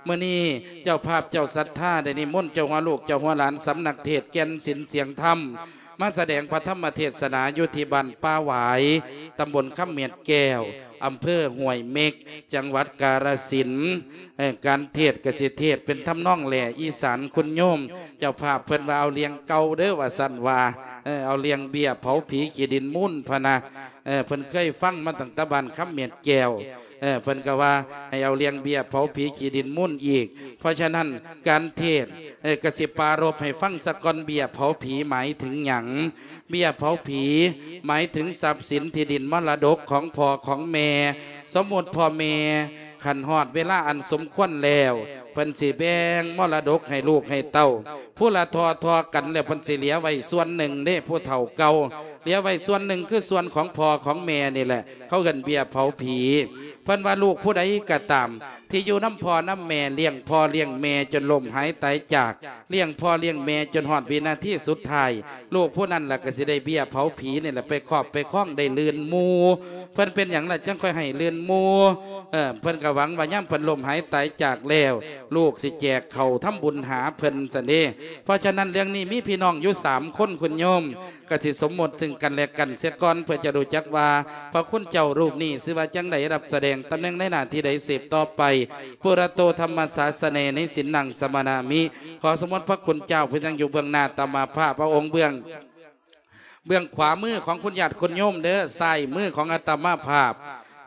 ມື້ນີ້ເຈົ້າພາບເຈົ້າສັດທາໄດ້ນິມົນເຈົ້າຫົວລູກເຈົ້າຫົວຫຼານສຳນັກເທດແກ່ນສິນສຽງທຳ ມາສະແດງພະທຳມະເທດສະໜາຢູ່ທີ່ບ້ານປ່າຫວາຍ ຕຳບົນຄຳເມັດແກ້ວ ອຳເພີຫ້ວຍເມັກ ຈັງຫວັດກາລະສິນ. ເອີ ການເທດກະຊິເທດເປັນທຳນອງແຫຼອີສານ ຄຸນໂຍມເຈົ້າພາບເພິ່ນວ່າເອົາລຽງເກົ່າເດີວ່າຊັ້ນວ່າ ເອີ ເອົາລຽງເບ້ຍເຜົາຜີຂີ້ດິນມູນພະນະ. ເອີ ເພິ່ນເຄີຍຟັງມາຕັ້ງແຕ່ບ້ານຄຳເມັດແກ້ວ ເອີ ເພິ່ນກໍວ່າໃຫ້ເອົາລຽງເບ້ຍເຜົາຜີຂີ້ດິນມູນອີກ. ເພາະສະນັ້ນການເທດ ເອີ ກໍຊິປາລົບໃຫ້ຟັງສາກ່ອນ ເບ້ຍເຜົາຜີໝາຍເຖິງຫຍັງ? ເບ້ຍເຜົາຜີໝາຍເຖິງຊັບສິນທີ່ດິນມໍລະດົກຂອງພໍ່ຂອງແມ່. ສົມມຸດພໍ່ແມ່ ຄັນຮອດເວລາອັນສົມຄວນແລ້ວ ເພິ່ນຊິແບ່ງມໍລະດົກໃຫ້ລູກໃຫ້ເຕົ້າ ຜູ້ລະທໍ່ໆກັນ ແລ້ວເພິ່ນຊິເຫຼືອໄວ້ສ່ວນໜຶ່ງເດ້ ຜູ້ເຖົ້າເກົ່າ ເຫຼືອໄວ້ສ່ວນໜຶ່ງ ຄືສ່ວນຂອງພໍ່ຂອງແມ່ນີ້ແຫຼະ ເຂົາເອີ້ນເບ້ຍເຜົາຜີ. ເພິ່ນວ່າລູກຜູ້ໃດກໍຕາມ ທີ່ຢູ່ນຳພໍ່ນຳແມ່ ລ້ຽງພໍ່ລ້ຽງແມ່ຈົນລົ້ມຫາຍຕາຍຈາກ ລ້ຽງພໍ່ລ້ຽງແມ່ຈົນຮອດວິນາທີສຸດທ້າຍ ລູກຜູ້ນັ້ນລະກໍຊິໄດ້ເບ້ຍເຜົາຜີນີ້ແຫຼະ ໄປຄອບໄປຄອງ ໄດ້ລື່ນໝູ່. ເພິ່ນເປັນຫຍັງລະຈັ່ງຄ່ອຍໃຫ້ລື່ນໝູ່? ເອີ ເພິ່ນກໍຫວັງວ່າຍາມເພິ່ນລົ້ມຫາຍຕາຍຈາກແລ້ວ ລູກຊິແຈກເຂົ້າທຳບຸນຫາເພິ່ນຊັ້ນເດ້. ເພາະສະນັ້ນເລື່ອງນີ້ມີພີ່ນ້ອງຢູ່ສາມຄົນ ຄຸນໂຍມ ກໍຊິສົມມຸດເຊິ່ງກັນແລະກັນເສຍກ່ອນ ເພື່ອຈະຮູ້ຈັກວ່າພະຄຸນເຈົ້າຮູບນີ້ຊື່ວ່າຈັ່ງໃດ ຮັບສະແດງຕຳແໜ່ງໃນໜ້າທີ່ໃດ ສືບຕໍ່ໄປ. ປຸລະໂຕທຳມະສາສະເນ ນິສິນນັງສະມະນາມິ. ຂໍສົມມຸດພະຄຸນເຈົ້າຜູ້ນັ່ງຢູ່ເບື້ອງໜ້າອາດຕະມາພາບ ເອົາອົງເບື້ອງ ເບື້ອງຂວາມືຂອງຄຸນຍາດຄຸນໂຍມເດີ ຊ້າຍມືຂອງອາດຕະມາພາບ.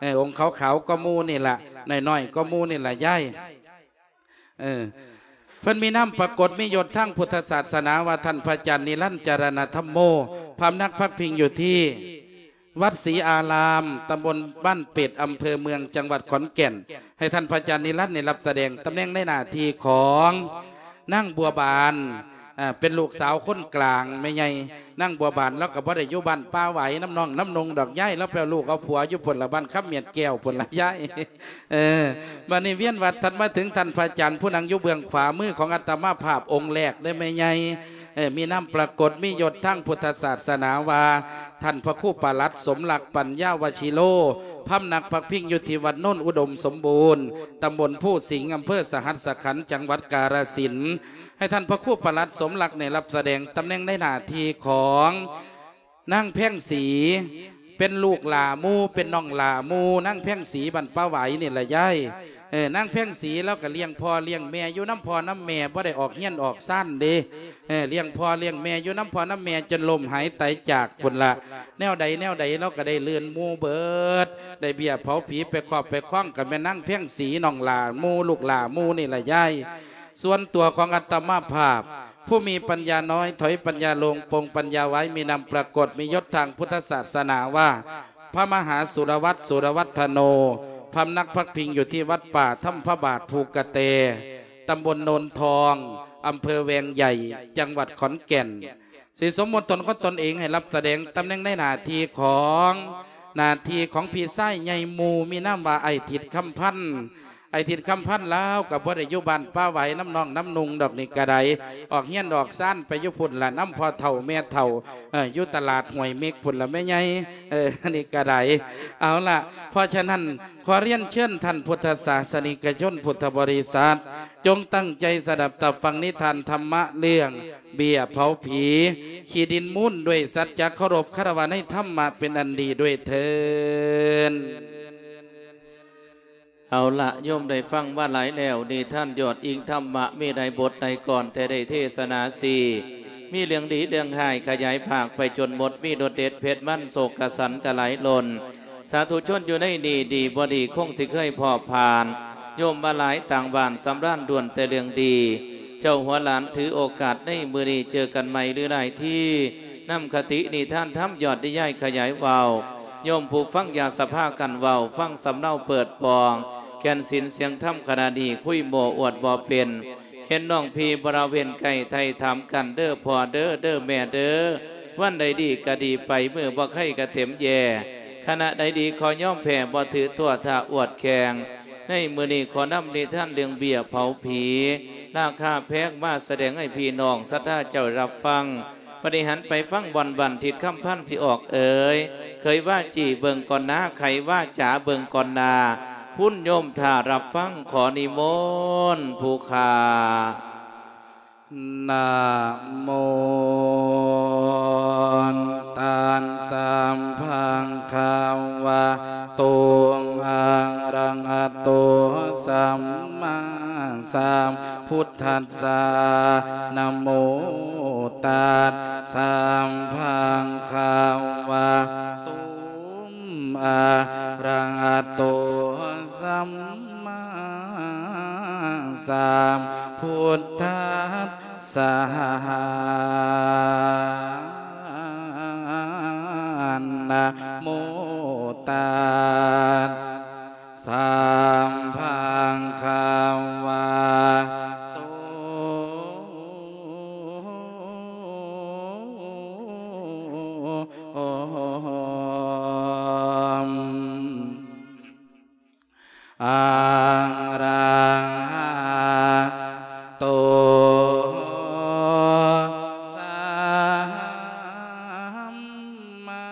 ເອີ ອົງຂາວໆກໍໝູ່ນີ້ລະ ນ້ອຍໆກໍໝູ່ນີ້ລະຍາຍ. ເອີ ເພິ່ນມີນາມປາກົດມີຍົດທາງພຸດທະສາສະໜາວ່າ ທ່ານພະອາຈານນິລັນ ຈາລະນະທຳໂມ ພຳນັກພັກພິງຢູ່ທີ່ວັດສີອາລາມ ຕຳບົນບ້ານເປັດ ອຳເພີເມືອງ ຈັງຫວັດຂອນແກ່ນ. ໃຫ້ທ່ານພະອາຈານນິລັນນີ້ຮັບສະແດງຕຳແໜ່ງໃນໜ້າທີ່ຂອງນາງບົວບານ ເປັນລູກສາວຄົນກາງແມ່ໃຫຍ່. ນາງບົວບານລາວກໍບໍ່ໄດ້ຢູ່ບ້ານປ່າຫວາຍນຳນ້ອງນຳນຸ່ງດອກ ຍາຍລາວໄປເອົາລູກເອົາຜົວຢູ່ພຸ້ນລະ ບ້ານຄຳເມັດແກ້ວພຸ້ນລະຍາຍ. ເອີ ບັດນີ້ວຽນວັດຖັດມາເຖິງທ່ານພະອາຈານຜູ້ນັ່ງຢູ່ເບື້ອງຂວາມືຂອງອາດຕະມາພາບອົງແລກເດີແມ່ໃຫຍ່. ເອີ ມີນາມປາກົດມີຍົດທາງພຸດທະສາສະໜາວ່າ ທ່ານພະຄູປະຫຼັດ ສົມລັກ ປັນຍາວະຊິໂລ ພຳນັກພັກພິງຢູ່ທີ່ວັດໂນນອຸດົມສົມບູນ ຕຳບົນພູສິງ ອຳເພີສະຫັດສະຂັນ ຈັງຫວັດກາລະສິນ. ໃຫ້ທ່ານພະຄູປະຫຼັດ ສົມລັກ ໄດ້ຮັບສະແດງຕຳແໜ່ງໃນໜ້າທີ່ຂອງ ນາງແພງສີ ເປັນລູກຫຼ້າໝູ່ ເປັນນ້ອງຫຼ້າໝູ່ ນາງແພງສີບ້ານປ່າຫວາຍນີ້ລະຍາຍ. ເອີ ນາງແພງສີລາວກໍລ້ຽງພໍ່ລ້ຽງແມ່ຢູ່ນຳພໍ່ນຳແມ່ ບໍ່ໄດ້ອອກເຮືອນອອກຊານເດ້. ເອີ ລ້ຽງພໍ່ລ້ຽງແມ່ຢູ່ນຳພໍ່ນຳແມ່ຈົນລົ້ມຫາຍຕາຍຈາກພຸ້ນລະ. ແນວໃດແນວໃດລາວກໍໄດ້ລື່ນໝູ່ເບິດ ໄດ້ເບ້ຍເຜົາຜີໄປຄອບໄປຄອງ ກໍແມ່ນນາງແພງສີນ້ອງຫຼ້າໝູ່ ລູກຫຼ້າໝູ່ນີ້ລະຍາຍ. ສ່ວນຕົວຂອງອາດຕະມາພາບ ຜູ້ມີປັນຍານ້ອຍ ຖອຍປັນຍາຫຼວງ ປົງປັນຍາໄວ ມີນາມປາກົດ ມີຍົດທາງພຸດທະສາສະໜາວ່າ ພະມະຫາສຸລະວັດ ສຸລະວັດທະໂນ ພຳນັກພັກພິງຢູ່ທີ່ວັດປ່າທຳພະບາດພູກະແຕ ຕຳບົນໂນນທອງ ອຳເພີແວງໃຫຍ່ ຈັງຫວັດຂອນແກ່ນ. ຊິສົມມຸດຕົນຂອງຕົນເອງໃຫ້ຮັບສະແດງຕຳແໜ່ງໃນໜ້າທີ່ຂອງ ໜ້າທີ່ຂອງພີ່ຊາຍໃຫຍ່ໝູ່ ມີນາມວ່າອ້າຍທິດຄຳພັນ. ອ້າຍທິດຄຳພັນລາວກໍບໍ່ໄດ້ຢູ່ບ້ານປ່າຫວາຍນຳນ້ອງນຳນຸ່ງດອກນີ້ກະໄດ້ ອອກເຮືອນອອກຊານໄປຢູ່ພຸ້ນລະ ນຳພໍ່ເຖົ້າແມ່ເຖົ້າ ເອີ ຢູ່ຕະຫຼາດຫ້ວຍເມັກພຸ້ນລະແມ່ໃຫຍ່. ເອີ ນີ້ກະໄດ້ ເອົາລະ ເພາະສະນັ້ນ ຂໍລຽນເຊີນທ່ານພຸດທະສາສະນິກະຊົນ ພຸດທະບໍລິສັດ ຈົ່ງຕັ້ງໃຈສະດັບຕາຟັງນິທານທຳມະເລື່ອງເບ້ຍເຜົາຜີ ຂີ້ດິນມູນ ດ້ວຍສັດຈະເຄົາລົບຄາລະວະໃນທຳມະເປັນອັນດີດ້ວຍເທີ້ນ. ເອົາລະ ໂຍມໄດ້ຟັງມາຫຼາຍແລ້ວ ນິທານຍອດອີງທຳມະ ມີຫຼາຍບົດຫຼາຍກອນ ແຕ່ໄດ້ເທສະໜາສີ່ ມີເລື່ອງດີເລື່ອງຮ້າຍ ຂະຫຍາຍພາກໄປຈົນໝົດ ມີລົດເດັດເຜັດມັນ ໂສກກະສັນກະໄຫຼຫຼົ່ນ ສາທຸຊົນຢູ່ໃນນີ້ ດີບໍ່ດີຄົງຊິເຄີຍພໍຜ່ານ ໂຍມມາຫຼາຍຕ່າງບ້ານສຳລານ ລ້ວນແຕ່ເລື່ອງດີ. ເຈົ້າຫົວຫຼານຖືໂອກາດໃນມື້ນີ້ ເຈີກັນໃໝ່ຫຼືຫຼາຍທີ ນຳຄະຕິນິທານທຳຍອດນິຍາຍຂະຫຍາຍເວົ້າ ໂຍມຜູ້ຟັງຢ່າສະພາກັນເວົ້າ ຟັງສຳເນົາເປີດປ່ອງ ແກ່ນສິນສຽງທຳຂະນະນີ້ ຄຸຍໂມ້ອວດບໍ່ເປັນ ເຫັນນ້ອງພີ່ບໍລະເວັນໃກ້ ໄຖ່ຖາມກັນເດີພໍ່ເດີ ເດີແມ່ເດີ ວັນໃດດີກະດີໄປ ມື້ບໍ່ໄຄກະເຕັມແຢ່ ຂະນະໃດດີຂໍຍອມແພ້ ບໍ່ຖືຕົວຖ້າອວດແຂ່ງ ໃນມື້ນີ້ຂໍນຳນິທານເລື່ອງເບ້ຍເຜົາຜີ ລາຄາແພງ ມາສະແດງໃຫ້ພີ່ນ້ອງສັດທາເຈົ້າໄດ້ຮັບຟັງ. ບັດນີ້ຫັນໄປຟັງບ່ອນບ້ານທິດຄຳພັນຊິອອກເອີຍ ເຄີຍວ່າຈີ່ເບິ່ງກ່ອນໜ້າ ໄຂວ່າຈາເບິ່ງກ່ອນໜ້າ ຄຸນໂຍມຖ້າຮັບຟັງ ຂໍນິມົນຜູ້ຂ້າ. ນະໂມ ຕັດສະ ພະຄະວະໂຕ ອະລະຫະໂຕ ສຳມາສຳພຸດທັດສະ. ນະໂມ ຕັດສະ ພະຄະວະໂຕ ອະລະຫະໂຕ ສຳມາສຳພຸດທັດສະ. ນະໂມ ຕັດສະ ພະຄະວະໂຕ ອະລະຫະໂຕ ສຳມາ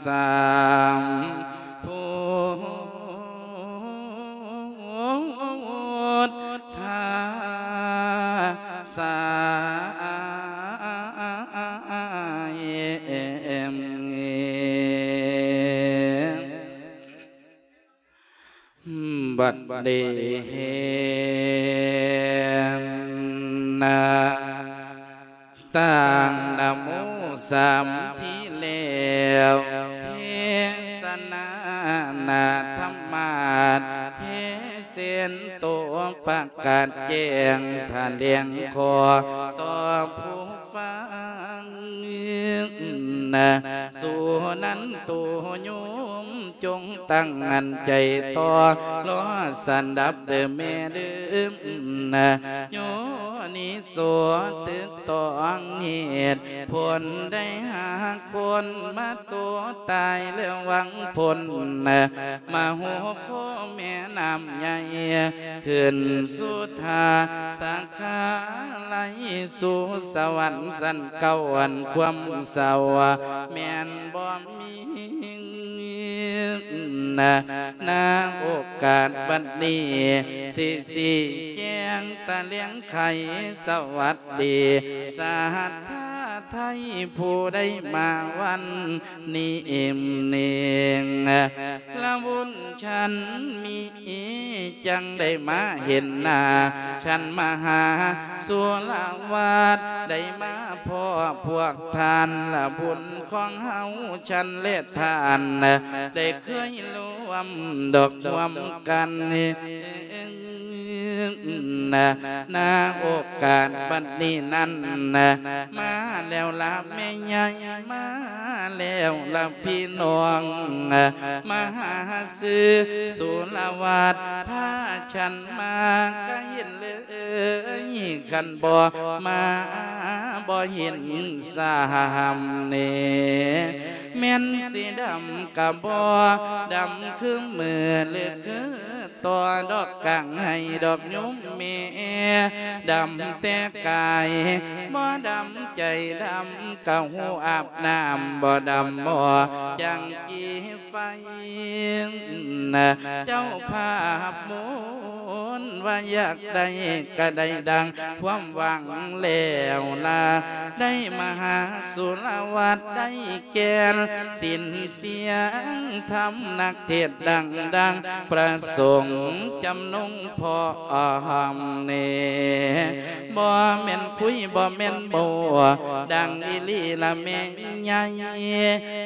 ສຳພຸດທັດສະ. ບັດນີ້ ນະ ຕັ້ງນະໂມສາມທີແລ້ວ ເທສະນານະທຳມາດ ເທເສນໂຕ ປະກາດແຈ້ງຖະແຫຼງຂໍ້ຕໍ່ຜູ້ຟັງ. ນະ ສຸນັນໂຕໂຍມ ຈົ່ງຕັ້ງໝັ້ນໃຈຕໍ່ລໍສັນດັບເດີແມ່ເດີ. ນະ ໂຍນິໂສຕຶກຕອງເຫດຜົນ ໄດ້ຫາຄົນມາໂຕຕາຍ ແລ້ວຫວັງຜົນ ນະ ມະໂຫໂຄແມ່ນ້ຳໃຫຍ່ ຂຶ້ນສຸດທ່າສາຂາໄລ ສູ່ສະຫວັນຊັ້ນເກົ້າ ອັນຄວາມເສົ້າແມ່ນບໍ່ມີ. ນະ ນະໂອກາດບັດນີ້ ຊິຊີ້ແຈງຕະແຫຼງໄຂ ສະຫວັດດີສັດທາໄທ ຜູ້ໃດມາວັນນີ້ເອງເນງ ລະບຸນ ຊັ້ນມີ ຈັ່ງໄດ້ມາເຫັນໜ້າ ຊັ້ນມະຫາສຸລະວັດ ໄດ້ມາພໍ້ພວກທ່ານ ລະບຸນຂອງເຮົາຊັ້ນແລະທ່ານ ໄດ້ເຄີຍລວມດອກຮ່ວມກັນ ນະ ນະໂອກາດບັດນີ້ນັ້ນ ມາແລ້ວລະແມ່ໃຫຍ່ ມາແລ້ວລະພີ່ນ້ອງ ມາຫາຊື້ສຸລະວັດ ພາຊັ້ນມາກະເຫັນເລີຍ ຄັນບໍ່ມາບໍ່ເຫັນຊ້ຳເນ ແມ່ນຊິດຳກະບໍ່ດຳຄືມື້ ຫຼືຄື ຕໍ່ດອກກາງໄຮ່ດອກຍຸມແມ່ ດຳແຕ່ກາຍບໍ່ດຳໃຈ ດຳກະຫູອາບນ້ຳ ບໍ່ດຳໝໍ້ຈັງກີໄຟ. ເຈົ້າພາບມົນວ່າຢາກໄດ້ກະໄດ້ດັ່ງຄວາມຫວັງແລ້ວລະ ໄດ້ມະຫາສຸລະວັດ ໄດ້ແກ່ນສິນສຽງທຳ ນັກ ເທດດັງໆ ພະສົງຈຳນົງພ້ອມແນ່ ບໍ່ແມ່ນຄຸຍບໍ່ແມ່ນໂມ້ ດັງອີ່ຫຼີລະແມ່ໃຫຍ່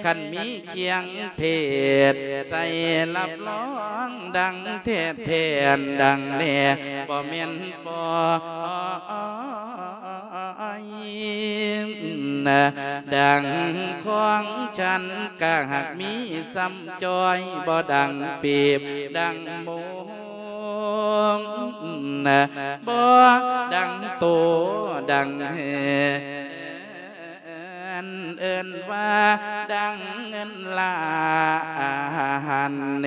ຄັນມີຄຽງເທດໃສ່ ຮັບຮອງດັງແທ້ແທ້ ອັນດັງແນ່ ບໍ່ແມ່ນຟອຍ ນະ ດັ່ງຂອງຊັ້ນກະຫາກມີສ່ຳຈ້ອຍ ບໍ່ດັງປີບດັງໂມງ ນະ ບໍ່ດັງໂຕດັງແຮນ ເອີ້ນວ່າດັ່ງເງິນລ້ານເນ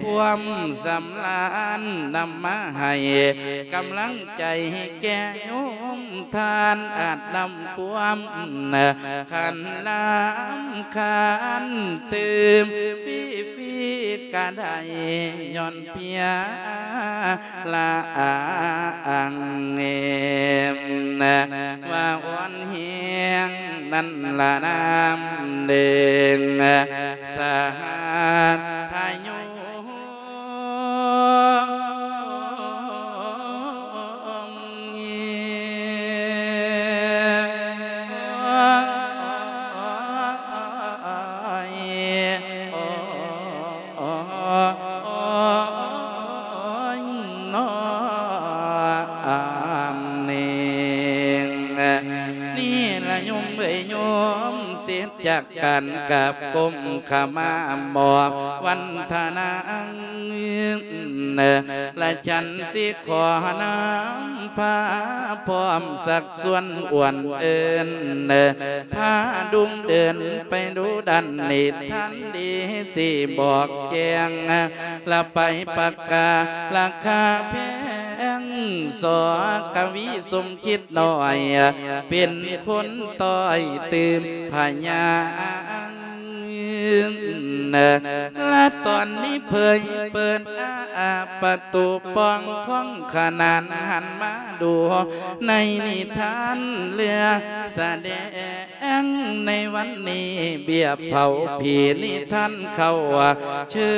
ຄວາມສຳລານນຳມາໃຫ້ກຳລັງໃຈແກ່ໂຍມທ່ານ ອາດນຳຄວາມຂັນນ້ຳຄານຕື່ມຟຣີໆກະໄດ້ ຍ້ອນ ເພຍລະອັງເອມ ວ່າອ່ອນແຮງນັ້ນລະນາມເດີງ ສະຫັດທະໂຍ ໂອ້ຍ ນ້ອງເນງ ນີ້ລະໂຍມເອີຍໂຍມ ເສັດຈາກການກາບກົ້ມຂະມາມອບວັນທະນາ ລະ ຈັນຊິຂໍນຳພາພ້ອມຊັກຊວນອວນເອີ້ນ ພາດຸ່ງເດີນໄປດູດັນນິທານດີ ຊິບອກແຈ້ງລະໄປປະກາລະຄາແພງ ສອກະວີສົມຄິດນ້ອຍ ເປັນຄົນຕ້ອຍຕື່ມພະຍາ ລະຕອນນີ້ເຜີຍເປີດອາປະຕູປ່ອງຂອງຂະໜານ ຫັນມາດູໃນນິທານເລື່ອງສະແດງໃນວັນນີ້ ເບຍເຜົາຜີນິທານເຂົ້າ ເຊີ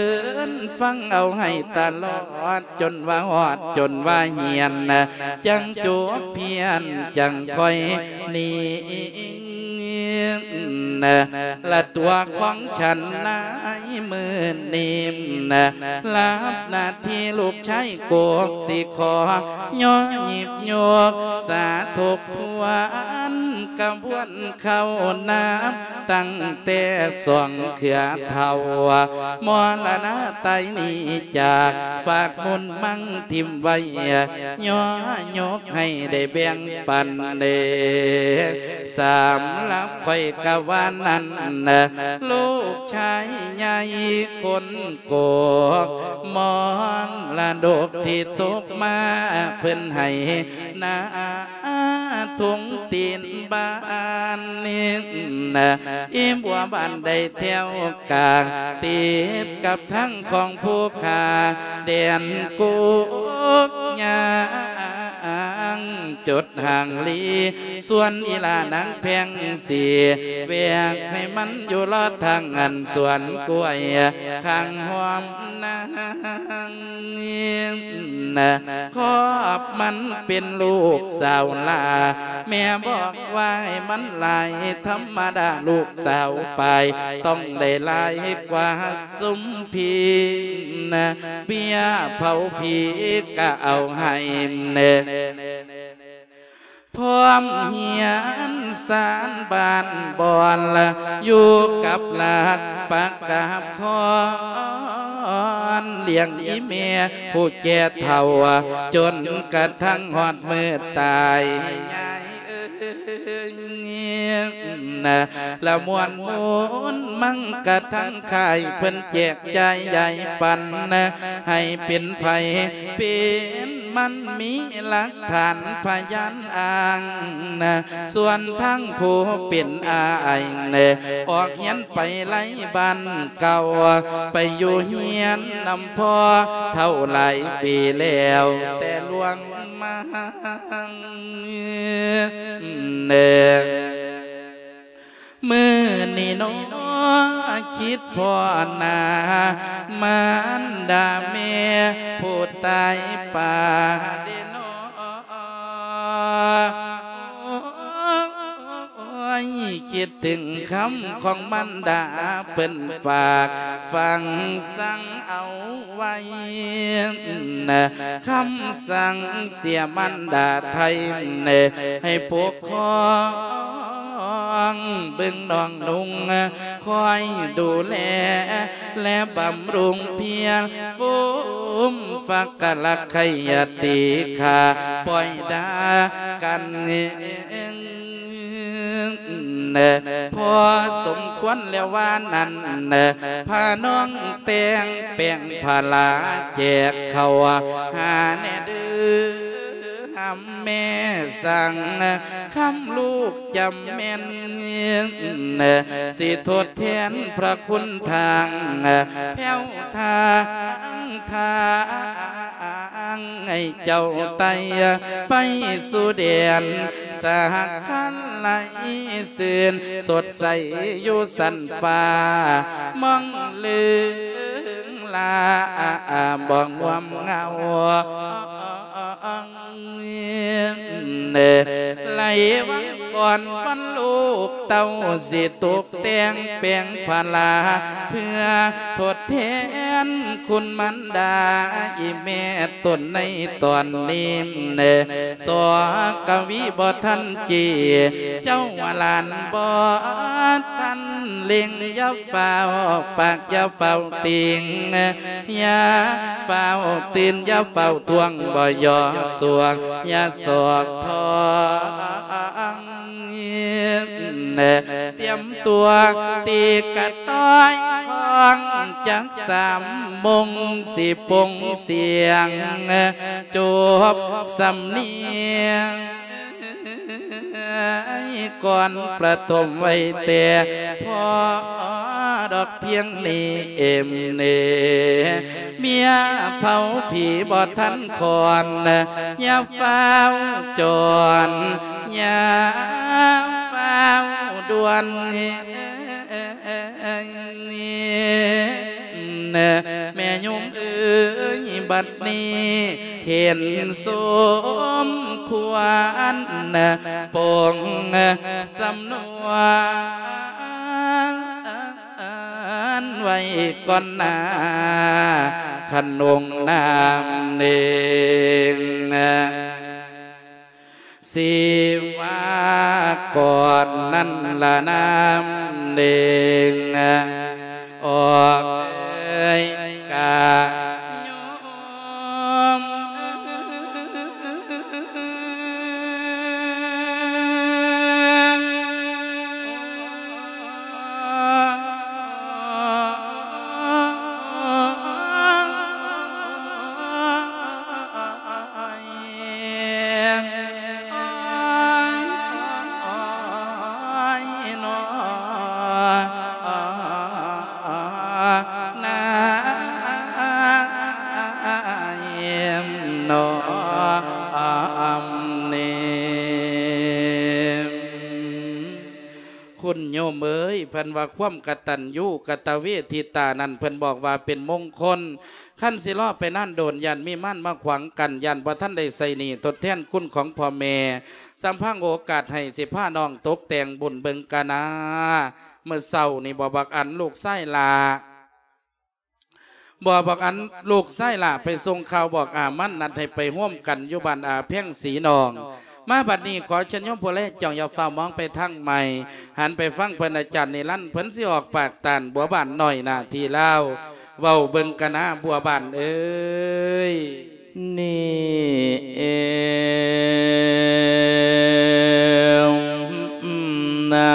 ນຟັງເອົາໃຫ້ຕະຫຼອດ ຈົນວ່າຮອດ ຈົນວ່າຮຽນ ຈັ່ງຈົບພຽນ ຈັ່ງຄ່ອຍໜີ ລະຕົວຂອງສັນໃນມື້ນີ້ ລະຮັບໜ້າທີ່ລູກຊາຍໂກກ ຊິຂໍຍໍຍິບຍົກສາທົກທວນ ກະບວນເຂົ້ານາ ຕັ້ງແຕ່ສອງເຄືອເຖົ້າ ມໍລະນະຕາຍໜີຈາກ ຝາກມູນມັງຖິ້ມໄວ້ ຍໍຍົກໃຫ້ໄດ້ແບ່ງປັນເດ ສຳລັບຂ້ອຍກະວ່ານັ້ນ ລູກຊາຍໃຫຍ່ຄົນໂກກ ມໍລະດົກທີ່ຕົກມາ ເພິ່ນໃຫ້ນາ ທົ່ງຕີນບ້ານ ອີ່ບົວບ້ານໄດ້ແຖວກາງ ຕິດກັບທາງຂອງພູຄາແດນກົກຍາງ ຈົດຮ່າງລີ ສ່ວນອີ່ຫຼ້ານາງແພງສີ ແວກໃຫ້ມັນຢູ່ລອດທາງອັນສວນກ້ວຍ ຂ້າງຮ່ອມນາງ ຄອບມັນເປັນລູກສາວຫຼ້າ ແມ່ບອກວ່າໃຫ້ມັນຫຼາຍ ທຳມະດາລູກສາວປາຍ ຕ້ອງໄດ້ຫຼາຍກວ່າຊຸມພີ່ ເບຍເຜົາຜີກະເອົາໃຫ້ ພ້ອມຮຽນສານບ້ານບ່ອນ ຢູ່ກັບຫຼັກປະກາບຄອນ ລ້ຽງອີ່ແມ່ຜູ້ແກ່ເຖົ້າ ຈົນກະທັ່ງຮອດມື້ຕາຍ ລະມ່ວນມູນມັງກະທັງຄ້າຍ ເພິ່ນແຈກຈ່າຍຢາຍປັນ ໃຫ້ເປັນໃຜເປັນມັນ ມີຫຼັກຖານພະຍານອ້າງ ສ່ວນທາງຜູ້ເປັນອ້າຍ ອອກຮຽນໄປໄລບ້ານເກົ່າ ໄປຢູ່ຮຽນນຳພໍ່ເຖົ້າຫຼາຍປີແລ້ວ ແຕ່ລ່ວງມາ ມື້ນີ້ໜໍ ຄິດພໍ້ໜ້າ ມານດາແມ່ຜູ້ຕາຍປາເດນໍ ໂອ້ຍ ຄິດເຖິງຄຳຂອງມານດາ ເພິ່ນຝາກຝັງສັ່ງເອົາໄວ້ ຄຳສັ່ງເສຍມານດາໄທ ໃຫ້ປົກຄອງເບິ່ງນ້ອງນຸ່ງ ຄອຍດູແລ ແລະບຳລຸງພຽງ ຟຸມຟັກກະລັກໄຄຍະຕີຂ້າ ປ່ອຍດາກັນ ພໍສົມຄວນແລ້ວວ່ານັ້ນ ພານ້ອງແຕ່ງແປງພາລາ ແຈກເຂົ້າຫາແດ່ເດີຫຳແມ່ສັງ ຄຳລູກຈຳແມ່ນ ຊິທົດແທນພະຄຸນທາງ ແພ້ວທາງ ທາງໃຫ້ເຈົ້າໄຕ່ໄປສູ່ແດນ ສາກຄັນໄຫຼຊື່ນສົດໃສຢູ່ຊັ້ນຟ້າ ມອງເລີງລາບໍ່ງວມເຫງົາ ໄລວັງກ່ອນວັນລູກເຕົ້າ ຊິຕົກແຕ່ງແປງພາລາ ເພື່ອທົດແທນຄຸນມານດາ ອີແມ່ຕົນໃນຕອນນີ້ ສອກະວີບໍ່ທັນຈີ ເຈົ້າວ່າຫຼານບໍ່ທັນເລັ່ງ ຢ່າຟ້າວປາກ ຢ່າຟ້າວຕິງ ຢ່າຟ້າວຕື່ນ ຢ່າຟ້າວທວງ ບໍ່ຢອກສວງ ຢ່າສອກທອງ ຕຽມຕົວຕີກະຕ້ອຍ ຄອງຈັກສາມໂມງ ຊິປົງສຽງ ຈົບສຳນຽງ ກ່ອນປະຖົມໄວ້ແຕ່ພໍດອກພຽງນີ້ເອມເນ ເມຍເຜົາຜີບໍ່ທັນຄອນ ຢ່າຟ້າວຈອນ ຢ່າຟ້າວດ່ວນ ແມ່ໂຍມເອີຍ ບັດນີ້ເຫັນສົມຄວນ ປົງສຳນວນໄວ້ກ່ອນໜ້າ ຂະໜົງນາມເນງ ຊິວ່າກ່ອນນັ້ນລະນາມເນງ ອອກເອີຍກະໂຍມ ຄຸນໂຍມເອີຍ ເພິ່ນວ່າຄວາມກະຕັນຍູກະຕະເວທິຕານັ້ນ ເພິ່ນບອກວ່າເປັນມົງຄົນ ຄັນຊິລໍໄປນານໂດນ ຢ້ານມີມານມາຂວາງກັ້ນ ຢ້ານບໍ່ທັນໄດ້ໃຊ້ໜີ້ທົດແທນຄຸນຂອງພໍ່ແມ່ ສຳພັງໂອກາດໃຫ້ ຊິພານ້ອງຕົກແຕ່ງບຸນເບິ່ງການາ ມື້ເຊົ້ານີ້ບໍ່ ບັກອັນ ລູກຊາຍຫຼ້າ ບໍ່ ບັກອັນ ລູກຊາຍຫຼ້າໄປສົ່ງຂ່າວບອກອາມັນ ນັດໃຫ້ໄປໂຮມກັນຢູ່ບ້ານອາແພງສີນອງ ມາບັດນີ້ ຂໍເຊີນໂຍມຜູ້ແລຈ້ອງ ຢ່າຟ້າວມອງໄປທາງໃໝ່ ຫັນໄປຟັງເພິ່ນອາຈານນິລັນ ເພິ່ນຊິອອກປາກຕ້ານບົວບານນ້ອຍໜ້າທີ່ລາວ ເວົ້າເບິ່ງກະນາບົວບານເອີຍ ນີ້ເອງນາ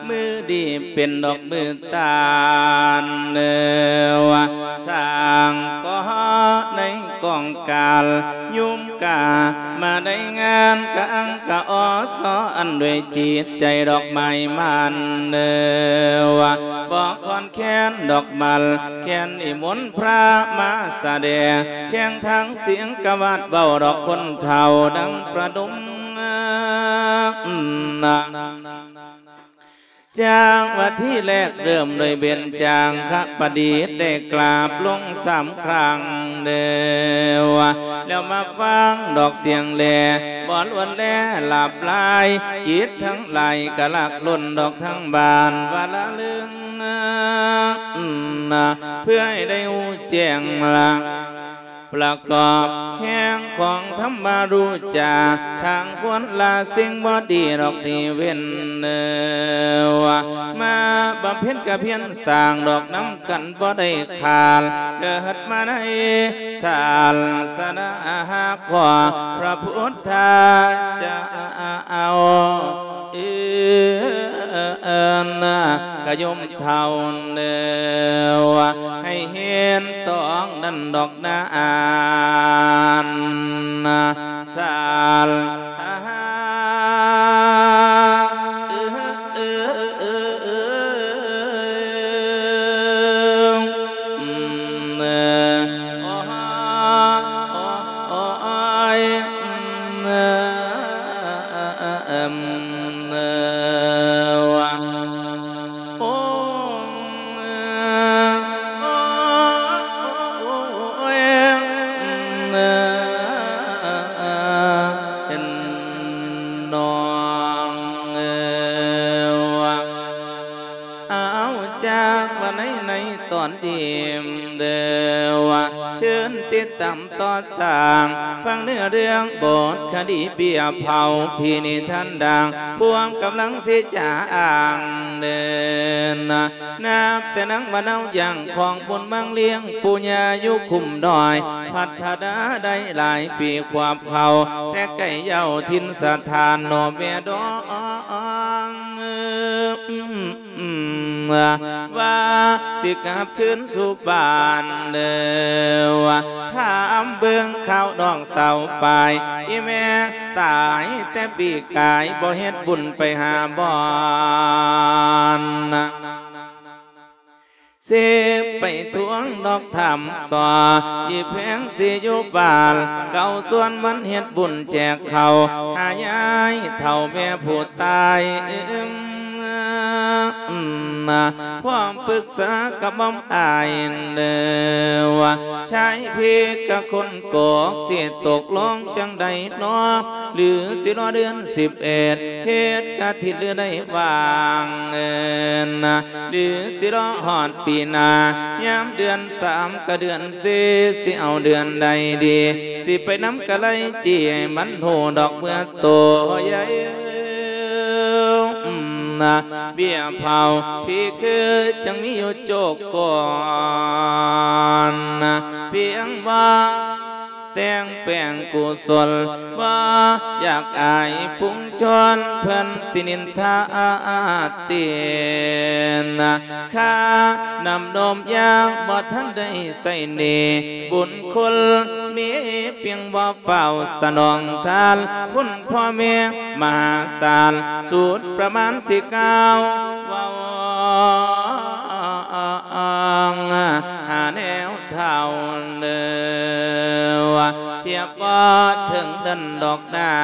ມື້ດີເປັນດອກມື້ຕານເນີ ສ້າງກໍໃນກອງການ ຍຸມກາມາໄດ້ງານກະອັງກະອໍ ຊໍອັນດ້ວຍຈິດໃຈດອກໄມ້ມັນເນີ ບໍ່ຄອນແຄນດອກມັນ ແຄນນິມົນພະມາສະແດງ ແຂ່ງທາງສຽງກະວາດເວົ້າດອກຄົນເຖົ້າ ດັ່ງປະດົມ ຈາກວ່າທີແລກເລີ່ມໂດຍເບັນຈາງຄະປະດິດ ໄດ້ກາບລົງສາມຄັ້ງເດີ ແລ້ວມາຟັງດອກສຽງແລ ບໍ່ລ້ວນແລຫຼາບຫຼາຍ ຈິດທັງຫຼາຍກະຫຼັກລົ້ນດອກທັງບ້ານ ວ່າລະລຶງ ເພື່ອໃຫ້ໄດ້ຮູ້ແຈ້ງລະ ປະກອບແຮງຂອງທຳມະຮູ້ຈາ ທາງຄວນລະສິ່ງບໍ່ດີດອກທີ່ເວັ້ນເນີ ມາບຳເພັນກະພຽນສ້າງດອກນຳກັນບໍ່ໄດ້ຂາດ ເກີດມາໃນສາສະໜາຂອງພະພຸດທະເຈົ້າ ເອີ ນນະ ກະໂຍມເຖົ້າເດີ ໃຫ້ເຫັນຕອງນັ້ນດອກນາ ອັນນະ ສາລະຫະ ເອົາ ຈາກວ່າໃນ ໃນຕອນນີ້ເດີ ວ່າເຊີນຕິດຕາມຕໍ່ຕາງ ຟັງເນື້ອເລື່ອງບົດຄະດີເບ້ຍເຜົາ ຜີນິທານດັ່ງ ພວມກຳລັງຊິຈາອ້າງເດີນະ ນັບແຕ່ນາງມະນາວຢ່າງຂອງບຸນມັງລ້ຽງ ປູ່ຍ່າຢູ່ຄຸ້ມດອຍ ພັດທະນາໄດ້ຫຼາຍປີຂວບເຂົາ ແຕ່ໄກເຍົາຖິ່ນສະຖານ ໜໍ່ແມ່ດອງ ວ່າຊິກັບຄືນສູ່ບ້ານເດີ ຖາມເບິ່ງຂ່າວນ້ອງສາວປາຍ ອີ່ແມ່ຕາຍແຕ່ປີກາຍ ບໍ່ເຮັດບຸນໄປຫາບ່ອນ ຊິໄປທວງດອກຖາມສອ ອີ່ແພງຊິຢູ່ບ້ານ ເຂົາຊວນມັນເຮັດບຸນແຈກເຂົ້າ ຫາຍາຍເຖົ້າແມ່ຜູ້ຕາຍ ພ້ອມປຶກສາກັບໝ່ອມອ້າຍເດີ ວ່າຊາຍພີກະຄົນກອກ ຊິຕົກລົງຈັ່ງໃດນໍ ຫຼືຊິລໍເດືອນສິບເອັດ ເຮັດກະທິນຫຼືໄດ້ວ່າງເດີນະ ຫຼືຊິລໍຮອດປີໜ້າ ຍາມເດືອນສາມກະເດືອນສີ່ ຊິເອົາເດືອນໃດດີ ຊິໄປນຳກະໄລຈີ່ ໃຫ້ມັນຮູ້ດອກເມື່ອໂຕໃຫຍ່ ນະ ເບ້ຍເຜົາພີຄືຈັ່ງມີຢູ່ໂຈກກ່ອນ ນະ ພຽງວ່າແຕ່ງແປງກຸສົນ ບໍ່ຢາກອາຍຝູງຊົນ ເພິ່ນຊິນິນທາຕິນ ນະ ຄ່ານ້ຳນົມຢາບໍ່ທັນໄດ້ໃຊ້ໜີ້ ບຸນຄຸນມີພຽງບໍ່ ຟ້າວສະໜອງທານ ຄຸນພໍ່ແມ່ມະຫາສານ ສຸດປະມານຊິກ່າວເວົ້າ ຫາແນວເຖົ້າເດີ ທຽບບໍ່ເຖິງເດີນດອກນາ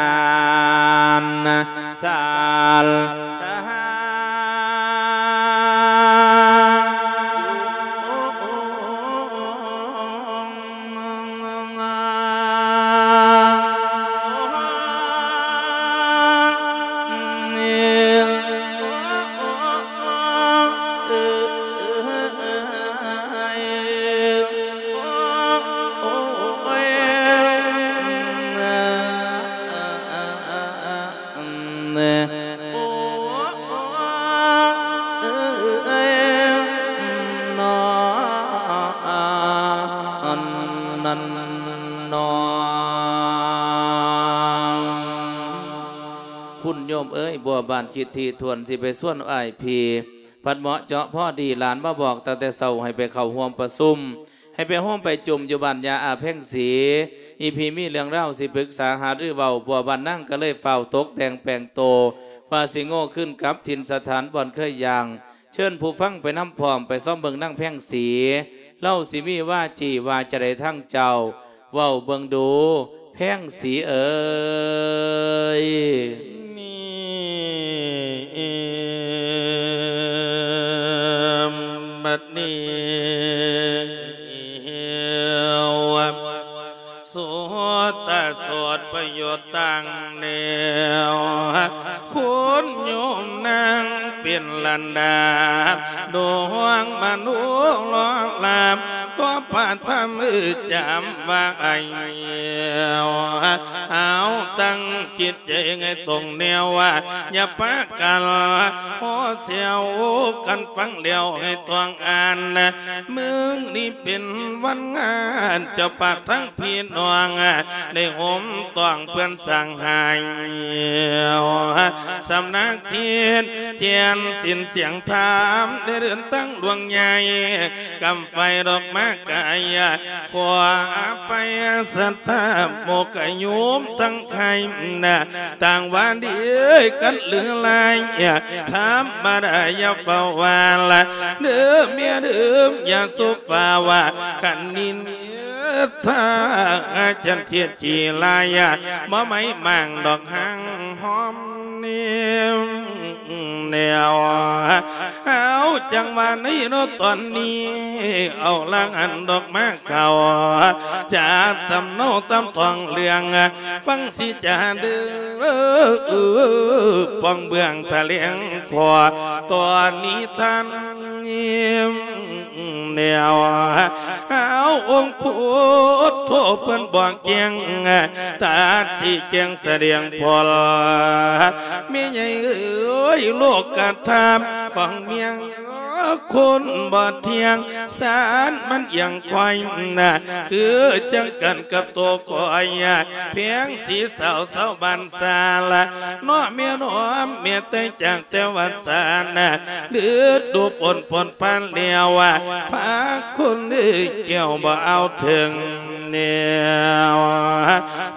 ນ ສາລະຫະ ຄຸນໂຍມເອີຍ ບົວບານຄິດຖີ່ຖ້ວນ ຊິໄປຊວນອ້າຍພີ່ ພັດເໝາະເຈາະພໍດີ ຫຼານມາບອກຕັ້ງແຕ່ເຊົ້າ ໃຫ້ໄປເຂົ້າຮ່ວມປະຊຸມ ໃຫ້ໄປໂຮມໄປຈຸມຢູ່ບ້ານຍ່າອາແພງສີ ອີ່ພີ່ມີເລື່ອງລາວຊິປຶກສາຫາລືເວົ້າ ບົວບານນາງກະເລີຍຟ້າວຕົກແຕ່ງແປງໂຕ ວ່າຊິໂງ່ຄືນກັບຖິ່ນສະຖານບ່ອນເຄີຍຍ່າງ ເຊີນຜູ້ຟັງໄປນຳພ້ອມ ໄປຊອມເບິ່ງນາງແພງສີ ລາວຊິມີວາຈີວ່າຈະໃດທາງເຈົ້າ ເວົ້າເບິ່ງດູ ແພງສີເອີຍ. ບັດນີ້ ສຸດຕະສົດປະໂຫຍດຕັ້ງແນວ ຄຸນໂຍມນາງເປັນລັນດາ ດວງມະນຸລອລາບ ຂໍພະທຳຈຳໄວ້ ເອົາຕັ້ງຈິດໃຈໃຫ້ຕົງແນວ ຢ່າປະກັນຫໍ່ແຊວກັນຟັງແລ້ວໃຫ້ຕ້ອງອ່ານ ມື້ນີ້ເປັນວັນງານ ເຈົ້າພາບທັງພີ່ນ້ອງ ໄດ້ໂຮມຕ້ອງເພື່ອນສ້າງໃຫ້ ສຳນັກທິດ ແຈນສິນສຽງທຳ ໄດ້ເດີນທາງຫຼວງໃຫຍ່ ກຳໄຟດອກມາກາຍ ຂໍອະໄພສັດທາໂມກະໂຍມທັງໃຄ ຕ່າງວ່າດີກັນຫຼືລາຍ ທຳມະດາຢ່າຟ້າວວ່າລະ ເດີແມ່ເດີ ຢ່າສູ່ຟ້າວວ່າ ຄັນນິນທາຈັນທຽດຈີລາຍ ບໍ່ໄໝ້ໝາງດອກຫາງຫອມ ນີ້ແນວ ເອົາ ຈັງຫວະນີ້ເນາະ ຕອນນີ້ ເອົາລະຫັນດອກມາເຂົ້າ ຈາກສຳເນົາຕຳທ້ອງເລື່ອງ ຟັງຊິຈາເດີ ປອງເບື້ອງຖະແຫຼງຂໍ້ ຕອນນີ້ທ່ານ ແນວ ເອົາ ອົງພຸດໂທເພິ່ນບອກແຈ້ງ ຕັດຊີ້ແຈງສະແດງຜົນ ແມ່ໃຫຍ່ເອີຍ ໂລກກະທຳຂອງເມຍຄົນບໍ່ທ່ຽງ ສານມັນຢ່າງຂ້ອຍນະ ຄືຈັ່ງກັນກັບໂຕຂ້ອຍ ແພງສີສາວຊາວບ້ານສາລະ ເນາະແມ່ນອມ ແມ່ໄຕຈາກ ແຕ່ວ່າສານນະ ລະດູຝົນພົ້ນຜ່ານແລ້ວ ພາຄົນເອີຍແກ້ວບໍ່ເອົາເຖິງແນວ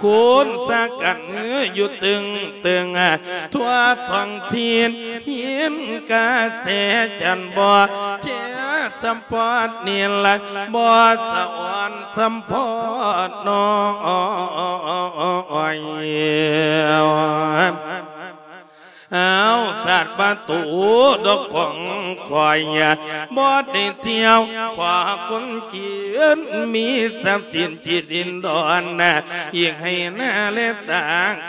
ຄູນສາກັນຢູ່ຕຶງຕຶງ ທົ່ວທ້ອງຖິ່ນ ຍິນກະແສຈັນບໍ່ ແຈສຳປອດນີ້ລະ ບໍ່ສະອອນສຳປອດນ້ອຍ. ເອົາ ສາດປະຕູດອກຂອງຂ້ອຍ ບໍ່ໄດ້ທ່ຽວ ຂໍຄົນຈີນ ມີຊັບສິນຈິດດິນດອນ ອີກໃຫ້ໜ້າແລຕາ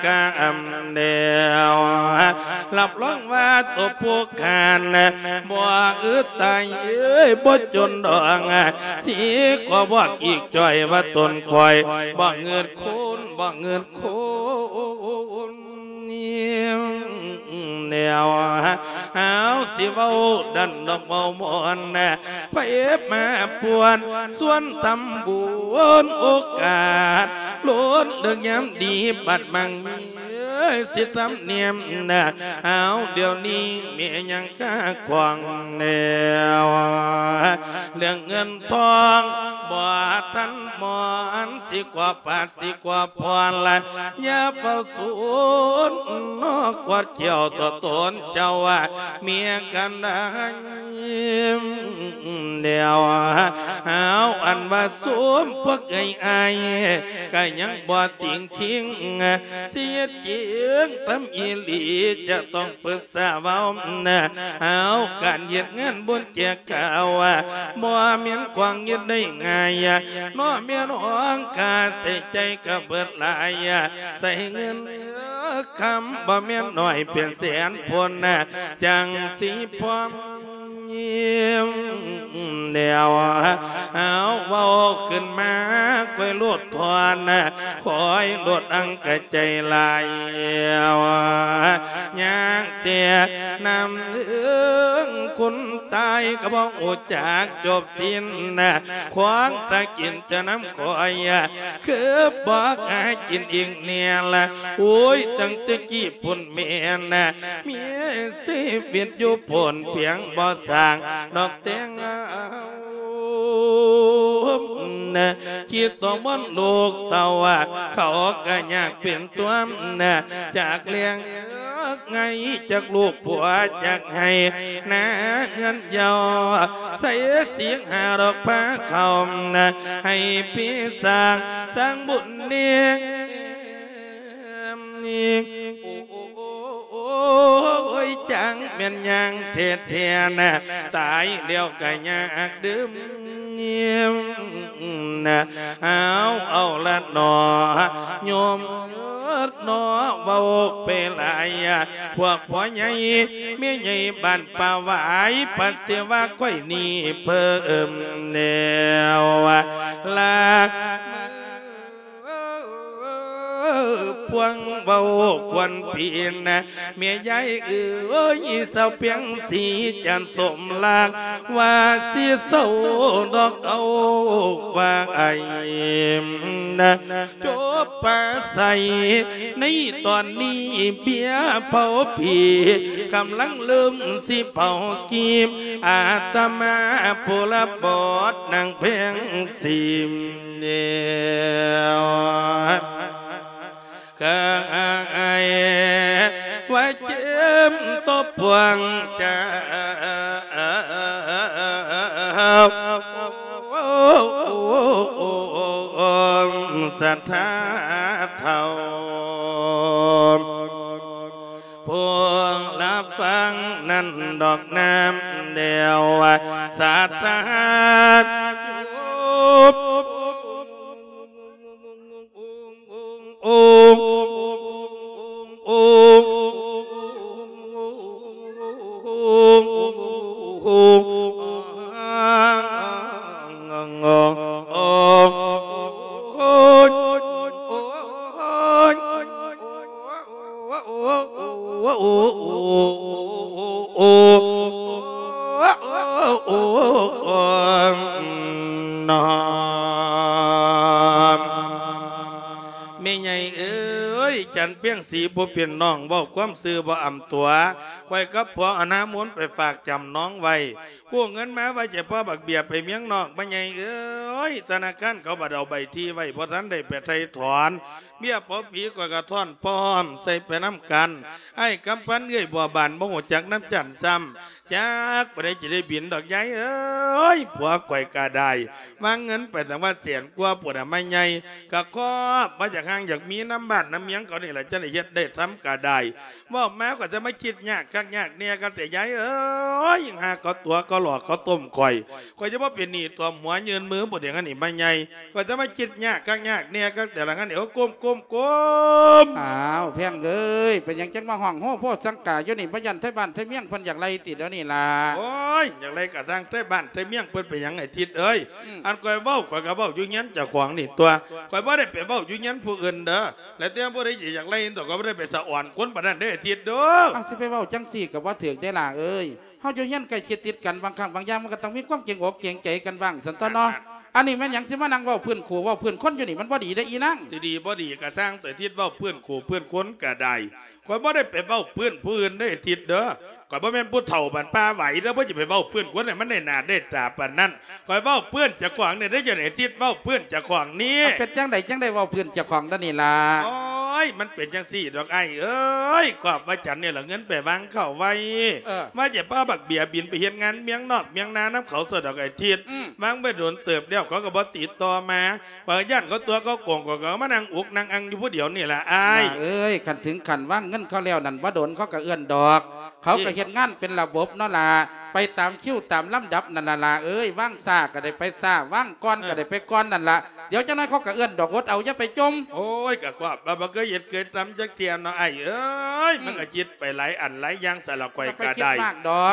ກຳແດວ ຮັບຮອງວ່າໂຕຜູ້ຂ້ານ ບໍ່ອຶດຕາຍເອີຍ ບໍ່ຈົນດອກ ຊິຂໍບອກອີກຈ່ອຍວ່າຕົນຂ້ອຍ ບໍ່ເງິດຄູນ ບໍ່ເງິດຄູນ ແນວ ເອົາ ຊິເວົ້າດັນດອກເວົ້າມ່ວນ ໄປມາປວນຊວນທຳບຸນ ໂອກາດລົ້ນເລິກຍາມດີ ບັດມັງມີ ເອີຍ ຊິທຳນຽມນະ ເອົາ ດຽວນີ້ແມ່ຍັງຄາຂວາງແນວ ເລື່ອງເງິນທອງບໍ່ທັນໝອນ ຊິກວ່າປາດ ຊິກວ່າພອນລະ ຢ່າເຝົ້າສູນ ນອກກວດແກ້ວຕໍ່ຕົນເຈົ້າວ່າ ເມຍກັນໄດ້ ແນວ ເອົາ ອັນວ່າຊຸມພວກເອື້ອຍອ້າຍ ກະຍັງບໍ່ຕິງທິງ ຊິເຮັດຈິງທຳອີ່ຫຼີ ຈະຕ້ອງປຶກສາເວົ້າ ເອົາ ການເຮັດງານບຸນແຈກຂ້າວ ບໍ່ແມ່ນຂວາງເຮັດໄດ້ງ່າຍ ເນາະແມ່ນ້ອງ ຄ່າໃຊ້ຈ່າຍກະເບິດຫຼາຍ ໃຊ້ເງິນຄຳບໍ່ແມ່ນໜ້ອຍ ເປັນແສນພຸ້ນ ຈັ່ງຊິພ້ອມ ແນວ ເອົາ ເວົ້າຂຶ້ນມາ ຂ້ອຍໂລດທອນ ຂ້ອຍໂລດອັງກະໃຈຫຼາຍ ຍາກແຕ່ນຳເອີງ ຄົນຕາຍກະບໍ່ຮູ້ຈັກຈົບສິ້ນ ຂວາງຕາກິນຈະນຳຂ້ອຍ ຄືບໍ່ຫາກິນອີກແນ່ລະ ໂອ້ຍ ຕັ້ງແຕ່ກີ້ພຸ້ນແມ່ນ ມີຊີວິດຢູ່ພຸ້ນ ພຽງບໍ່ສ້າງດອກແຕ່ງງານ ຄິດຕໍ່ບ່ອນລູກເຕົ້າ ເຂົາກະຍາກເປັນຕົວ ຈາກແລ້ງໄງ ຈາກລູກຜົວ ຈາກໄຮ່ນາເຮືອນເຍົາ ໃສ່ສິກຫາດອກພາເຂົ້າ ໃຫ້ພີ່ສ້າງ ສ້າງບຸນນີ້ ໂອ້ຍ ຈັ່ງແມ່ນຍ່າງແທ້ໆນະ ຕາຍແລ້ວກະຍາກດື່ມນະ ເອົາ ເອົາລະໜໍ່ໂຍມ ເນາະ ເວົ້າໄປຫຼາຍ ພວກພໍ່ໃຫຍ່ແມ່ໃຫຍ່ບ້ານປ່າຫວາຍ ປະເສວະຂ້ອຍນີ້ເພີ່ມແລ້ວລະ ພວງເວົ້າຄວນປີນ ແມ່ຍາຍເອີຍ ສາວພຽງສີຈັນສົມລັກ ວ່າຊິເຊົາດອກເອົາໄວ້ນະ ຈົບປາໄສໃນຕອນນີ້ ເບ້ຍເຜົາຜີກຳລັງເລີ່ມຊິເຜົາກີບ ອາດຕະມາຜູ້ລະບອດນາງແພງສີ ແລ້ວ ກະອາຍວ່າເຈັບຕົວພວງເຈົ້າ ສັດທາເຖົ້າ ພວກລະຟັງນັ້ນດອກນຳແລ້ວ ສັດທາ ໂອ້ ໂອ້ ໂອ້ ນ້ອມ ແມ່ໃຫຍ່ເອີຍ ຈັນພຽງສີຜູ້ເປັນນ້ອງ ເວົ້າຄວາມຊື່ບໍ່ອຳຕົວ ຂ້ອຍກັບຜົວເອົານາມຸນໄປຝາກຈຳນອງໄວ້ ກູ້ເງິນມາວ່າຈະພໍບັກເບ້ຍໄປເມືອງນອກ ແມ່ໃຫຍ່ເອີຍ ທະນາຄານເຂົາບັດເອົາໃບທີ່ໄວ້ ບໍ່ທັນໄດ້ໄປໄຖ່ຖອນ ເບ້ຍເຜົາຜີຂ້ອຍກະທ້ອນພ້ອມໃສ່ໄປນຳກັນ ອ້າຍກຳພັນເອື້ອຍບົວບານ ບໍ່ຮູ້ຈັກນຳຈັນຊ້ຳ ຈັກປານໃດຈະໄດ້ບິນດອກຍາຍເອີຍ ຜົວຂ້ອຍກະໄດ້ ວາງເງິນໄປຕັ້ງວ່າແສນກວ່າພຸ້ນນະ ມາໃຫຍ່ ກະຄອບມາຈາກຮ່າງ ຢາກມີນຳບ້ານນຳເມືອງເຂົານີ້ລະ ຈັ່ງໄດ້ເຮັດໄດ້ທຳກະໄດ້ ເວົ້າມາກໍຈະມາຄິດຍາກຄັກຍາກແນ່ກັນແຕ່ຍາຍເອີຍ ຫາເຂົາຕົວະເຂົາຫຼອກເຂົາຕົ້ມຂ້ອຍ ຂ້ອຍຈະບໍ່ເປັນໜີ້ຖ້ວມຫົວ ຍື່ນມືບໍ່ເຖິງອັນນີ້ມາໃຫຍ່ ກໍຈະມາຄິດຍາກຄັກຍາກແນ່ກັນແຕ່ລະງານນີ້ ໂອ້ ກົ້ມ ກ້ມໆ ອ້າວ ແພງເອີຍ ເປັນຫຍັງຈັ່ງມາຮ້ອງໂຮໂພສັງກາຢູ່ນີ້ ບໍ່ຢ້ານໄທບ້ານໄທເມືອງເພິ່ນຢາກໄລ່ຕິດຽວນີ້ລະ? ໂອ້ຍ ຢາກໄລ່ກະຊ່າງ ໄທບ້ານໄທເມືອງເພິ່ນເປັນຫຍັງໄອ້ທິດເອີຍ? ອືມ ອັນຂ້ອຍເວົ້າ ຂ້ອຍກະເວົ້າຢູ່ເຮືອນເຈົ້າຂອງນີ້ຕົວະ ຂ້ອຍບໍ່ໄດ້ໄປເວົ້າຢູ່ເຮືອນຜູ້ອື່ນເດີ ແລ້ວແຕ່ຜູ້ໃດຊິຢາກໄລ່ຕົວະ ຂ້ອຍບໍ່ໄດ້ໄປສະອອນຄົນປານນັ້ນເດ້ ທິດເດີ. ເອົາ ຊິໄປເວົ້າຈັ່ງຊີ້ກະບໍ່ຖືກເດ້ຫຼ້າເອີຍ. ເຮົາຢູ່ເຮືອນໃກ້ຊິດຕິດກັນ ບາງຄັ້ງບາງຢ່າງມັນກໍຕ້ອງມີຄວາມເກງອົກເກງໃຈກັນບ້າງ ຊັ້ນຕົວະເນາະ. ອັນນີ້ແມ່ນຫຍັງຊິມານັ່ງເວົ້າພື້ນຄູ່ເວົ້າພື້ນຄົນຢູ່ນີ້ ມັນບໍ່ດີເດ້ອີນາງ. ຊິດີບໍ່ດີກະຊ່າງ ແຕ່ທິດເວົ້າພື້ນຄູ່ພື້ນຄົນກະໄດ້ ຂ້ອຍບໍ່ໄດ້ໄປເວົ້າພື້ນຜູ້ອື່ນເດ້ທິດເດີ. ຂ້ອຍບໍ່ແມ່ນຜູ້ເຖົ້າບ້ານປ່າຫວາຍເດີ ບໍ່ຈະໄປເວົ້າພື້ນຄົນໃຫ້ມັນໄດ້ໜ້າໄດ້ຕາປານນັ້ນ. ຂ້ອຍເວົ້າພື້ນເຈົ້າຂອງນີ້ເດ້ ເຈົ້ານີ້ ທິດເວົ້າພື້ນເຈົ້າຂອງນີ້. ມັນເປັນຈັ່ງໃດຈັ່ງໄດ້ເວົ້າພື້ນເຈົ້າຂອງດຽວນີ້ລະ? ໂອ້ຍ ມັນເປັນຈັ່ງຊີ້ດອກອ້າຍເອີຍ ຄອບວ່າຈັນນີ້ລະເງິນໄປວາງເຂົ້າໄວ້ ເອີ ວ່າຈະພາບັກເບ້ຍບິນໄປເຮັດງານເມືອງນອກເມືອງນານຳເຂົາຊະດອກໄອ້ທິດ. ອືມ ວາງໄວ້ດົນເຕີບແລ້ວ ເຂົາກໍບໍ່ຕິດຕໍ່ມາ ຂ້ອຍຢ້ານເຂົາຕົວະເຂົາໂກງ ຂ້ອຍກໍມານັ່ງອຸກນັ່ງອັ່ງຢູ່ຜູ້ດຽວນີ້ລະອ້າຍ. ເອີຍ ຄັນເຖິງຂັ້ນວາງເງິນເຂົາແລ້ວນັ້ນ ບໍ່ດົນເຂົາກໍເອື້ອນດອກ. ເຂົາກໍເຮັດງານເປັນລະບົບເນາະຫຼ້າ ໄປຕາມຄິວຕາມລຳດັບນັ້ນລະຫຼ້າເອີຍ. ວາງຊ້າກໍໄດ້ໄປຊ້າ ວາງກ່ອນກໍໄດ້ໄປກ່ອນນັ້ນລະ. ດຽວຈັກໜ້ອຍເຂົາກໍເອື້ອນດອກ ອົດເອົາ ຢ່າໄປຈົ່ມ. ໂອ້ຍ ກໍຄວາມວ່າບໍ່ເຄີຍເຮັດເຄີຍທຳຈັກເທື່ອເນາະອ້າຍເອີຍ. ອືມ ມັນກໍຄິດໄປຫຼາຍອັນຫຼາຍຢ່າງ ສາລະຂ້ອຍກໍໄດ້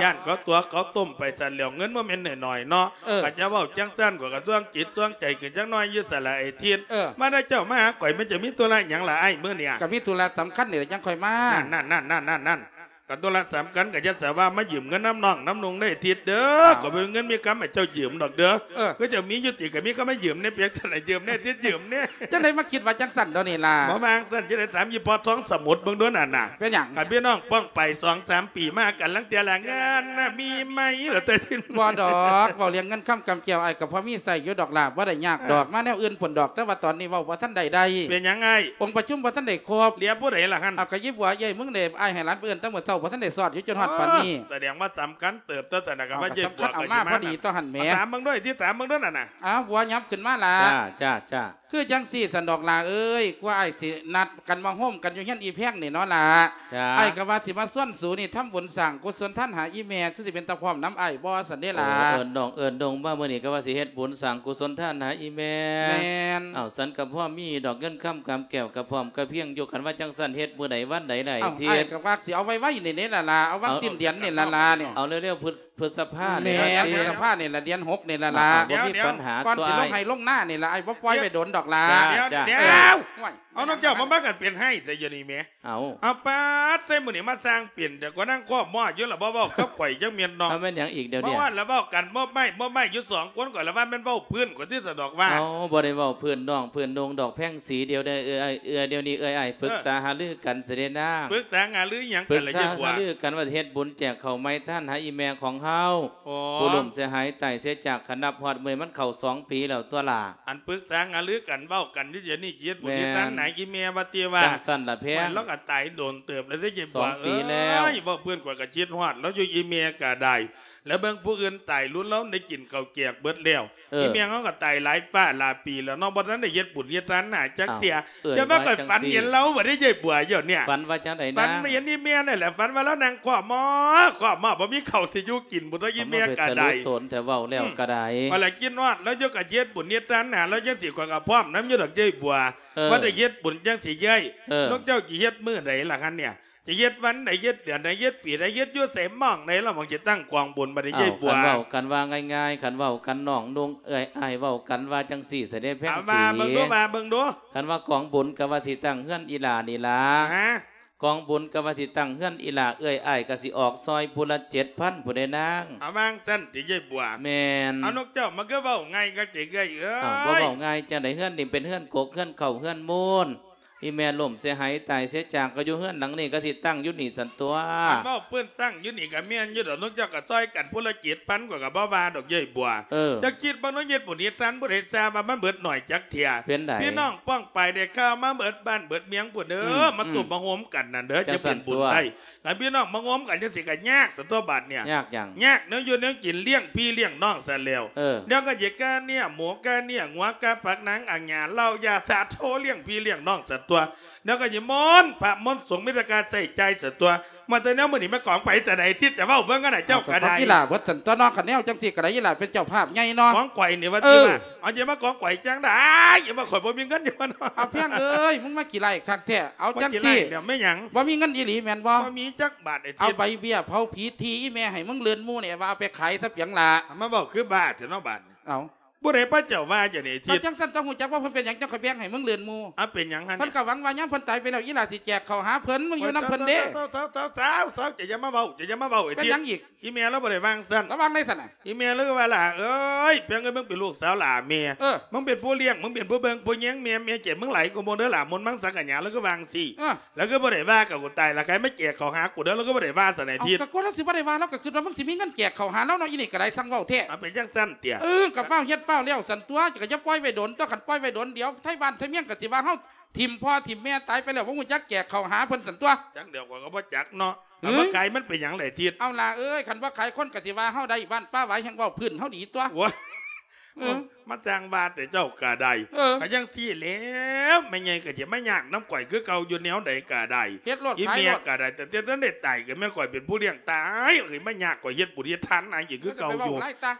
ຢ້ານເຂົາຕົວະເຂົາຕົ້ມໄປຊັ້ນແລ້ວ ເງິນບໍ່ແມ່ນໜ້ອຍໆເນາະ. ເອີ ຂ້ອຍຈະເວົ້າຈັ່ງຊັ້ນ ຂ້ອຍກໍຊ່ວງຈິດຊ່ວງໃຈຂຶ້ນຈັກໜ້ອຍຢູ່ ສາລະໄອ້ທິດ. ເອີ ມາແລ້ວເຈົ້າມາຫາຂ້ອຍ ມັນຈະມີທຸລະຫຍັງລະອ້າຍມື້ນີ້? ກໍມີທຸລະສຳຄັນນີ້ລະ ຈັ່ງຄ່ອຍມາ. ນັ້ນໆໆໆໆ ກໍທຸລະສຳຄັນກໍຢ່າສະວ່າມາຢືມເງິນນຳນ້ອງນຳນຸ່ງເດ້ທິດເດີ. ເອົາ ກໍບໍ່ມີເງິນມີຄຳໃຫ້ເຈົ້າຢືມດອກເດີ. ເອີ ຄືເຈົ້າມີຢູ່ຕິ ກໍມີຄຳມາຢືມແດ່ ເປັນຈັ່ງໃດ ຢືມແດ່ທິດ ຢືມແດ່. ຈັ່ງໃດມາຄິດວ່າຈັ່ງຊັ້ນດຽວນີ້ລະ? ບໍ່ວ່າຈັ່ງຊັ້ນ ຈະໄດ້ຖາມອີ່ພໍ່ທອງສະໝຸດເບິ່ງດູນັ້ນນະ. ເປັນຫຍັງ? ຄັນພີ່ນ້ອງປ້ອງໄປສອງສາມປີມາກັນ ລາງເທື່ອລະເງິນນະມີໃໝ່ລະແຕ່. ບໍ່ດອກ ເວົ້າເລື່ອງເງິນຄຳກຳແກ້ວ ອ້າຍກໍພໍມີໃຊ້ຢູ່ດອກລະ ບໍ່ໄດ້ຍາກດອກ. ເອີ ມາແນວອື່ນພຸ້ນດອກ ແຕ່ວ່າຕອນນີ້ເວົ້າບໍ່ທັນໄດ້ໄດ້. ເປັນຫຍັງອ້າຍ? ອົງປະຊຸມບໍ່ທັນໄດ້ຄົບ. ເຫຼືອຜູ້ໃດລະຫັ້ນ? ເອົາ ກໍອີ່ບົວເອື້ອຍມຶງເດ້ ອ້າຍໃຫ້ຫຼານໄປເອີ້ນແຕ່ມື້ ຈົ້າບໍ່ທັນໄດ້ຊອດຢູ່ຈົນຮອດປານນີ້. ໂອ້ ສະແດງວ່າສຳຄັນເຕີບຕົວະຊັ້ນນະ ກໍວ່າເຈົ້າບົວກໍຊິມາ ພໍດີຕົວຫັ້ນແໝ. ຖາມເບິ່ງດ້ວຍຕິ ຖາມເບິ່ງດ້ວຍນັ້ນນະ. ອ້າວ ບົວ ຫຍັບຂຶ້ນມາລະ. ຈ້າ ຈ້າ ຈ້າ. ຄືຈັ່ງຊີ້ຊັ້ນດອກຫຼ້າເອີຍ ກວ່າອ້າຍຊິນັດກັນມາໂຮມກັນຢູ່ເຮືອນອີ່ແພງນີ້ເນາະຫຼ້າ. ຈ້າ. ອ້າຍກໍວ່າຊິມາຊວນສູນີ້ທຳບຸນສ້າງກຸສົນທານຫາອີ່ແມ່ ຄືຊິເປັນຕາພ້ອມນຳອ້າຍບໍ່ຊັ້ນເດ້ຫຼ້າ. ໂອ້ ເອີ້ນນ້ອງເອີ້ນດົງມາມື້ນີ້ ກໍວ່າຊິເຮັດບຸນສ້າງກຸສົນທານຫາອີ່ແມ່. ແມ່ນ. ເອົ້າ ສັນກໍພໍມີດອກ ເງິນຄຳກຳແກ້ວກໍພ້ອມກະພຽງຢູ່. ຄັນວ່າຈັ່ງຊັ້ນເຮັດມື້ໃດວັນໃດລະ? ເອົ້າ ອ້າຍກໍວ່າຊິເອົາໄວໆນີ້ເດ້ລະຫຼ້າ ເອົາວັນສິ້ນເດືອນນີ້ລະຫຼ້ານີ້. ເອົາເລັວໆ ພຶດ ພຶດສະພານີ້ລະ. ແມ່ນ ຕິ ພຶດສະພານີ້ລະ ເດືອນຫົກນີ້ລະຫຼ້າ. ອ່າ ບໍ່ມີ ດຽວ ປັນຫາ ກ່ອນຊິລົງໃຫ້ລົງນານີ້ລະ ອ້າຍບໍ່ປ່ອຍໄວ້ດົນດອກຫຼ້າ. ດຽວ ດຽວ ໂອ້ຍ ເອົານ້ອງເຈົ້າມາ ມາກັນເປັນໄຫ້ແຕ່ຢູ່ນີ້ແໝ. ເອົາ ເອົາປາດ ໃສ່ມື້ນີ້ມາສ້າງເປັນແຕ່ກວ່ານາງຄອບໝໍຢູ່ລະ ບໍ່ເວົ້າກັບຂ້ອຍຈັກເມັດເນາະ. ເອົາແມ່ນຫຍັງອີກດຽວນີ້? ເພາະວ່າລະເວົ້າກັນ ມອບໄມ້ ມອບໄມ້ຢູ່ສອງຄົນ ຂ້ອຍລະວ່າແມ່ນເວົ້າພື້ນ ຂ້ອຍຕິສະດອກວ່າ. ເອົາ ບໍ່ໄດ້ເວົ້າພື້ນນ້ອງ ພື້ນນຸ່ງດອກແພງສີ ດຽວນີ້ເອື້ອຍ ເອື້ອຍ ດຽວນີ້ເອື້ອຍອ້າຍປຶກສາຫາລືກັນຊິເດ້ນາງ. ປຶກສາຫາລືຫຍັງກັນລະເຈົ້າບົວ? ປຶກສາຫາລືກັນວ່າຊິເຮັດບຸນແຈກເຂົ້າໃໝ່ທານຫາອີ່ແມ່ຂອງເຮົາ. ໂອ້ ຜູ້ລົ້ມເສຍຫາຍຕາຍເສຍຈາກ ຄັນນັບຮອດມື້ມັນເຂົ້າສອງປີແລ້ວຕົວະຫຼ້າ. ອັນປຶກສາຫາລືກັນເວົ້າກັນຢູ່ດຽວນີ້ ຊິເຮັດບຸນເຮັດທານໃຫ້ອີ່ແມ່ວ່າຕິວ່າ. ຈັ່ງຊັ້ນລະແພງ. ໂອ້ຍ ລາວກໍຕາຍດົນເຕີບແລ້ວເດ້ ເຈັບປວດ ສອງປີແລ້ວ. ເອີຍ ເວົ້າເພິ່ນຂ້ອຍກໍຄິດຮອດລາວຢູ່ ອີ່ແມ່ກໍໄດ້. ແລ້ວເບິ່ງຜູ້ອື່ນຕາຍລຸນລາວໄດ້ກິນເຂົ້າແຈກເບິດແລ້ວ. ເອີ ອີ່ແມ່ເຮົາກໍຕາຍຫຼາຍຟ້າຫຼາຍປີແລ້ວເນາະ ບໍ່ທັນໄດ້ເຮັດບຸນເຮັດທານໃຫ້ຈັກເທື່ອ. ເອົ້າ ຢ່າມາຂ້ອຍຝັນເຫັນລາວບັດເດ້ ເຈົ້າບົວ ດຽວນີ້. ຝັນວ່າຈັ່ງໃດນະ? ຝັນເຫັນອີ່ແມ່ນັ້ນແຫຼະ ຝັນວ່າລາວນັ່ງຄອບໝໍ ຄອບໝໍ ບໍ່ມີເຂົ້າຊິຢູ່ກິນພຸ້ນຕົວະ ອີ່ແມ່ກໍໄດ້. ເອົາ ມາເປັນຕາລຸໂຕນແທ້ ເວົ້າແລ້ວ ອືມ ກໍໄດ້. ວ່າລະຄິດຮອດລາວຢູ່ ກໍເຮັດບຸນເຮັດທານຫາລາວຈັ່ງຊີ້ ຂ້ອຍກໍພ້ອມນຳຢູ່ດອກ ເຈົ້າບົວ. ເອີ ວ່າແຕ່ເຮັດບຸນຈັ່ງຊີ້ເອື້ອຍ. ເອີ ນ້ອງເຈົ້າຊິເຮັດມື້ໃດລະຄັນນີ້? ຈະເຮັດວັນໃດ ເຮັດເດືອນໃດ ເຮັດປີໃດ ເຮັດຢູ່ໃສ ໝ່ອງໃດລະ ໝ່ອງຈະຕັ້ງກອງບຸນບັດນີ້ ເຈົ້າບົວ? ຄັນເວົ້າກັນວ່າງ່າຍໆ ຄັນເວົ້າກັນນ້ອງນຸ່ງເອື້ອຍອ້າຍ ເວົ້າກັນວ່າຈັ່ງຊີ້ຊະເດ້ແພງສີ. ເອົາ ວ່າເບິ່ງດູ ວ່າເບິ່ງດູ. ຄັນວ່າກອງບຸນກໍວ່າຊິຕັ້ງເຮືອນອີ່ຫຼ້ານີ້ລະ. ຮະ? ກອງບຸນກໍວ່າຊິຕັ້ງເຮືອນອີ່ຫຼ້າ ເອື້ອຍອ້າຍກໍຊິອອກຊ່ອຍຜູ້ລະເຈັດພັນພຸ້ນເດ້ນາງ. ເອົາ ວ່າຈັ່ງຊັ້ນຕິ ເຈົ້າບົວ? ແມ່ນ. ເອົາ ນ້ອງເຈົ້າມັນຄືເວົ້າງ່າຍຄັກແທ້ ເອື້ອຍເອີຍ. ເອົ້າ ບໍ່ເວົ້າງ່າຍຈັ່ງໃດ? ເຮືອນນີ້ເປັນເຮືອນກົກ ເຮືອນເຂົ້າ ເຮືອນມູນ. ອີ່ແມ່ລົ້ມເສຍຫາຍຕາຍເສຍຈາກ ກໍຢູ່ເຮືອນຫຼັງນີ້ ກໍຊິຕັ້ງຢູ່ນີ້ຊັ້ນຕົວະ. ຄັນເວົ້າເພິ່ນຕັ້ງຢູ່ນີ້ກໍແມ່ນຢູ່ດອກ ນ້ອງເຈົ້າກໍຊ່ອຍກັນຜູ້ລະເຈັດພັນ ຂ້ອຍກໍບໍ່ວ່າດອກ ເຈົ້າບົວ. ເອີ ເຈົ້າຄິດເບິ່ງເນາະ ເຮັດບຸນເຮັດທານ ຜູ້ໃດຊາບວ່າມັນເບິດໜ້ອຍຈັກເທື່ອ. ເປັນໃດ? ພີ່ນ້ອງປ້ອງປາຍໄດ້ຂ່າວມາເບິດບ້ານເບິດເມືອງພຸ້ນເດີ. ອືມ ມາ ອືມ ຕຸ້ມມາໂຮມກັນນັ້ນເດີ ຈັ່ງຊັ້ນ ຈະເປັນບຸນໄດ້. ຄັນພີ່ນ້ອງມາໂຮມກັນຈັ່ງຊີ້ກໍຍາກຊັ້ນຕົວະບາດນີ້. ຍາກຫຍັງ? ຍາກແນວຢູ່ແນວກິນ ລ້ຽງພີ່ລ້ຽງນ້ອງຊັ້ນແລ້ວ. ເອີ ແລ້ວກໍຈະກາເນື້ອໝູ ກາເນື້ອງົວ ກາຜັກໜັງອາຫຍັງ ເຫຼົ້າຢາສາໂທ ລ້ຽງພີ່ລ້ຽງນ້ອງຊັ້ນຕົວະ. ແລ້ວກໍນິມົນພະມົນສົງ ມີແຕ່ການໃຊ້ຈ່າຍຊັ້ນຕົວະ. ມາແຕ່ແນວມື້ນີ້ ແມ່ນຂອງໃຜແຕ່ໃດ ທີ່ຈະເວົ້າເບິ່ງກັນນະ ເຈົ້າກໍໄດ້. ເອົາ ກໍຂອງອີ່ຫຼ້າເບິດຊັ້ນຕົວະເນາະ ຄັນແນວຈັ່ງຊີ້ກໍໄດ້ ອີ່ຫຼ້າເປັນເຈົ້າພາບໃຫຍ່ເນາະ. ຂອງຂ້ອຍນີ້ວ່າ ເອີ ຕິວ່າ ເອົາ ຢ່າມາຂອງຂ້ອຍຈັ່ງໃດ ຢ່າມາ ຂ້ອຍບໍ່ມີເງິນຢູ່ເນາະ. ເອົາ ແພງເອີຍ ມຶງມາຂີ້ໄລ່ຄັກແທ້. ເອົາ ຈັ່ງຊີ້ ມາຂີ້ໄລ່ແລ້ວແມ່ນຫຍັງ? ບໍ່ມີເງິນອີ່ຫຼີແມ່ນບໍ່? ບໍ່ມີຈັກບາດ ໄອ້ທິດ. ເອົາໃບເບ້ຍເຜົາຜີທີ່ອີ່ແມ່ໃຫ້ມຶງເລື່ອນໝູ່ນີ້ ວ່າເອົາໄປຂາຍຊະປຽງລະ. ມາເວົ້າຄືບ້າແທ້ເນາະບາດນີ້. ເອົາ ຜູ້ໃດພະເຈົ້າວ່າຈັ່ງນີ້ ທິດ? ເຈົ້າຈັ່ງຊັ້ນຕ້ອງຮູ້ຈັກວ່າເພິ່ນເປັນຫຍັງຈັ່ງຄ່ອຍແບ່ງໃຫ້ມຶງເລື່ອນໝູ່. ເອົາ ເປັນຫຍັງຫັ້ນ? ເພິ່ນກໍຫວັງວ່າຍາມເພິ່ນຕາຍໄປແລ້ວ ອີ່ຫຼ້າຊິແຈກເຂົ້າຫາເພິ່ນ ມຶງຢູ່ນຳເພິ່ນເດ້. ເອົາ ເຈົ້າ ເຈົ້າ ເຈົ້າ ເຈົ້າ ເຈົ້າ ເຈົ້າ ຢ່າມາເວົ້າ ເຈົ້າຢ່າມາເວົ້າ ໄອ້ທິດ. ເປັນຫຍັງອີກ? ອີ່ແມ່ລາວບໍ່ໄດ້ວ່າຈັ່ງຊັ້ນ. ລາວວ່າຈັ່ງໃດຊັ້ນນະ? ອີ່ແມ່ລາວວ່າ ຫຼ້າເອີຍ ເປັນຫຍັງ ມຶງເປັນລູກສາວຫຼ້າແມ່ ເອີ ມຶງເປັນຜູ້ລ້ຽງ ມຶງເປັນຜູ້ເບິ່ງຜູ້ແຍງແມ່ ແມ່ໃຈມຶງຫຼາຍກວ່າໝູ່ເດີຫຼ້າ ມົນມັງສັງກະຫຍາ ລາວຄືວ່າຈັ່ງຊີ້. ເອີ ລາວຄືບໍ່ໄດ້ວ່າກັບກູຕາຍ ລະໃຜມາແຈກເຂົ້າຫາກູເດີ ລາວຄືບໍ່ໄດ້ວ່າຊັ້ນ ໄອ້ທິດ. ເອົາ ກໍກວ່າລາວຊິບໍ່ໄດ້ວ່າ ລາວກໍຄິດວ່າມຶງຊິມີເງິນແຈກເຂົ້າຫາລາວເນາະ ອີ່ນີ້ກໍໄດ້ ຊ່າງເວົ້າແທ້. ເອົາ ເປັນຈັ່ງຊັ້ນຕິ? ເອີ ກໍຟ້າວເຮັດຟ້າວແລ້ວຊັ້ນຕົວະ ກໍຢ່າປ່ອຍໄວ້ດົນຕົວະ ຄັນປ່ອຍໄວ້ດົນ ດຽວໄທບ້ານໄທເມືອງກໍຊິວ່າເຮົາ ຖິ້ມພໍ່ຖິ້ມແມ່ຕາຍໄປແລ້ວ ບໍ່ຮູ້ຈັກແຈກເຂົ້າຫາເພິ່ນຊັ້ນຕົວະ. ຈັກແລ້ວ ຂ້ອຍກໍບໍ່ຈັກເນາະ. ຫື ເອົາ ມາຂາຍມັນເປັນຫຍັງລະທິດ? ເອົາລະເອີຍ ຄັນບໍ່ຂາຍຄົນກໍຊິວ່າເຮົາໄດ້ ບ້ານປ່າຫວາຍແຮ່ງເວົ້າພື້ນເຮົາດີຕົວະ. ໂອ້ຍ ເອີ ມາຈ້າງວ່າແຕ່ເຈົ້າກໍໄດ້. ເອີ ກໍຈັ່ງຊີ້ແຫຼະ ແມ່ໃຫຍ່ກໍຊິມາຍາກນຳຂ້ອຍຄືເກົ່າຢູ່ແນວໃດກໍໄດ້ ເຮັດໂລດ ອີ່ແມ່ກໍໄດ້ ຂາຍໂລດ ຕັ້ງແຕ່ທັນໄດ້ຕາຍກໍແມ່ນຂ້ອຍເປັນຜູ້ລ້ຽງຕາຍ ເອີຍ ມາຍາກຂ້ອຍເຮັດບຸນເຮັດທານນາງອີກຄືເກົ່າຢູ່.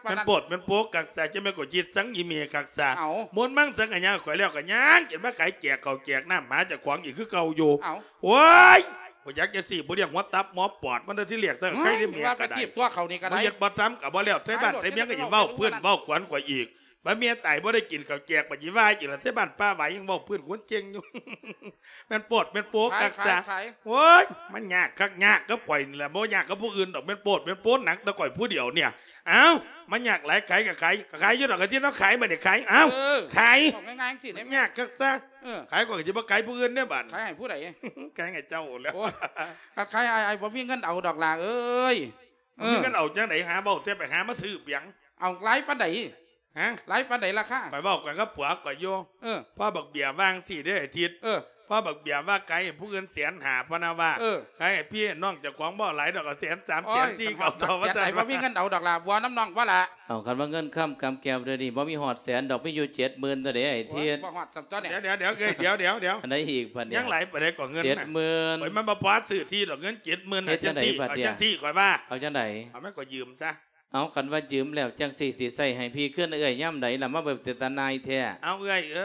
ມັນໂພດແມ່ນໂພກັກຊະ ຈະແມ່ນຂ້ອຍຄິດສັງອີ່ແມ່ຄັກຊະ. ເອົາ ມົນມັງສັງກະຫຍັງ ຂ້ອຍແລ້ວກໍຍັງຈະມາຂາຍແຈກເຂົ້າແຈກນ້ຳຫາເຈົ້າຂອງອີກຄືເກົ່າຢູ່. ເອົາ ໂອ້ຍ ບໍ່ຢາກຈະຊິບໍ່ລ້ຽງຫົວຕັບໝໍປອດມັນເດີ ທີ່ແລກ ໂອ້ຍ ໃຄໄດ້ແມ່ກໍໄດ້ ວ່າໄປຈີບຕົວະເຂົານີ້ກໍໄດ້ ບໍ່ເຮັດບໍ່ທຳກໍບໍ່ແລ້ວ ໄທບ້ານໄທເມືອງກໍຊິເວົ້າພື້ນເວົ້າກວນຂ້ອຍອີກ ບາດແມ່ຕາຍບໍ່ໄດ້ກິນເຂົ້າແຈກ ບາດຊິວ່າອີກລະ ໄທບ້ານປ່າຫວາຍຍັງເວົ້າພື້ນຄົນເກັ່ງຢູ່. ແມ່ນໂພດແມ່ນໂພກັກຊະ. ໂອ້ຍ ມັນຍາກຄັກຍາກກັບຂ້ອຍນີ້ລະ ບໍ່ຍາກກັບຜູ້ອື່ນດອກ ແມ່ນໂພດແມ່ນໂພໜັກແຕ່ຂ້ອຍຜູ້ດຽວນີ້. ເອົ້າ ມັນຍາກຫຼາຍ ຂາຍກໍຂາຍ ກໍຂາຍຢູ່ດອກ ກະຊິເນາະ ຂາຍບັດນີ້ຂາຍ. ເອົ້າ ເອີ ຂາຍ ເອົາງ່າຍໆ ມັນຍາກຄັກຊະ. ເອີ ຂາຍຂ້ອຍກໍຊິບໍ່ຂາຍຜູ້ອື່ນເດ້ບາດ ຂາຍໃຫ້ຜູ້ໃດ? ຂາຍໃຫ້ເຈົ້າແລ້ວ. ໂອ້ຍ ຄັນຂາຍອ້າຍ ອ້າຍບໍ່ມີເງິນເອົາດອກຫຼ້າເອີຍ. ເອີ ມີເງິນເອົາຈັ່ງໃດ ຫາເວົ້າແທ້ ໄປຫາມາຊື້ເປັນຫຍັງ? ເອົາຫຼາຍປານໃດ? ຮະ? ຫຼາຍປານໃດລາຄາ? ຂ້ອຍເວົ້າກັນກັບຜົວຂ້ອຍຢູ່. ເອີ ພໍ່ບັກເບ້ຍວ່າຈັ່ງຊີ້ເດ້ ອາທິດ. ເອີ ພໍບັກເບຍວ່າຂາຍໃຫ້ຜູ້ອື່ນແສນຫ້າ ພະນະວ່າ ເອີ ຂາຍໃຫ້ພີ່ນ້ອງເຈົ້າຂອງບໍ່ຫຼາຍດອກ ເອົາແສນສາມ ໂອ້ຍ ແສນສີ່ ກະເອົາຕໍ່ວ່າຊັ້ນ ບໍ່ມີເງິນເອົາດອກລະ ບົວນຳນ້ອງບໍ່ລະ. ເອົາ ຄັນວ່າເງິນຄຳກຳແກ້ວດຽວນີ້ ບໍ່ມີຮອດແສນດອກ ມີຢູ່ເຈັດໝື່ນເທົ່າໃດ ໄອ້ທິດ. ໂອ້ຍ ບໍ່ຮອດຊ້ຳຕົວນີ້. ດຽວໆໆ ເອີຍ ດຽວໆໆ ອັນໃດອີກບັດນີ້? ຍັງຫຼາຍປານໃດກໍເງິນນະ? ເຈັດໝື່ນ. ໂອ້ຍ ມັນບໍ່ພໍຊື້ທີ່ດອກ ເງິນເຈັດໝື່ນນະ. ເຮັດຈັ່ງໃດບັດນີ້? ຈັ່ງຊີ້ຂ້ອຍວ່າ ເອົາຈັ່ງໃດ? ເອົາ ມັນກໍຢືມຊະ. ເອົາ ຄັນວ່າຢືມແລ້ວຈັ່ງຊີ້ ຊິໃຊ້ໃຫ້ພີ່ຄືນເອື້ອຍຍາມໃດລະ ມາເວົ້າເປັນຕາໜ່າຍແທ້? ເອົາ ເອື້ອຍເອ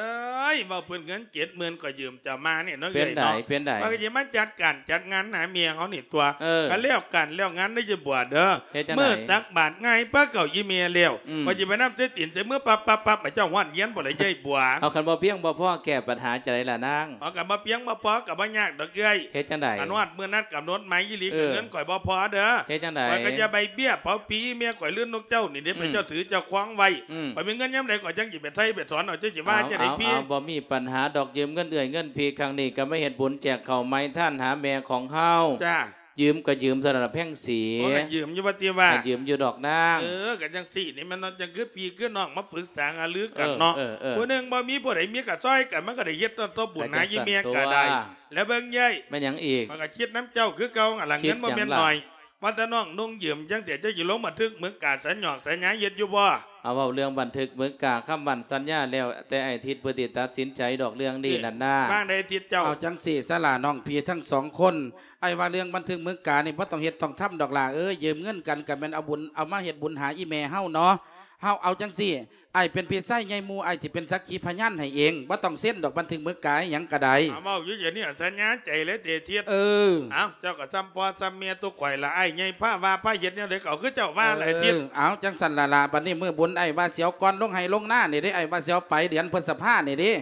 ີຍ ເວົ້າເພິ່ນເງິນເຈັດໝື່ນ ຂ້ອຍຢືມເຈົ້າມານີ້ເນາະ ເປັນໃດ ເອື້ອຍເນາະ ເປັນໃດ? ວ່າກໍຊິມາຈັດການຈັດງານຫາແມ່ເຮົານີ້ຕົວະ. ເອີ ຄັນແລ້ວການແລ້ວງານ ໄດ້ຈະບວດເດີ. ເຮັດຈັ່ງໃດ? ມື້ຕັກບາດ ງ່າຍປາເກົ້າອີ່ແມ່ແລ້ວ ອືມ ຂ້ອຍຊິໄປນຳໃສ່ຕີນໃສ່ມືປັບໆໆ ໃຫ້ເຈົ້າຮອດຮຽນພຸ້ນລະ ຍາຍບົວ. ເອົາ ຄັນບໍ່ພຽງບໍ່ພໍ ແກ້ປັນຫາຈັ່ງໃດລະນາງ? ເອົາ ຄັນບໍ່ພຽງບໍ່ພໍ ກໍບໍ່ຍາກດອກເອື້ອຍ. ເຮັດຈັ່ງໃດ? ຄັນຮອດມື້ນັດກຳນົດໝາຍອີ່ຫຼີ ເອີ ເງິນຂ້ອຍບໍ່ພໍເດີ. ເຮັດຈັ່ງໃດ? ຂ້ອຍກໍຈະໃບເບ້ຍເຜົາຜີອີ່ແມ່ຂ້ອຍ ຫຼືນົກເຈົ້ານີ້ເດ້ ອືມ ເປັນເຈົ້າຖືເຈົ້າຄອງໄວ້. ອືມ ຂ້ອຍມີເງິນຍາມໃດ ຂ້ອຍຈັ່ງຊິໄປໄຖ່ໄປຖອນເອົາ ເຈົ້າຊິວ່າຈັ່ງໃດພີ່? ເອົາໆໆ ບໍ່ມີປັນຫາດອກ ຢືມເງິນເອື້ອຍເງິນພີ່ຄັ້ງນີ້ ກໍມາເຮັດບຸນແຈກເຂົ້າໃໝ່ທານຫາແມ່ຂອງເຮົາ. ຈ້າ ຢືມກໍຢືມເທົ່ານັ້ນລະແພງສີ. ໂອ້ ກໍຢືມຢູ່ວ່າຕິວ່າ ກໍຢືມຢູ່ດອກນາງ. ເອີ ກໍຈັ່ງຊີ້ນີ້ແມ່ນເນາະ ຈັ່ງຄືພີ່ຄືນ້ອງມາປຶກສາຫາລືກັນເນາະ. ເອີ ເອີ ເອີ ຜູ້ໜຶ່ງບໍ່ມີຜູ້ໃດມີກໍຊ່ອຍກັນ ມັນກໍໄດ້ເຮັດຕໍ່ບຸນຫາອີ່ແມ່ກໍໄດ້. ແລ້ວເບິ່ງເອື້ອຍ ແມ່ນຫຍັງອີກ? ຂ້ອຍກໍຄິດນຳເຈົ້າຄືເກົ່າຫັ້ນລະ ເງິນບໍ່ແມ່ນໜ້ອຍ. ວ່າແຕ່ນ້ອງນຸ່ງຢືມຈັ່ງຊີ້ ເຈົ້າຊິລົງບັນທຶກໝຶກກາສັນຫຍອກສັນຍາເຮັດຢູ່ບໍ່? ເອົາ ເວົ້າເລື່ອງບັນທຶກໝຶກກາຄຳໝັ້ນສັນຍາແລ້ວແຕ່ອ້າຍທິດເພິ່ນຊິຕັດສິນໃຈດອກເລື່ອງນີ້ນັ້ນນາ. ວ່າໄດ້ທິດເຈົ້າ. ເອົາຈັ່ງຊີ້ສາລະ ນ້ອງພີ່ທັງສອງຄົນ ອ້າຍວ່າເລື່ອງບັນທຶກໝຶກການີ້ບໍ່ຕ້ອງເຮັດຕ້ອງທຳດອກຫຼ້າເອີຍ. ຢືມເງິນກັນກໍແມ່ນເອົາບຸນ ເອົາມາເຮັດບຸນຫາອີ່ແມ່ເຮົາເນາະ. ເຮົາເອົາຈັ່ງຊີ້ ອ້າຍເປັນພີ່ຊາຍໃຫຍ່ໝູ່ ອ້າຍຊິເປັນສັກຂີພະຍານໃຫ້ເອງ ບໍ່ຕ້ອງເຊັນດອກບັນທຶກໝຶກກາອີ່ຫຍັງກໍໄດ້. ເອົາ ເວົ້າຢູ່ດຽວນີ້ສັນຍາໃຈເລີຍເຕທິດ. ເອີ ເອົ້າ ເຈົ້າກໍສ່ຳພໍ່ສ່ຳແມ່ຕົວະ ຂ້ອຍລະ ອ້າຍໃຫຍ່ພາວ່າພາເຮັດແນວໃດກໍເອົາຄືເຈົ້າວ່າລະ ເອີ ເຕທິດ. ເອົ້າ ຈັ່ງຊັ້ນລະລະ ບັດນີ້ມື້ບຸນອ້າຍວ່າຊິເອົາກ່ອນລົງໄຮ່ລົງນານີ້ເດ້ ອ້າຍວ່າຊິເອົາໄປເດືອນພຶດສະພານີ້ເດ້.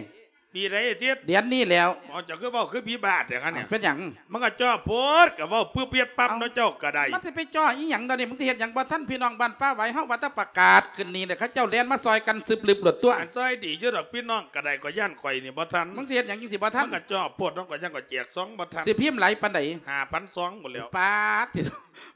ປີໃດເຕທິດ? ເດືອນນີ້ແລ້ວ. ເອົ້າ ເຈົ້າຄືເວົ້າຄືຜີບ້າແທ້ຫັ້ນນະ? ເປັນຫຍັງ? ມັນກໍເຈາະໂພດ ກໍເວົ້າປຶບເປັດປັບເນາະ ເຈົ້າກໍໄດ້. ມັນຊິໄປເຈາະອີ່ຫຍັງດຽວນີ້? ມັນຊິເຮັດຫຍັງບໍ່ທັນ ພີ່ນ້ອງບ້ານປ່າຫວາຍເຮົາ ວ່າແຕ່ປະກາດຂຶ້ນນີ້ແຫຼະ ເຂົາເຈົ້າແລ່ນມາຊ່ອຍກັນຊຶບລຶບໂລດຕົວະ. ອັນຊ່ອຍດີຢູ່ດອກ ພີ່ນ້ອງກໍໄດ້ ກໍຢ້ານຂ້ອຍນີ້ບໍ່ທັນ. ມັນຊິເຮັດຫຍັງຈັ່ງຊິບໍ່ທັນ? ມັນກໍເຈາະໂພດເນາະ ກໍຍັງກໍແຈກຊອງບໍ່ທັນ. ຊິພິມຫຼາຍປານໃດ? ຫ້າພັນຊອງພຸ້ນແຫຼ້ວ. ປາດ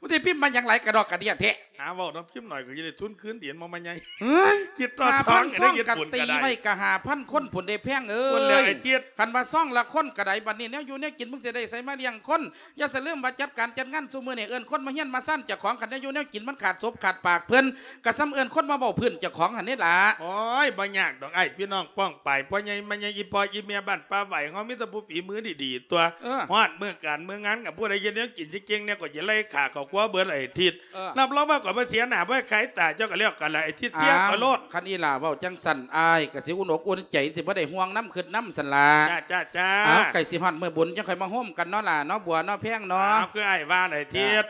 ມັນຊິພິມມາຫຍັງຫຼາຍກະດອກກະເດຍແທ້? ຫາເວົ້ານຳພິມໜ້ອຍ ກໍຈະໄດ້ທຶນຄືນ ເດີນມາໃໝ່ໃຫຍ່. ເອີຍ ຄິດຕໍ່ຊອງກໍໄດ້ ເຮັດບຸນກໍໄດ້. ຫ້າພັນຊອງກໍຕີໄວ້ກໍຫ້າພັນຄົນພຸ້ນເດ້ແພງເອີຍ. ພຸ້ນແຫຼະໄອ້ເຈັດ ຄັນວ່າຊອງລະຄົນກໍໄດ້ ບັດນີ້ແນວຢູ່ແນວກິນ ມຶງຊິໄດ້ໃສມາລ້ຽງຄົນ? ຢ່າສະລືມວ່າຈັດການຈັດງານຊຸມື້ນີ້ ເອີ້ນຄົນມາຮຽນມາຊານເຈົ້າຂອງ ຄັນແນວຢູ່ແນວກິນມັນຂາດສົບຂາດປາກເພິ່ນ ກໍສ່ຳເອີ້ນຄົນມາເວົ້າພື້ນເຈົ້າຂອງຫັ້ນເດ້ລະ. ໂອ້ຍ ບໍ່ຍາກດອກອ້າຍ ພີ່ນ້ອງປ້ອງປາຍ ພໍ່ໃຫຍ່ແມ່ໃຫຍ່ ອີ່ພໍ່ອີ່ແມ່ບ້ານປ່າໄຫວເຮົາ ມີແຕ່ຜູ້ຝີມືດີໆຕົວະ. ເອີ ຮອດມື້ການມື້ງານ ຄັນຜູ້ໃດເຮັດແນວກິນເກັ່ງໆແດ່ ກໍຈະໄລ່ຂ້າເຂົ້າຄົວເບິດໄອ້ທິດ. ເອີ ຮັບຮອງວ່າຂ້ອຍບໍ່ເສຍໜ້າ ບໍ່ໃຫ້ຂາຍຕາເຈົ້າກໍແລ້ວກັນລະ ໄອ້ທິດເສຍຂ້ອຍໂລດ. ຄັນອີ່ຫຼ້າເວົ້າຈັ່ງຊັ້ນ ອ້າຍກໍຊິອຸ່ນອົກອຸ່ນໃຈ ຊິບໍ່ໄດ້ຫ່ວງນຳ ຄິດນຳຊັ້ນລະ. ຈ້າ ຈ້າ ເອົ້າ ໃກ້ຊິຮອດມື້ບຸນ ຈັ່ງຄ່ອຍມາໂຮມກັນເນາະຫຼ້າເນາະ ບົວເນາະ ແພງເນາະ. ເອົ້າ ຄືອ້າຍວ່າໄອ້ທິດ.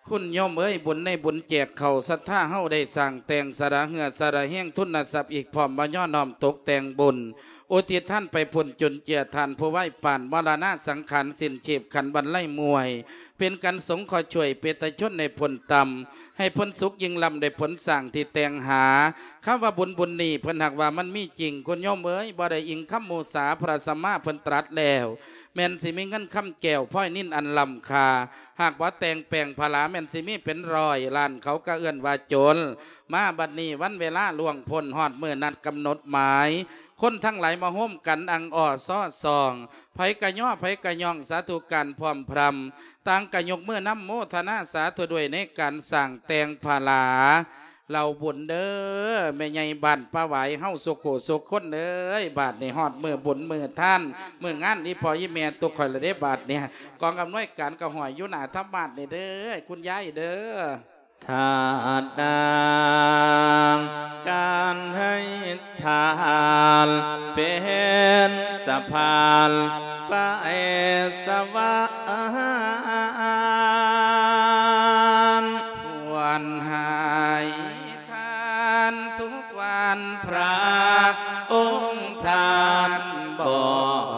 ຄຸນໂຍມເອີຍ ບຸນໃນບຸນແຈກເຂົ້າ ສັດທາເຮົາໄດ້ສ້າງແຕ່ງ ສະຫຼະເຫື່ອສະຫຼະແຮງ ທຶນນະຊັບອີກພ້ອມ ມາຍ້ອນນ້ອມຕົກແຕ່ງບຸນ ອຸທິດທານໄປພຸ້ນ ຈຸນເຈືອທ່ານຜູ້ໄວປານ ມໍລະນະສັງຂານ ສິ້ນຊີບຂັນວັນໄລມວຍ ເປັນການສົງເຄາະຊ່ວຍເປດຕະຊົນໃຫ້ພົ້ນຕ່ຳ ໃຫ້ພົ້ນສຸກຍິ່ງລ້ຳ ດ້ວຍຜົນສ້າງທີ່ແຕ່ງຫາ. ຄຳວ່າບຸນ ບຸນນີ້ ເພິ່ນຫາກວ່າມັນມີຈິງ ຄຸນໂຍມເອີຍ ບໍ່ໄດ້ອີງຄຳໝູ່ສາ ພະສຳມາເພິ່ນຕລັດແລ້ວ ແມ່ນຊິມີເງິນຄຳແກ້ວ ພອຍນິນອັນລ້ຳຄ່າ ຫາກບໍ່ແຕ່ງແປງຜະຫຼາ ແມ່ນຊິມີເປັນຮ້ອຍລ້ານ ເຂົາກໍເອີ້ນວ່າໂຈນ. ມາບັດນີ້ ວັນເວລາລ່ວງພົ້ນ ຮອດມື້ນັດກຳນົດໝາຍ ຄົນທັງຫຼາຍມາໂຮມກັນ ອັ່ງອໍ້ຊໍ່ຊອງ ໃຜກະຍໍ້ ໃຜກະຍ້ອງ ສາທຸການພ້ອມພຣຳ ຕ່າງກະຍົກມືນຳໂມທະນາສາທຸດ້ວຍ ໃນການສ້າງແຕ່ງຜະຫຼາເຫຼົ່າບຸນເດີ ແມ່ໃຫຍ່ບ້ານປ່າຫວາຍເຮົາ ສຸຂູສຸຄົນເອີຍ. ບາດນີ້ຮອດມື້ບຸນມື້ທານ ມື້ງານອີ່ພໍ່ອີ່ແມ່ຕຸກຂ້ອຍລະເດ້ ບາດນີ້ ກອງອຳນວຍການກໍຫ້ອຍຢູ່ໜ້າທຳມາດນີ້ເດີ ຄຸນຍາຍເດີ. ທາດນາງ ການໃຫ້ທານ ເປັນສະພານໄປສະຫວັນ ຄວນໃຫ້ທານທຸກວັນ ພຣະອົງທ່ານບອ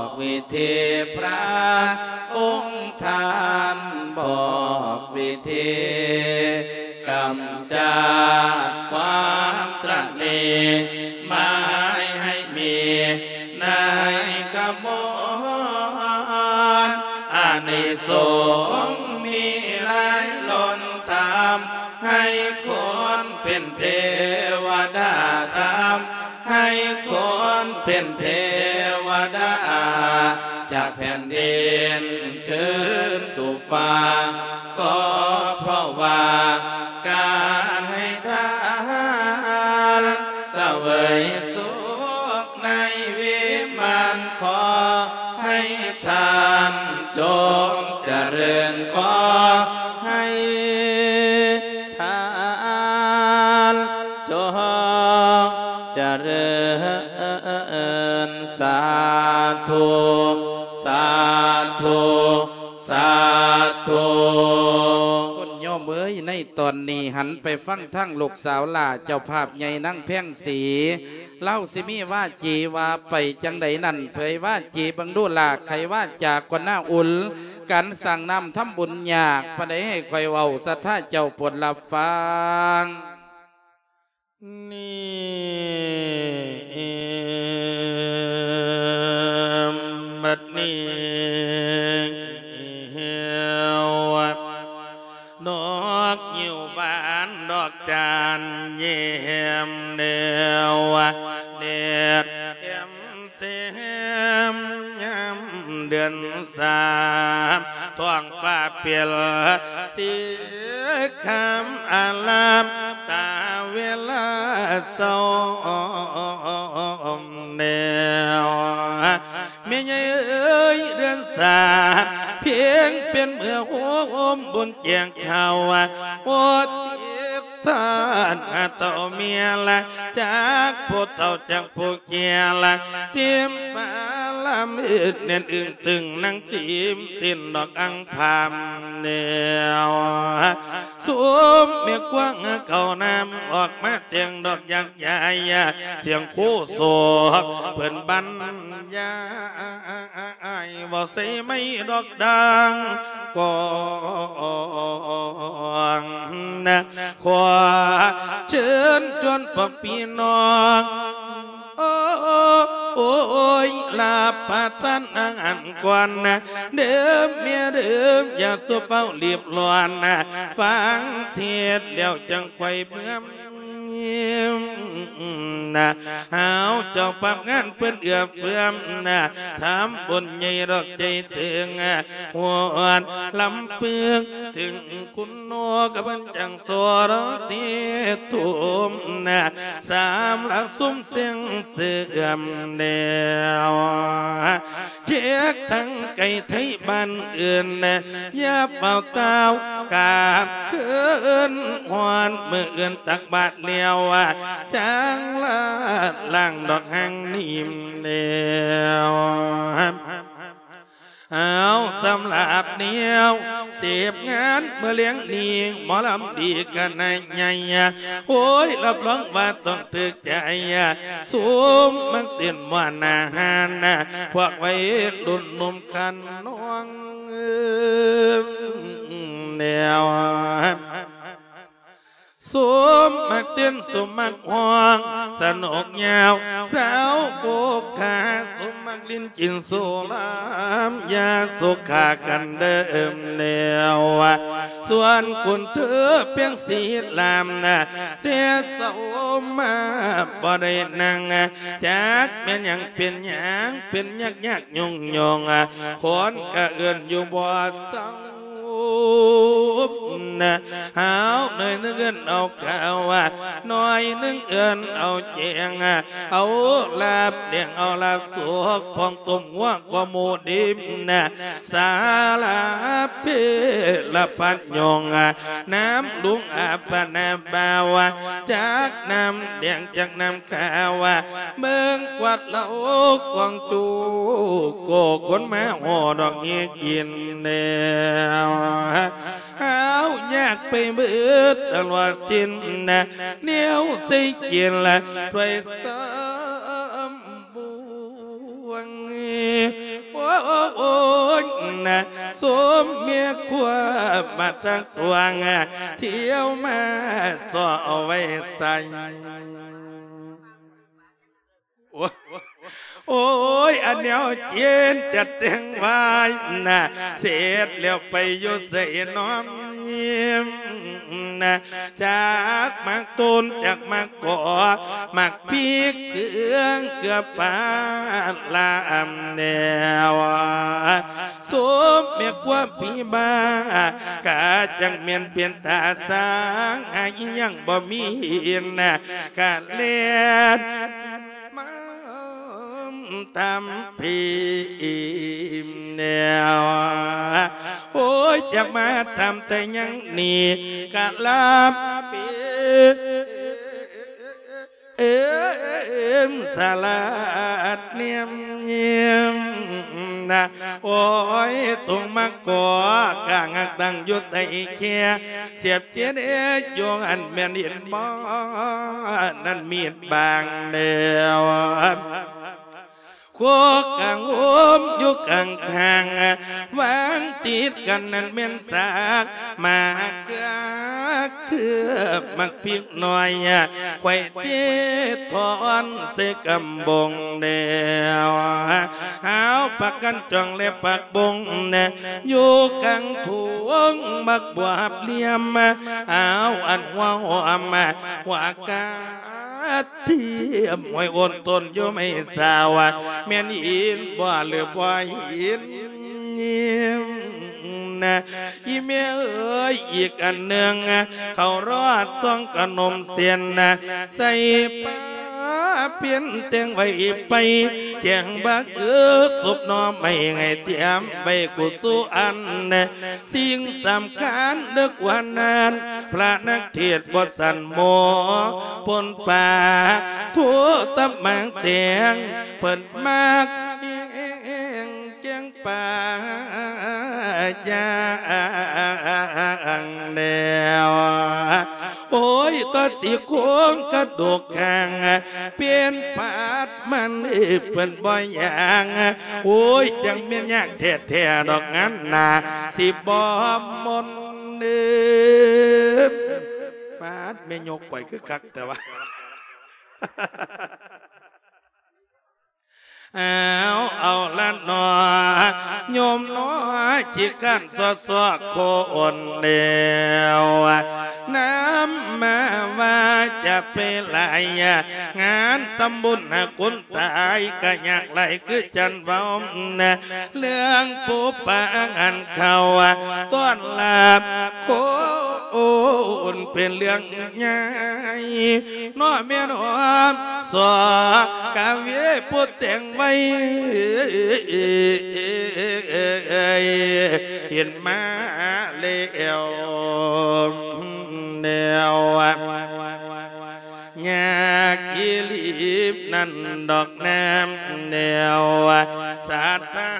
ກວິທີ ພຣະອົງທ່ານບອກວິທີ ກຳຈັດຄວາມຕະໜີ ໝາຍໃຫ້ມີໃນຂະບວນ ອານິສົງມີຫຼາຍລົ້ນ ທຳໃຫ້ຄົນເປັນເທວະດາ ທຳໃຫ້ຄົນເປັນເທວະດາ ຈາກແຜ່ນດິນຄືນສູ່ຟ້າ ກໍເພາະວ່າການໃຫ້ທານ ສະເຫວີຍສຸກໃນວິມານ ຂໍໃຫ້ທ່ານຈົ່ງຈະເລີນ ຂໍໃຫ້ທ່ານຈົ່ງຈະເລີນ ສາທຸ ສາທຸ ສາທຸ. ຄຸນໂຍມເອີຍ ໃນຕອນນີ້ຫັນໄປຟັງທາງລູກສາວຫຼ້າເຈົ້າພາບໃຫຍ່ນາງແພງສີ ລາວຊິມີວາຈີວ່າໄປຈັ່ງໃດນັ້ນ ເຜີຍວາຈີເບິ່ງດູຫຼ້າ ໄຂວາຈາກ່ອນນາ ອຸ່ນກັນສ້າງນ້ຳທຳບຸນຍາກປານໃດ ໃຫ້ຂ້ອຍເວົ້າ ສັດທາເຈົ້າໂປດຮັບຟັງ. ນີ້ ບັດນີ້ ດອກງິ້ວບານ ດອກຈານຍິ້ມ ແນວແດດແຈ່ມ ແສງຍາມເດືອນສາມ ທ້ອງຟ້າເປັນສີຄາມອາລາມ ຕາເວລາເຊົ້າແນວ ແມ່ໃຫຍ່ເອີຍ ເດືອນສາມ ພຽງເປັນເມືອໂຮມບຸນແຈ້ງເຂົ້າ ໂອ ຕິດ ທ່ານເຕົ້າເມຍລະ ຈັກຜູ້ເຖົ້າຈັກຜູ້ແກ່ລະ ຕິມປາລະມືດແໜ້ນອຶ້ງຕຶງ ນັ່ງຕິມຕິນດອກອັ່ງພາມແນວ ຊຸມແມ່ຄວາງເຂົ້ານ້ຳ ອອກມາແຕ່ງດອກຢາກຢາຍ ສຽງໂຄສົກເພິ່ນບັນຍາຍ ເວົ້າໃສ່ໄມ້ດອກດັງ ກອງນະ ຂໍເຊີນຊວນພວກພີ່ນ້ອງ ໂອ້ຍ ລາບປະທານອາຫານກ່ອນນະ ເດີແມ່ເດີ ຢ່າສູ່ຟ້າວລີບລ້ອນນະ ຟັງເທດແລ້ວຈັ່ງຄ່ອຍເມືອ ນະ ເຮົາເຈົ້າພາບງານເພິ່ນເອື້ອເຟື້ອມນະ ທຳບຸນໃຫຍ່ດອກໃຈເຖິງ ຮອດລຳເພິງ ເຖິງຄຸນໂນກະເພິ່ນຈັ່ງໂສດເທດທຸມນະ ສຳລັບຊຸມເສງເສື່ອມແນວ ເຊັກທັງໄກໄທບ້ານອື່ນນະ ຢ່າຟ້າວຕ່າວກາບຄືນ ຮອດມື້ອື່ນຕັກບາດແລ້ວ ຈັ່ງລາດລ້າງດອກຫາງນີ້ແນວ ເອົາ ສຳລັບແນວເສບງານມື້ແລງນີ້ ໝໍລຳດີຄະນະໃຫຍ່ ໂອ້ຍ ຮັບຮອງວ່າຕ້ອງຖືກ ໃຈ ຊຸມມັກເຕັ້ນມ່ວນອາຫານ ພວກໄວລຸ້ນໜຸ່ມຂະນ້ອງ ແນວ ຊຸມມັກເຕັ້ນ ຊຸມມັກຮ້ອງ ສະໜຸກຍາວ ສາວໂພຄາ ຊຸມມັກຫຼິ້ນກິນສຸລາ ຢ່າສຸຂາກັນເດີແນວ ສ່ວນຄຸນເທີພຽງສີລາມນະ ແຕ່ເຊົ້າມາບໍ່ໄດ້ນັ່ງ ຈັກແມ່ນຫຍັງເປັນຫຍັງ ເປັນຍາກໆຫຍຸ້ງໆ ຄົນກະເອີ້ນຢູ່ບໍ່ເຊົາ ຫາວໜ້ອຍໜຶ່ງເອີ້ນເອົາຂາວ ໜ້ອຍໜຶ່ງເອີ້ນເອົາແຈງ ເອົາລາບແດງ ເອົາລາບສຸກ ຂອງຕົ້ມງົວ ກວ່າໝູ່ດິບນະ ສາລະເພລະພັດຍົງ ນ້ຳລຸງອາບປະນາບ່າວ ຈັກນ້ຳແດງຈັກນ້ຳຂາວ ເບິ່ງກວາດເຫຼົ້າກອງຈູ ໂກຄົນມາຫໍ່ດອກເຮກິນແນວ ຫາວຍາກໄປເບິດຕະຫຼອດສິ້ນນະ ແນວໃສ່ກິນລະຖ້ວຍຊາມ ບວງ ໂອ້ຍນະ ສົມເມຍຄວາມມາທັກທວງ ທ່ຽວມາຊໍ້ເອົາໄວ້ໃສ່ ໂອ້ຍ ໂອ້ຍ ອັນແນວເຈນຈັດແຕ່ງໄວ້ນະ ເສັດແລ້ວໄປຢູ່ໃສນ້ອມຍິ້ມນະ ຈັກໝາກຕົ້ນ ຈັກໝາກ ກໍໝາກພິກເກືອ ເກືອປາລາມແນວ ຜີບ້າ ກະຈັ່ງແມ່ນເປັນຕາຊ່າງ ຫາອີ່ຫຍັງບໍ່ມີນະ ກະແລ່ນມາທຳພີແນວ ໂອ້ຍ ຈະມາທຳແຕ່ຫຍັງນີ້ ກະລາບເປັນ ເອີມສະຫຼາດແນມຍິ້ມນະ ໂອ້ຍ ຕົງມາກໍກາງຮັກຕັ້ງຢູ່ໃຕ້ແຄ ສຽບເຈັດເອດຢູ່ຫັ້ນແມ່ນເຫັນບໍ່ ນັ້ນມີດບາງແລ້ວ ໂຄກກາງໂຮມຢູ່ກາງຂ້າງ ວາງຕິດກັນນັ້ນແມ່ນສາກໝາກເກືອ ເຄືອບໝາກພິກໜ້ອຍ ຂ້ອຍເຕະຖອນໃສ່ກຳບົງແລ້ວ ຫາວປາກກັນຈອງ ແລະ ປາກບົງແນ່ ຢູ່ກາງທົ່ງໝາກບວບຫຼ່ຽມ ຫາວອັນຫົວຫອມ ຫົວກະທຽມ ຫ້ວຍໂອນຕົ້ນຢູ່ໄມ້ສາວ ແມ່ນຫີນບໍ່ ຫຼືບໍ່ຫີນ? ອີ່ແມ່ເອີຍ ອີກອັນໜຶ່ງ ເຂົ້າລອດຊອງຂະໜົມເສັ້ນ ໃສ່ປາເປັນແຕ່ງໄວ້ໄປ ແກງບັກເອີ ຊຸບໜໍ່ໄມ້ ໃຫ້ຕຽມໄວ້ກູສູ່ອັນ ສິ່ງສຳຄັນເດີກວ່ານັ້ນ ພະນັກເທດບໍ່ສັນໝໍ ປົນປາ ໂທຕະໝາງແຕງ ເພິ່ນມັກແກງປາຢ່າງແນວ ໂອ້ຍ ຕໍ່ຊິໂຄງກະດູກຂ້າງ ເປັນປາດມັນເພິ່ນບໍ່ຢ່າງ ໂອ້ຍ ຈັ່ງແມ່ນຍາກແທ້ໆ ດອກງານໜ້າ ຊິບໍ່ມົນເດີ ປາດ ແມ່ຍົກໄປຄືຄັກແຕ່ວ່າ ເອົາ ເອົາລະໜໍ ໂຍມໜໍ ຂີ້ຄ້ານຊໍ້ໆ ຄົນແນວ ນຳມາວ່າຈະໄປຫຼາຍ ງານທຳບຸນຫາຄົນຕາຍ ກະຍາກຫຼາຍຄືຈັນເວົ້າ ເລື່ອງປູປາອາຫານເຂົ້າ ຕ້ອນຮັບຄົນເປັນເລື່ອງໃຫຍ່ ເນາະແມ່ນຫອມ ສອກາເວ ຜູ້ແຕ່ງໄວ້ ເຫັນມາແລ້ວແນວ ຍາກອີ່ຫຼີນັ້ນດອກນາມແນວ ສາທາ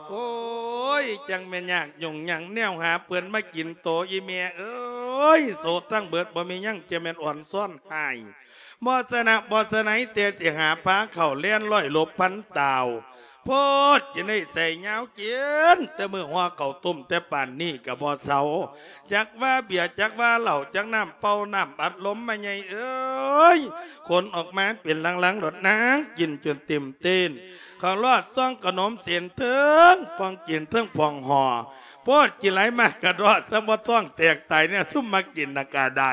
ໂອ້ຍ ຈັ່ງແມ່ນຍາກຫຍຸ້ງຫຍັງແນວຫາເພິ່ນມາກິນໂຕ ອີ່ແມ່ເອີຍ ໂສດທັງເບິດ ບໍ່ມີຫຍັງ ຈະແມ່ນອ່ອນຊ້ອນຮ້າຍ ບໍ່ຊະນະ ບໍ່ຊະໄນ ແຕ່ຊິຫາພາເຂົ້າແລ່ນລອຍຫຼົບພັນຕາວ ໂພດ ຈະໄດ້ໃສ່ຍາວເກນ ແຕ່ມື້ຫໍ່ເຂົ້າຕົ້ມແຕ່ປານນີ້ກະບໍ່ເຊົາ ຈັກວ່າເບຍ ຈັກວ່າເຫຼົ້າ ຈັກນ້ຳເປົ່າ ນ້ຳອັດລົມ ແມ່ໃຫຍ່ເອີຍ ຂົນອອກມາເປັນລັງໆ ໂລດນາງ ກິນຈົນເຕັມເຕັ້ນ ເຂົ້າລອດຊອງຂະໜົມເສັ້ນ ເທິງພອງກິນເທິງພອງຫໍ່ ໂພດ ກິນຫຼາຍມາກກະເດາະ ສ່ຳວ່າທ້ອງແຕກຕາຍແນ່ ຊຸມມາກິນນະກະໄດ້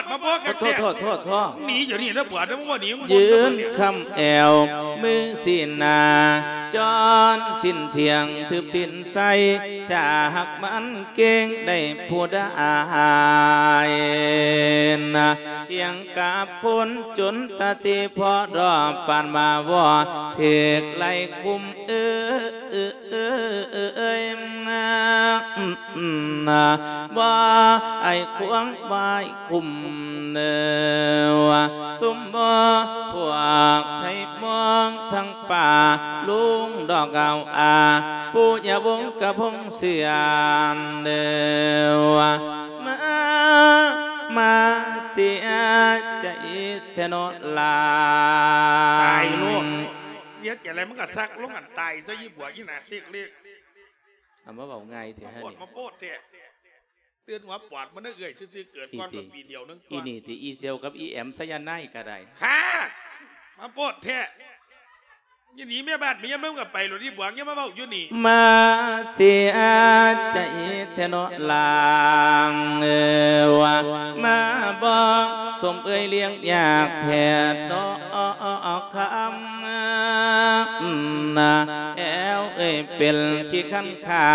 ດມາພໍກັນແທ້ ໂທດໆໆໆ ໜີດຽວນີ້ເດີບົວເດີ ມຶງບໍ່ໜີ ມຶງບໍ່ໜີ ຢືນຄ້ຳແອວ ມືຊີ້ໜ້າ ຈອນສິ້ນທ່ຽງ ຖືບຕີນໃສ່ ຈາກມັນເກັ່ງໄດ້ຜູ້ໃດນະ ທ່ຽງກັບຄົນຈົນຕາຕີ ພໍດອບປານມາວໍ ຖືກໄລ່ຄຸມເອີຍ ບໍ່ໃຫ້ຂວາງໄວ້ຄຸມເນີ ຊຸມໝູ່ພວກໄທມອງທັງປ່າ ລຸງດອກເອົາອາ ຜູ້ຍາວົງກະພົງເຊື່ອເນີ ມາ ມາເສຍໃຈແທ້ເນາະຫຼານ ຕາຍໂລດ ເຮັດຈັ່ງໃດມັນກະສັກລົງອັນຕາຍຊະ ອີ່ບົວ ອີ່ໜ້າເສກເລກ ເອົາມາເວົ້າງ່າຍແທ້ ມາໂພດ ນີ້ ມາໂພດແທ້. ຕື່ນຫົວປອດມັນເອື້ອຍຊື່ໆ ເກີດກ່ອນ ອີ ເພິ່ນປີດຽວໜຶ່ງ ອີ ຕົວະ ນີ້ຕິ ອີ່ສ່ຽວກັບອີ່ແອມໄຊຍາໄນກໍໄດ້ ຂ້າ ມາໂພດແທ້ ຢູ່ໜີເມຍບ້ານເມຍເມືອງກໍໄປໂລດ ອີ່ບວງ ຢ່າມາເວົ້າຢູ່ນີ້ ມາເສຍໃຈແທ້ເນາະຫຼາງເອີຍ ວ່າມາບໍ່ສົມເອື້ອຍລ້ຽງຍາກແທ້ເນາະ ຄຳນາ ແອວເອີຍ ເປັນຂີ້ຄັນຂາ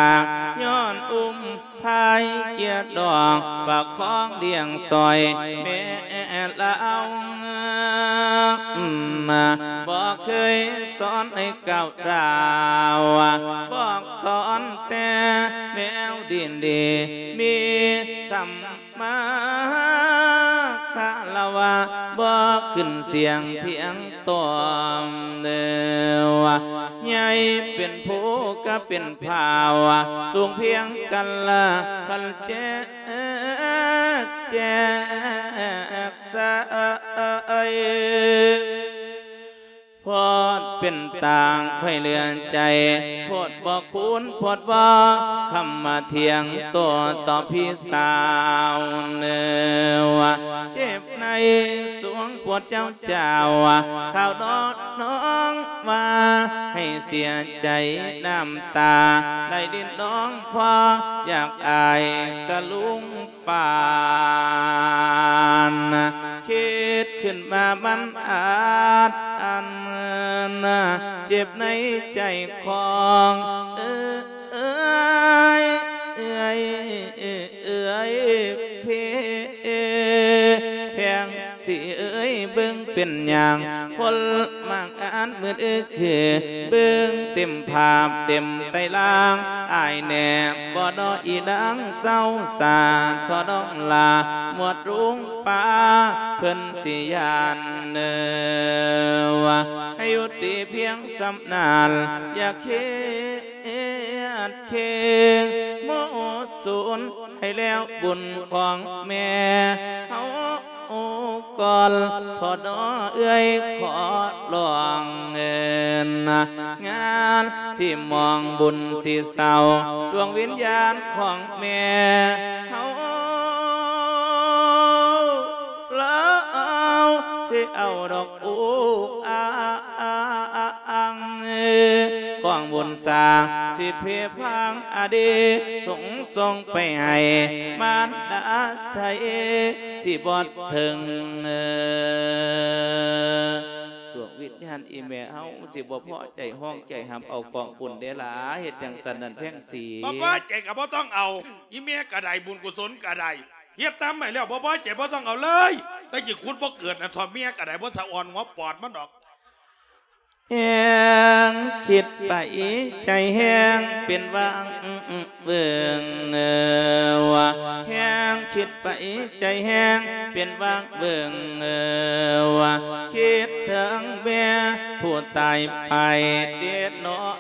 ຍ້ອນອຸ້ມພາຍເກຍດອກ ປະຄອງລ້ຽງຊ່ອຍແມ່ລາວ ນາ ບໍ່ເຄີຍສອນໃຫ້ກ້າວກ້າວ ບອກສອນແຕ່ແນວດີໆ ມີສຳ ມາຄາລະວະ ບໍ່ຂຶ້ນສຽງຖຽງຕ້ອງເດີ ໃຫຍ່ເປັນພູກະເປັນຜາ ສູງພຽງກັນລະຄັນແຈກ ແຈກສາຍ ໂພດເປັນຕາງໄຂ້ເຫຼືອໃຈ ໂພດບໍ່ຄູນໂພດບໍ່ຄຳມາຖຽງໂຕຕໍ່ພີ່ສາວເນີ ເຈັບໃນສວງໂພດເຈົ້າເຈົ້າ ຂ່າວດອກນ້ອງວ່າໃຫ້ເສຍໃຈ ນ້ຳຕາໄຫຼລິນນ້ອງ ເພາະຢາກອາຍກະລຸງ ປານ ຄິດຂຶ້ນມາມັນອາດອັນ ເຈັບໃນໃຈຂອງເອື້ອຍ ເອື້ອຍ ເອື້ອຍ ເພ ແພງສີເອີຍ ເບິ່ງເປັນຫຍັງ ຄົນມາງອານມືດອຶກຄື ເບິ່ງເຕັມພາບເຕັມໄຕລາງ ອາຍແນ່ບໍ່ເນາະອີນາງສາວສາ ທໍ່ນ້ອງຫຼ້າ ໝວດລຸງປ້າເພິ່ນຊິຢ້ານເນີ ໃຫ້ຢຸດຕິພຽງສ່ຳນັ້ນ ຢ່າເຄ ເຮັດເຄງໂມສູນ ໃຫ້ແລ້ວບຸນຂອງແມ່ເຮົາກ່ອນ ຂໍເນາະເອື້ອຍ ຂໍຮ້ອງເອີ້ນ ງານຊິມອງບຸນຊິເຊົາ ດວງວິນຍານຂອງແມ່ເຮົາ ລາວຊິເອົາດອກ ອຸກອາງ ກອງບຸນສາ ສິເພພາງອະດີ ສົ່ງ ສົ່ງໄປໃຫ້ມານດາໄທ ຊິບໍ່ເຖິງ ດວງວິນຍານອີ່ແມ່ເຮົາ ຊິບໍ່ພໍໃຈ ຮ້ອງໃຈຫາບເອົາກອງບຸນເດ້ລະ ເຮັດຈັ່ງຊັ້ນນັ້ນແພງສີ ບໍ່ພໍໃຈກໍບໍ່ຕ້ອງເອົາ ອີ່ແມ່ກໍໄດ້ ບຸນກຸສົນກໍໄດ້ ເຮັດຕາມໃຫ້ແລ້ວ ບໍ່ພໍໃຈບໍ່ຕ້ອງເອົາເລີຍ ແຕ່ຊິຂຸດບໍ່ເກີດນະ ເຖົ້າແມ່ກໍໄດ້ ບໍ່ສະອອນຫົວປອດມັນດອກ ແຮງຄິດໄປໃຈແຮງເປັນຫວ່າງເຫວີ່ງ ແຮງຄິດໄປໃຈແຮງເປັນຫວ່າງເຫວີ່ງ ຄິດເຖິງແມ່ຜູ້ຕາຍໄປເດເນາະ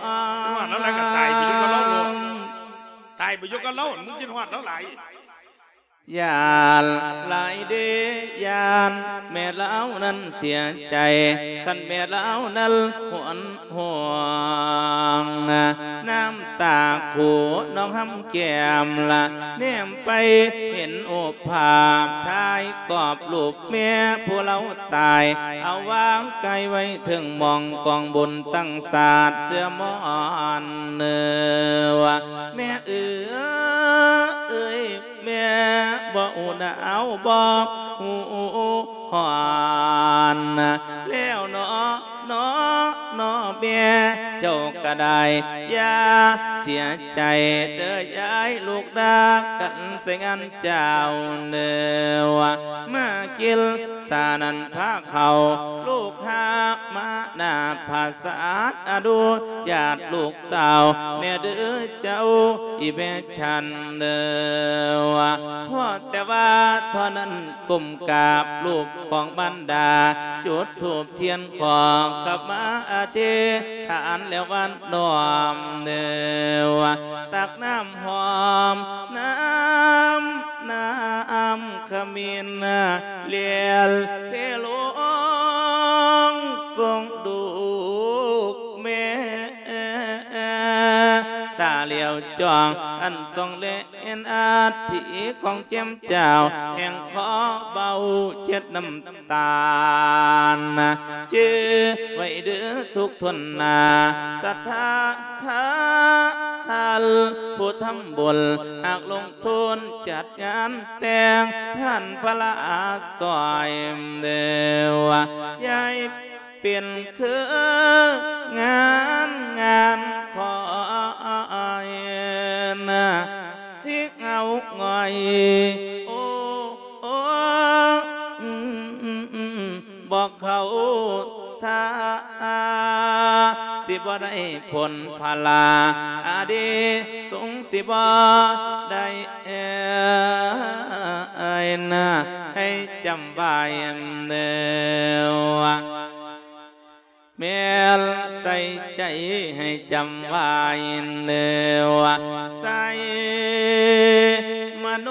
ວ່າແລ້ວກໍຕາຍໄປຢູ່ກັບລາວໂລດ ຕາຍໄປຢູ່ກັບລາວ ມຶງຄິດຮອດລາວຫຼາຍ ຢ້ານຫຼາຍເດ ຢ້ານແມ່ລາວນັ້ນເສຍໃຈ ຄັນແມ່ລາວນັ້ນຫົນຫວງ ນ້ຳຕາຄູນອງຫຳແກ້ມລະ ແນມໄປເຫັນຮູບພາບຖ່າຍກອບຮູບແມ່ຜູ້ລາວຕາຍ ເອົາວາງກາຍໄວ້ເທິງໝ່ອງກອງບຸນຕັ້ງສາດເສື້ອໝອນເນີ ແມ່ເອີຍ ແມ່ບໍ່ອຸນາວບໍ່ຮູ້ຮ້ອນ ແລ້ວເນາະ ເນາະ ເນາະແມ່ເຈົ້າກໍໄດ້ ຢ່າເສຍໃຈເດີຍາຍ ລູກດາກັນໃສ່ງານເຈົ້າເນີ ມາກິນສານັ້ນພາເຂົ້າ ລູກຫາມາໜ້າຜາສາດ ອະນຸຍາດລູກ ເຕົ້າແນ່ເດີເຈົ້າ ອີແມ່ສັນເດີ ພໍແຕ່ວ່າເທົ່ານັ້ນກົ້ມກາບຮູບຂອງມານດາ ຈຸດທູບທຽນຂໍຂະມາອະທິຖານແລ້ວຫວານນ້ອມເດີ ຕັກນ້ຳຫອມ ນ້ຳ ນ້ຳຂະມິນ ລຽນເທລົງສົ່ງລູກແມ່ ຕາຫຼຽວຈ້ອງອັນສ່ອງແລ ເຫັນອັດຖິຂອງເຈ້ມຈ້າວ ແຫ່ງຂໍເບົາເຈັດນ້ຳຕານ ຈື່ໄວ້ເດີທຸກທົນນາ ສັດທາທ່ານຜູ້ທຳບຸນ ຫາກລົງທຶນຈັດງານແຕ່ງ ທ່ານພະລາຊ່ອຍເດີ ຢ່າໃຫ້ ເປັນຄືງານ ງານຂອງສິເອົາງ່ອຍ ໂອ້ ໂອ້ ບໍ່ເຂົ້າທ່າ ສິບໍ່ໄດ້ຜົນພະລາ ອານິສົງສິບໍ່ໄດ້ນາ ໃຫ້ຈຳໄວ້ເດີ. ແມ່ນໃສ່ໃຈໃຫ້ຈຳໄວ້ເດີ ໃສ່ມະໂນ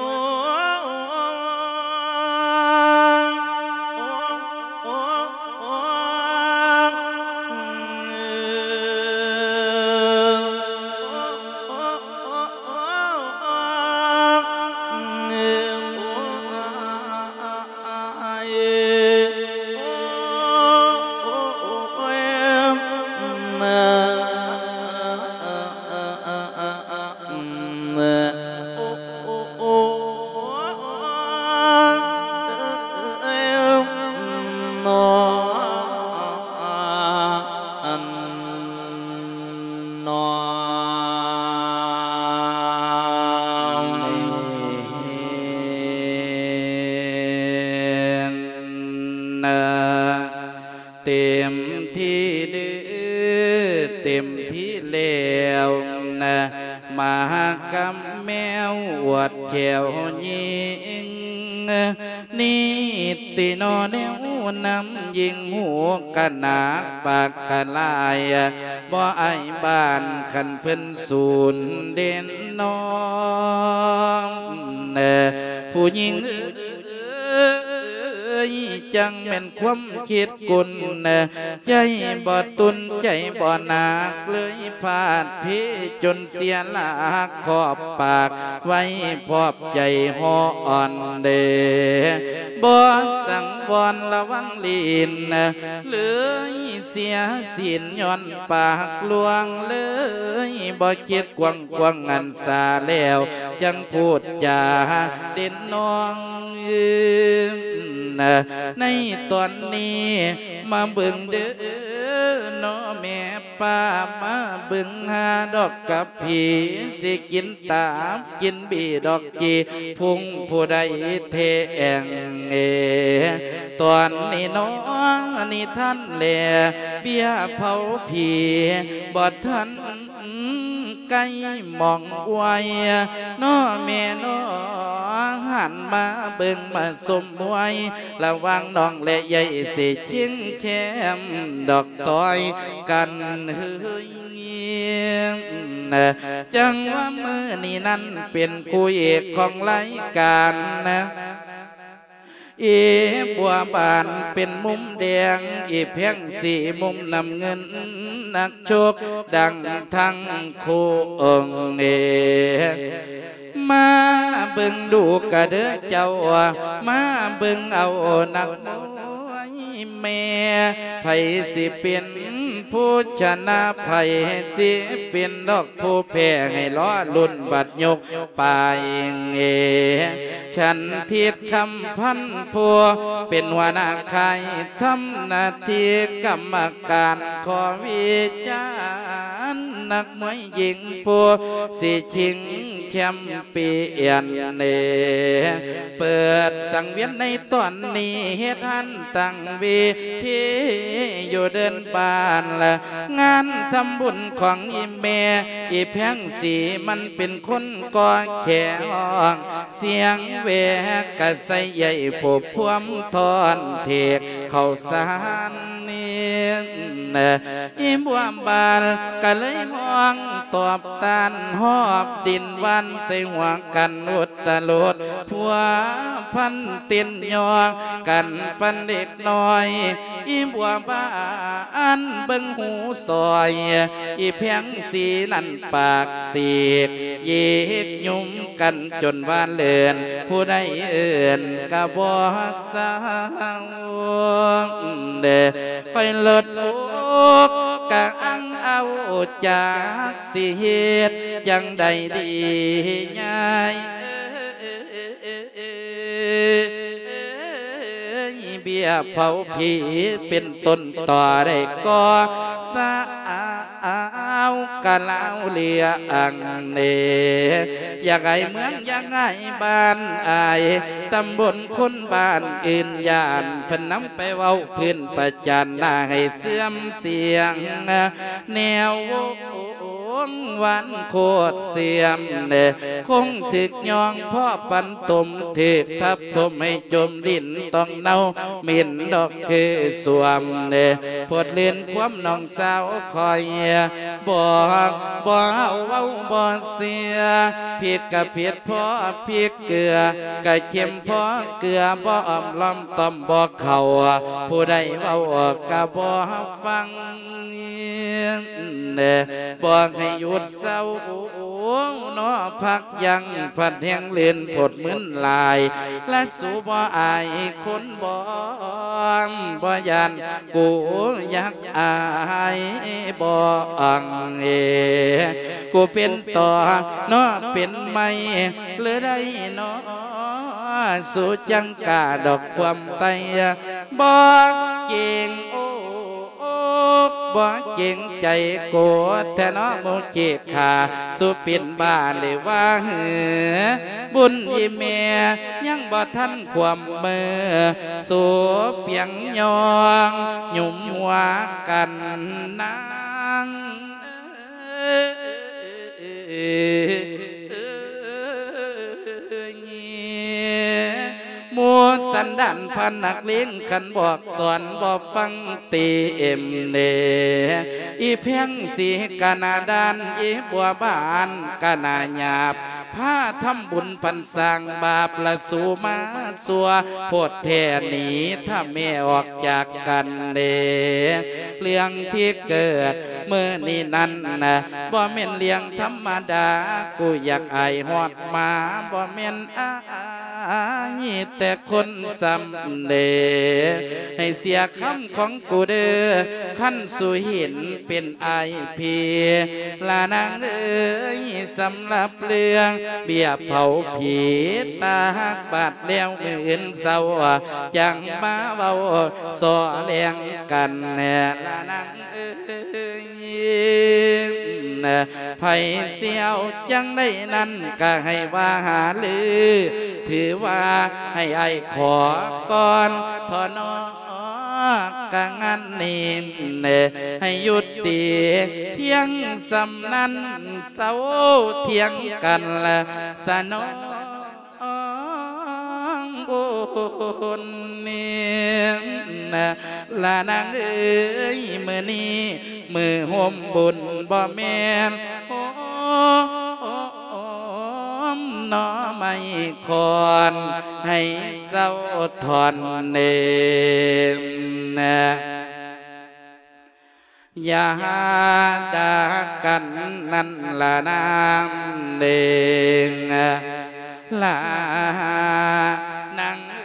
ນ້ອມນະ ເຕັມທີ່ເດີ ເຕັມທີ່ແລ້ວນະ ມາຫາກັບແມວອວດແຂ້ວຍິງ ນິດຕິໜໍແນວນຳ ຍິ່ງຮູ້ກະໜາກປາກກະຫຼາຍ ບໍ່ອາຍບ້ານຄັນເພິ່ນສູນເດັ່ນນ້ອງ ຜູ້ຍິງເອີຍ ຈັ່ງແມ່ນຄວາມຄິດກຸນ ໃຈບໍ່ຕຸນໃຈບໍ່ໜັກ ເລີຍພາດເພຈົນເສຍຫຼັກ ຂອບປາກໄວ້ພອບໃຈຮ້ອນເດ ບໍ່ສັງວອນລະວັງລີນ ເລີຍເສຍສິນຍ້ອນປາກລວງ ເລີຍບໍ່ຄິດກວ້າງໆ ອັນສາແລ້ວ ຈັ່ງພູດຈາເດັ່ນນ້ອງ ໃນຕອນນີ້ມາເບິ່ງເດີ ເນາະແມ່ປ້າ ມາເບິ່ງຫາດອກກະພີ ຊິກິນຕັບກິນບີດອກຈີ່ ພຸງຜູ້ໃດແທ້ແອງເອ ຕອນນີ້ເນາະ ນິທານແລ ເບ້ຍເຜົາຜີ ບໍ່ທັນ ໄກມອງອວຍ ເນາະແມ່ເນາະ ຫັນມາເບິ່ງມາຊົມມວຍ ລະຫວ່າງນ້ອງແລະໃຫຍ່ ຊິຊິງແຄມດອກຕ່ອຍກັນເຮີຍ ຈັ່ງວ່າມື້ນີ້ນັ້ນ ເປັນຄູ່ເອກຂອງລາຍການ ອີບົວບານເປັນມຸມແດງ ອີແພງສີມຸມນ້ຳເງິນ ນັກຊົກດັງທັງຄູ່ອົງເອ ມາເບິ່ງດູກະເດີເຈົ້າ ມາເບິ່ງເອົານັກມວຍແມ່ ໃຜຊິເປັນຜູ້ຊະນະ ໃຜຊິເປັນດອກຜູ້ແພ້ ໃຫ້ລໍລຸ້ນບັດຍົກ ປາຍເງ ສັນທິດຄຳພັນ ຜູ້ເປັນຫົວໜ້າຄ້າຍ ທຳໜ້າທີ່ກຳມະການ ຂໍວິຈານ ນັກມວຍຍິງ ຜູ້ຊິຊິງແຊມປີອຽນເນ ເປີດສັງວຽນໃນຕອນນີ້ ເຮັດຫັນຕັ້ງເວທີຢູ່ເດີ່ນບ້ານ ງານທຳບຸນຂອງອີ່ແມ່ ອີ່ແພງສີ ມັນເປັນຄົນກໍ່ແຂຮ້ອງ ສຽງແວກະໃສໃຫຍ່ຜູ້ພວມທອນເທກເຂົ້າສານນີ້ ອີບົວບານກະເລີຍຮ້ອງຕອບຕ້ານ ຫອບດິນຫວ່ານໃສ່ຫົວກັນອຸດຕະຫຼຸດ ພົວພັນເຕັ້ນຍໍກັນປານເດັກນ້ອຍ. ອີບົວບານເບິ່ງຫູສອຍ ອີແພງສີນັ້ນປາກສີກ ຍິກຍຸມກັນຈົນວ່າເລີນ ຜູ້ໃດເອີ້ນກະບໍ່ເຊົາ. ເດ້ ຂ້ອຍເລີດອົກກະອັງເອົາ ຈັກຊິເຮັດຈັ່ງໃດດີຍາຍເອີຍ. ເບ້ຍເຜົາຜີເປັນຕົ້ນຕໍໄດ້ກໍສາວກະລາວເຫຼືອອັງເນ ຢາກອາຍເມືອງ ຢາກອາຍບ້ານ ອາຍຕຳບົນ ຄົນບ້ານອື່ນຢ້ານ ເພິ່ນນຳໄປເວົ້າພື້ນປະຈານໜ້າໃຫ້ເຊື່ອມສຽງ ແນວວົງວານໂຄດເສື່ອມເນ ຄົງຖືກຍ່ອງພໍປັນຕົມ ຖືກທັບຖົມໃຫ້ຈົມດິນຕ້ອງເນົ່າ ເໝັນດອກຄືສວມເນ ໂພດເລື່ອນຄວາມນ້ອງສາວຂ້ອຍ ບອກບໍ່ເວົ້າບໍ່ເຊື່ອ ຜິດກະຜິດພໍພິກເກືອ ກະເຄັມພໍເກືອ ບໍ່ອ້ອມລ້ອມຕ້ອມບໍ່ເຂົ້າ ຜູ້ໃດເວົ້າກະບໍ່ຟັງ ບອກໃຫ້ຢຸດເຊົາ ເນາະ ພັກຢັ້ງ ພັດແຮງເລີນ ພົດມຶນຫຼາຍ ລະສູບໍ່ອາຍຄົນບໍ ບໍ່ຢ້ານ ກູຢາກອາຍບໍອັງເອ ກູເປັນຕໍເນາະ ເປັນໄມ້ ຫຼືໄດ້ເນາະ ສູຈັ່ງກ້າດອກຄວາມໄຕ ບໍ່ເກງໂອ ບໍ່ເກງໃຈໂກດແທ້ເນາະ ໝູ່ເຈກຂາ ສູເປັນບ້າຫຼືວ່າຫື ບຸນອີ່ແມ່ຍັງບໍ່ທັນຄວາມເມີ ສູປຽງຍ່ອງ ຫຍຸມຫົວກັນນາງ ໝູ່ສັນດານພະນັກເລງ ຄັນບອກສອນບໍ່ຟັງຕິເອັມເນ ອີແພງສີກະໜ້າດ້ານ ອີບົວບານກະໜ້າຫຍາບ ພາທຳບຸນພັນສ້າງບາບ ລະສູມາຊົ່ວໂພດແທ້ ໜີຖ້າແມ່ອອກຈາກກັນເນ ເລື່ອງທີ່ເກີດມື້ນີ້ນັ້ນນະ ບໍ່ແມ່ນເລື່ອງທຳມະດາ ກູຢາກອາຍຮອດມາ ບໍ່ແມ່ນອາຍແຕ່ຄົນຊ້ຳເດ ໃຫ້ເສຍຄຳຂອງກູເດີ ຄັນສູເຫັນເປັນອາຍພີ ລະນາງເອີຍ ສຳລັບເລື່ອງເບ້ຍເຜົາຜີ ຕາກບາດແລ້ວມື້ອື່ນເຊົ້າ ຈັ່ງມາເວົ້າສໍ່ແລງກັນແນ່ ລະນາງ ເອີຍ ໃຜຊິເອົາຈັ່ງໃດນັ້ນກະໃຫ້ວ່າຫາລື ຖືວ່າໃຫ້ອ້າຍຂໍກ່ອນເທາະເນາະ ກະງານນີ້ໃຫ້ຢຸດຕິພຽງສ່ຳນັ້ນ ເຊົາຖຽງກັນລະສະໜອງ ອງໂອນເມນ ລະນາງເອີຍ ມື້ນີ້ມື້ໂຮມບຸນ ບໍ່ແມ່ນໂຮມໜໍ່ໄມ້ຂອນ ໃຫ້ເຊົາຖອນເນນ ຢ່າດ່າກັນນັ້ນລະນາງເອີຍ ລະນາງເອີຍ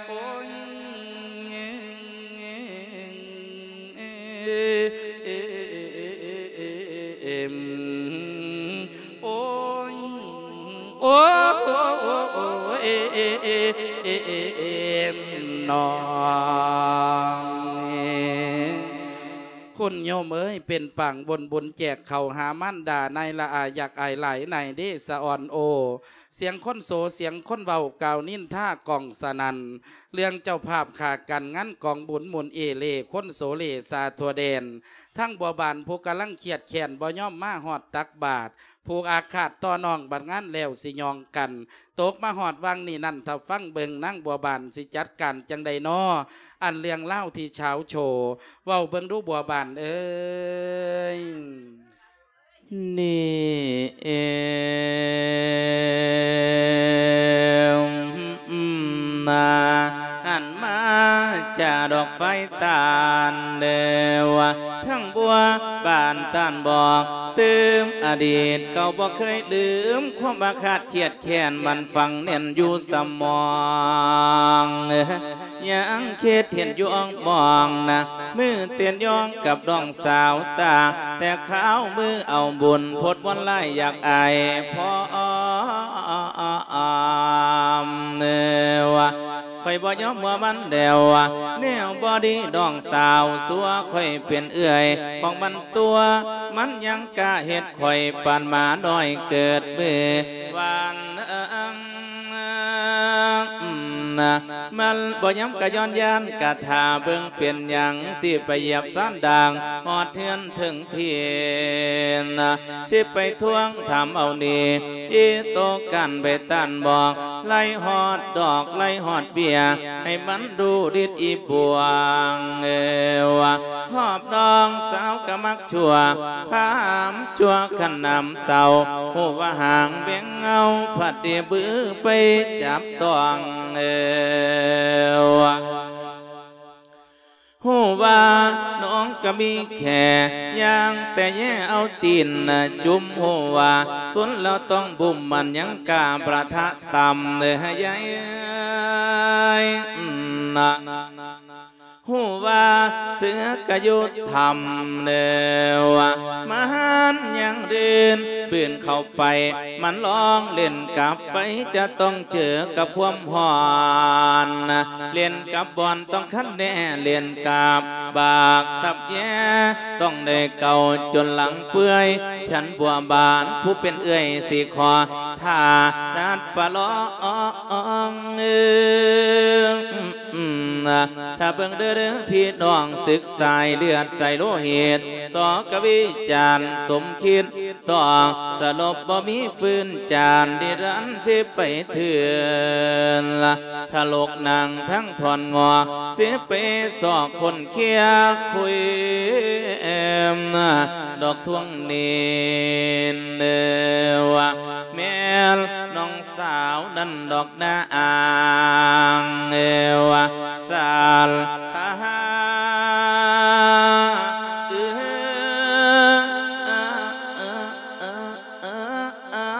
ໂອ້ຍ ເອັມ ໂອ້ຍ ໂອ້ ເອັມ ນ້ອງ ຄຸນໂຍມເອີຍ ເປັນປາງວົນບຸນແຈກເຂົ້າຫາມານດາ ນາຍລະອາ ຢາກອາຍຫຼາຍນາຍເດ ສະອອນໂອ ສຽງຄົນໂສ ສຽງຄົນເວົ້າກ່າວນິນທາກ້ອງສະໜັ່ນ ເລື່ອງເຈົ້າພາບຂາກັນງານກອງບຸນໝູນເອເລ ຄົນໂສເລຊາທົ່ວແດນ ທັງບົວບານຜູ້ກຳລັງຄຽດແຄ້ນ ບໍ່ຍອມມາຮອດຕັກບາດ ຜູກອາຄາດຕໍ່ນ້ອງ ບັດງານແລ້ວຊິຫຍອງກັນ ຕົກມາຮອດຫວ່າງນີ້ນັ້ນ ຖ້າຟັງເບິ່ງນາງບົວບານຊິຈັດການຈັ່ງໃດນໍ ອັນເລື່ອງລາວທີ່ສາວໂຊ ເວົ້າເບິ່ງດູບົວບານເອີຍ. ນີ້ເອງນາ ຫັນມາຈາດອກໄຟຕານເດີວ່າ ທັງບົວບານຕານບອກ ຕື່ມອະດີດເກົ່າບໍ່ເຄີຍລືມ ຄວາມອາຄາດຄຽດແຄ້ນ ມັນຝັງແໜ້ນຢູ່ສະໝອງ. ຍັງຄິດເຫັນຢູ່ອ່ອງມອງນະ ມື້ເຕັ້ນຢອງກັບນ້ອງສາວຕາ ແຕ່ຄາວມື້ເອົາບຸນ ພົດວອນລາຍຢາກອາຍພ້ອມ ເອີ ວ່າ ຂ້ອຍບໍ່ຍອມຫົວມັນແລ້ວ ແນວບໍ່ດີນ້ອງສາວ ຊົ່ວຂ້ອຍເປັນເອື້ອຍຂອງມັນຕົວະ ມັນຍັງກ້າເຮັດຂ້ອຍ ປານໝານ້ອຍເກີດມື້ວານ. ມັນບໍ່ຍອມກະຍ້ອນຢ້ານ ກະຖ້າເບິ່ງເປັນຫຍັງ ຊິໄປຢຽບຊານດ່າງ ຮອດເຮືອນເຖິງທີ່ນະ ຊິໄປທວງຖາມເອົາໜີ້ ອີໂຕກັນໄປຕ້ານບອກ ໄລ່ຮອດດອກ ໄລ່ຮອດເບ້ຍ ໃຫ້ມັນດູລິດອີບວງ ເອີ ວ່າ ຮອບນ້ອງສາວກະມັກ ຊົ່ວ ພາມຊົ່ວຄັນນ້ຳເຊົາ ຮູ້ວ່າຫາງແບງເງົາ ພັດໄດ້ບືໄປຈັບຕ້ອງ ເອີ ຮູ້ວ່ານ້ອງກະມີແຄ່ຍ່າງ ແຕ່ແຍ່ເອົາຕີນຈຸ່ມ ຮູ້ວ່າຊົນແລ້ວຕ້ອງບຸ້ມ ມັນຍັງກ້າປະທະຕ່ຳ ເອີ ໃຫຍ່ນະ. ຮູ້ວ່າເສືອກະຢູ່ຖ້ຳເດີວ່າ ມາຫານຍັງເດີນບືນເຂົ້າໄປ ມັນລອງເລ່ນກັບໄຟ ຈະຕ້ອງເຈີກັບຄວາມຮ້ອນ ເລ່ນກັບບ່ອນຕ້ອງຄັນແນ່ ເລ່ນກັບບາກຕັບແຍ່ ຕ້ອງໄດ້ເກົາຈົນຫຼັງເປື່ອຍ ຄັນບົວບານຜູ້ເປັນເອື້ອຍຊິຂໍ ຖ້ານັດປະລອງ ເອີ ອືມ ຖ້າເບິ່ງເດີ ເດີພີ່ນ້ອງ ສຶກສາຍເລືອດສາຍໂລຫິດ ສອກະວິຈານສົມຄິດ ຕ້ອງສະຫຼົບບໍ່ມີຟື້ນຈານ ນິລັນສິໄປເຖື່ອນ ທະຫຼົກນັ່ງທັງທ່ອນງໍ ສິໄປສອກຄົນເຄຍຄຸຍ ດອກທວງໜີ້ ເອີ ວ່າ ແມ່ນນ້ອງສາວນັ້ນດອກນາອາງ ເອີ ວ່າ ສານພາຫາ ເອີ ເອີ ເອີ ເອີ ເອີ ເອີ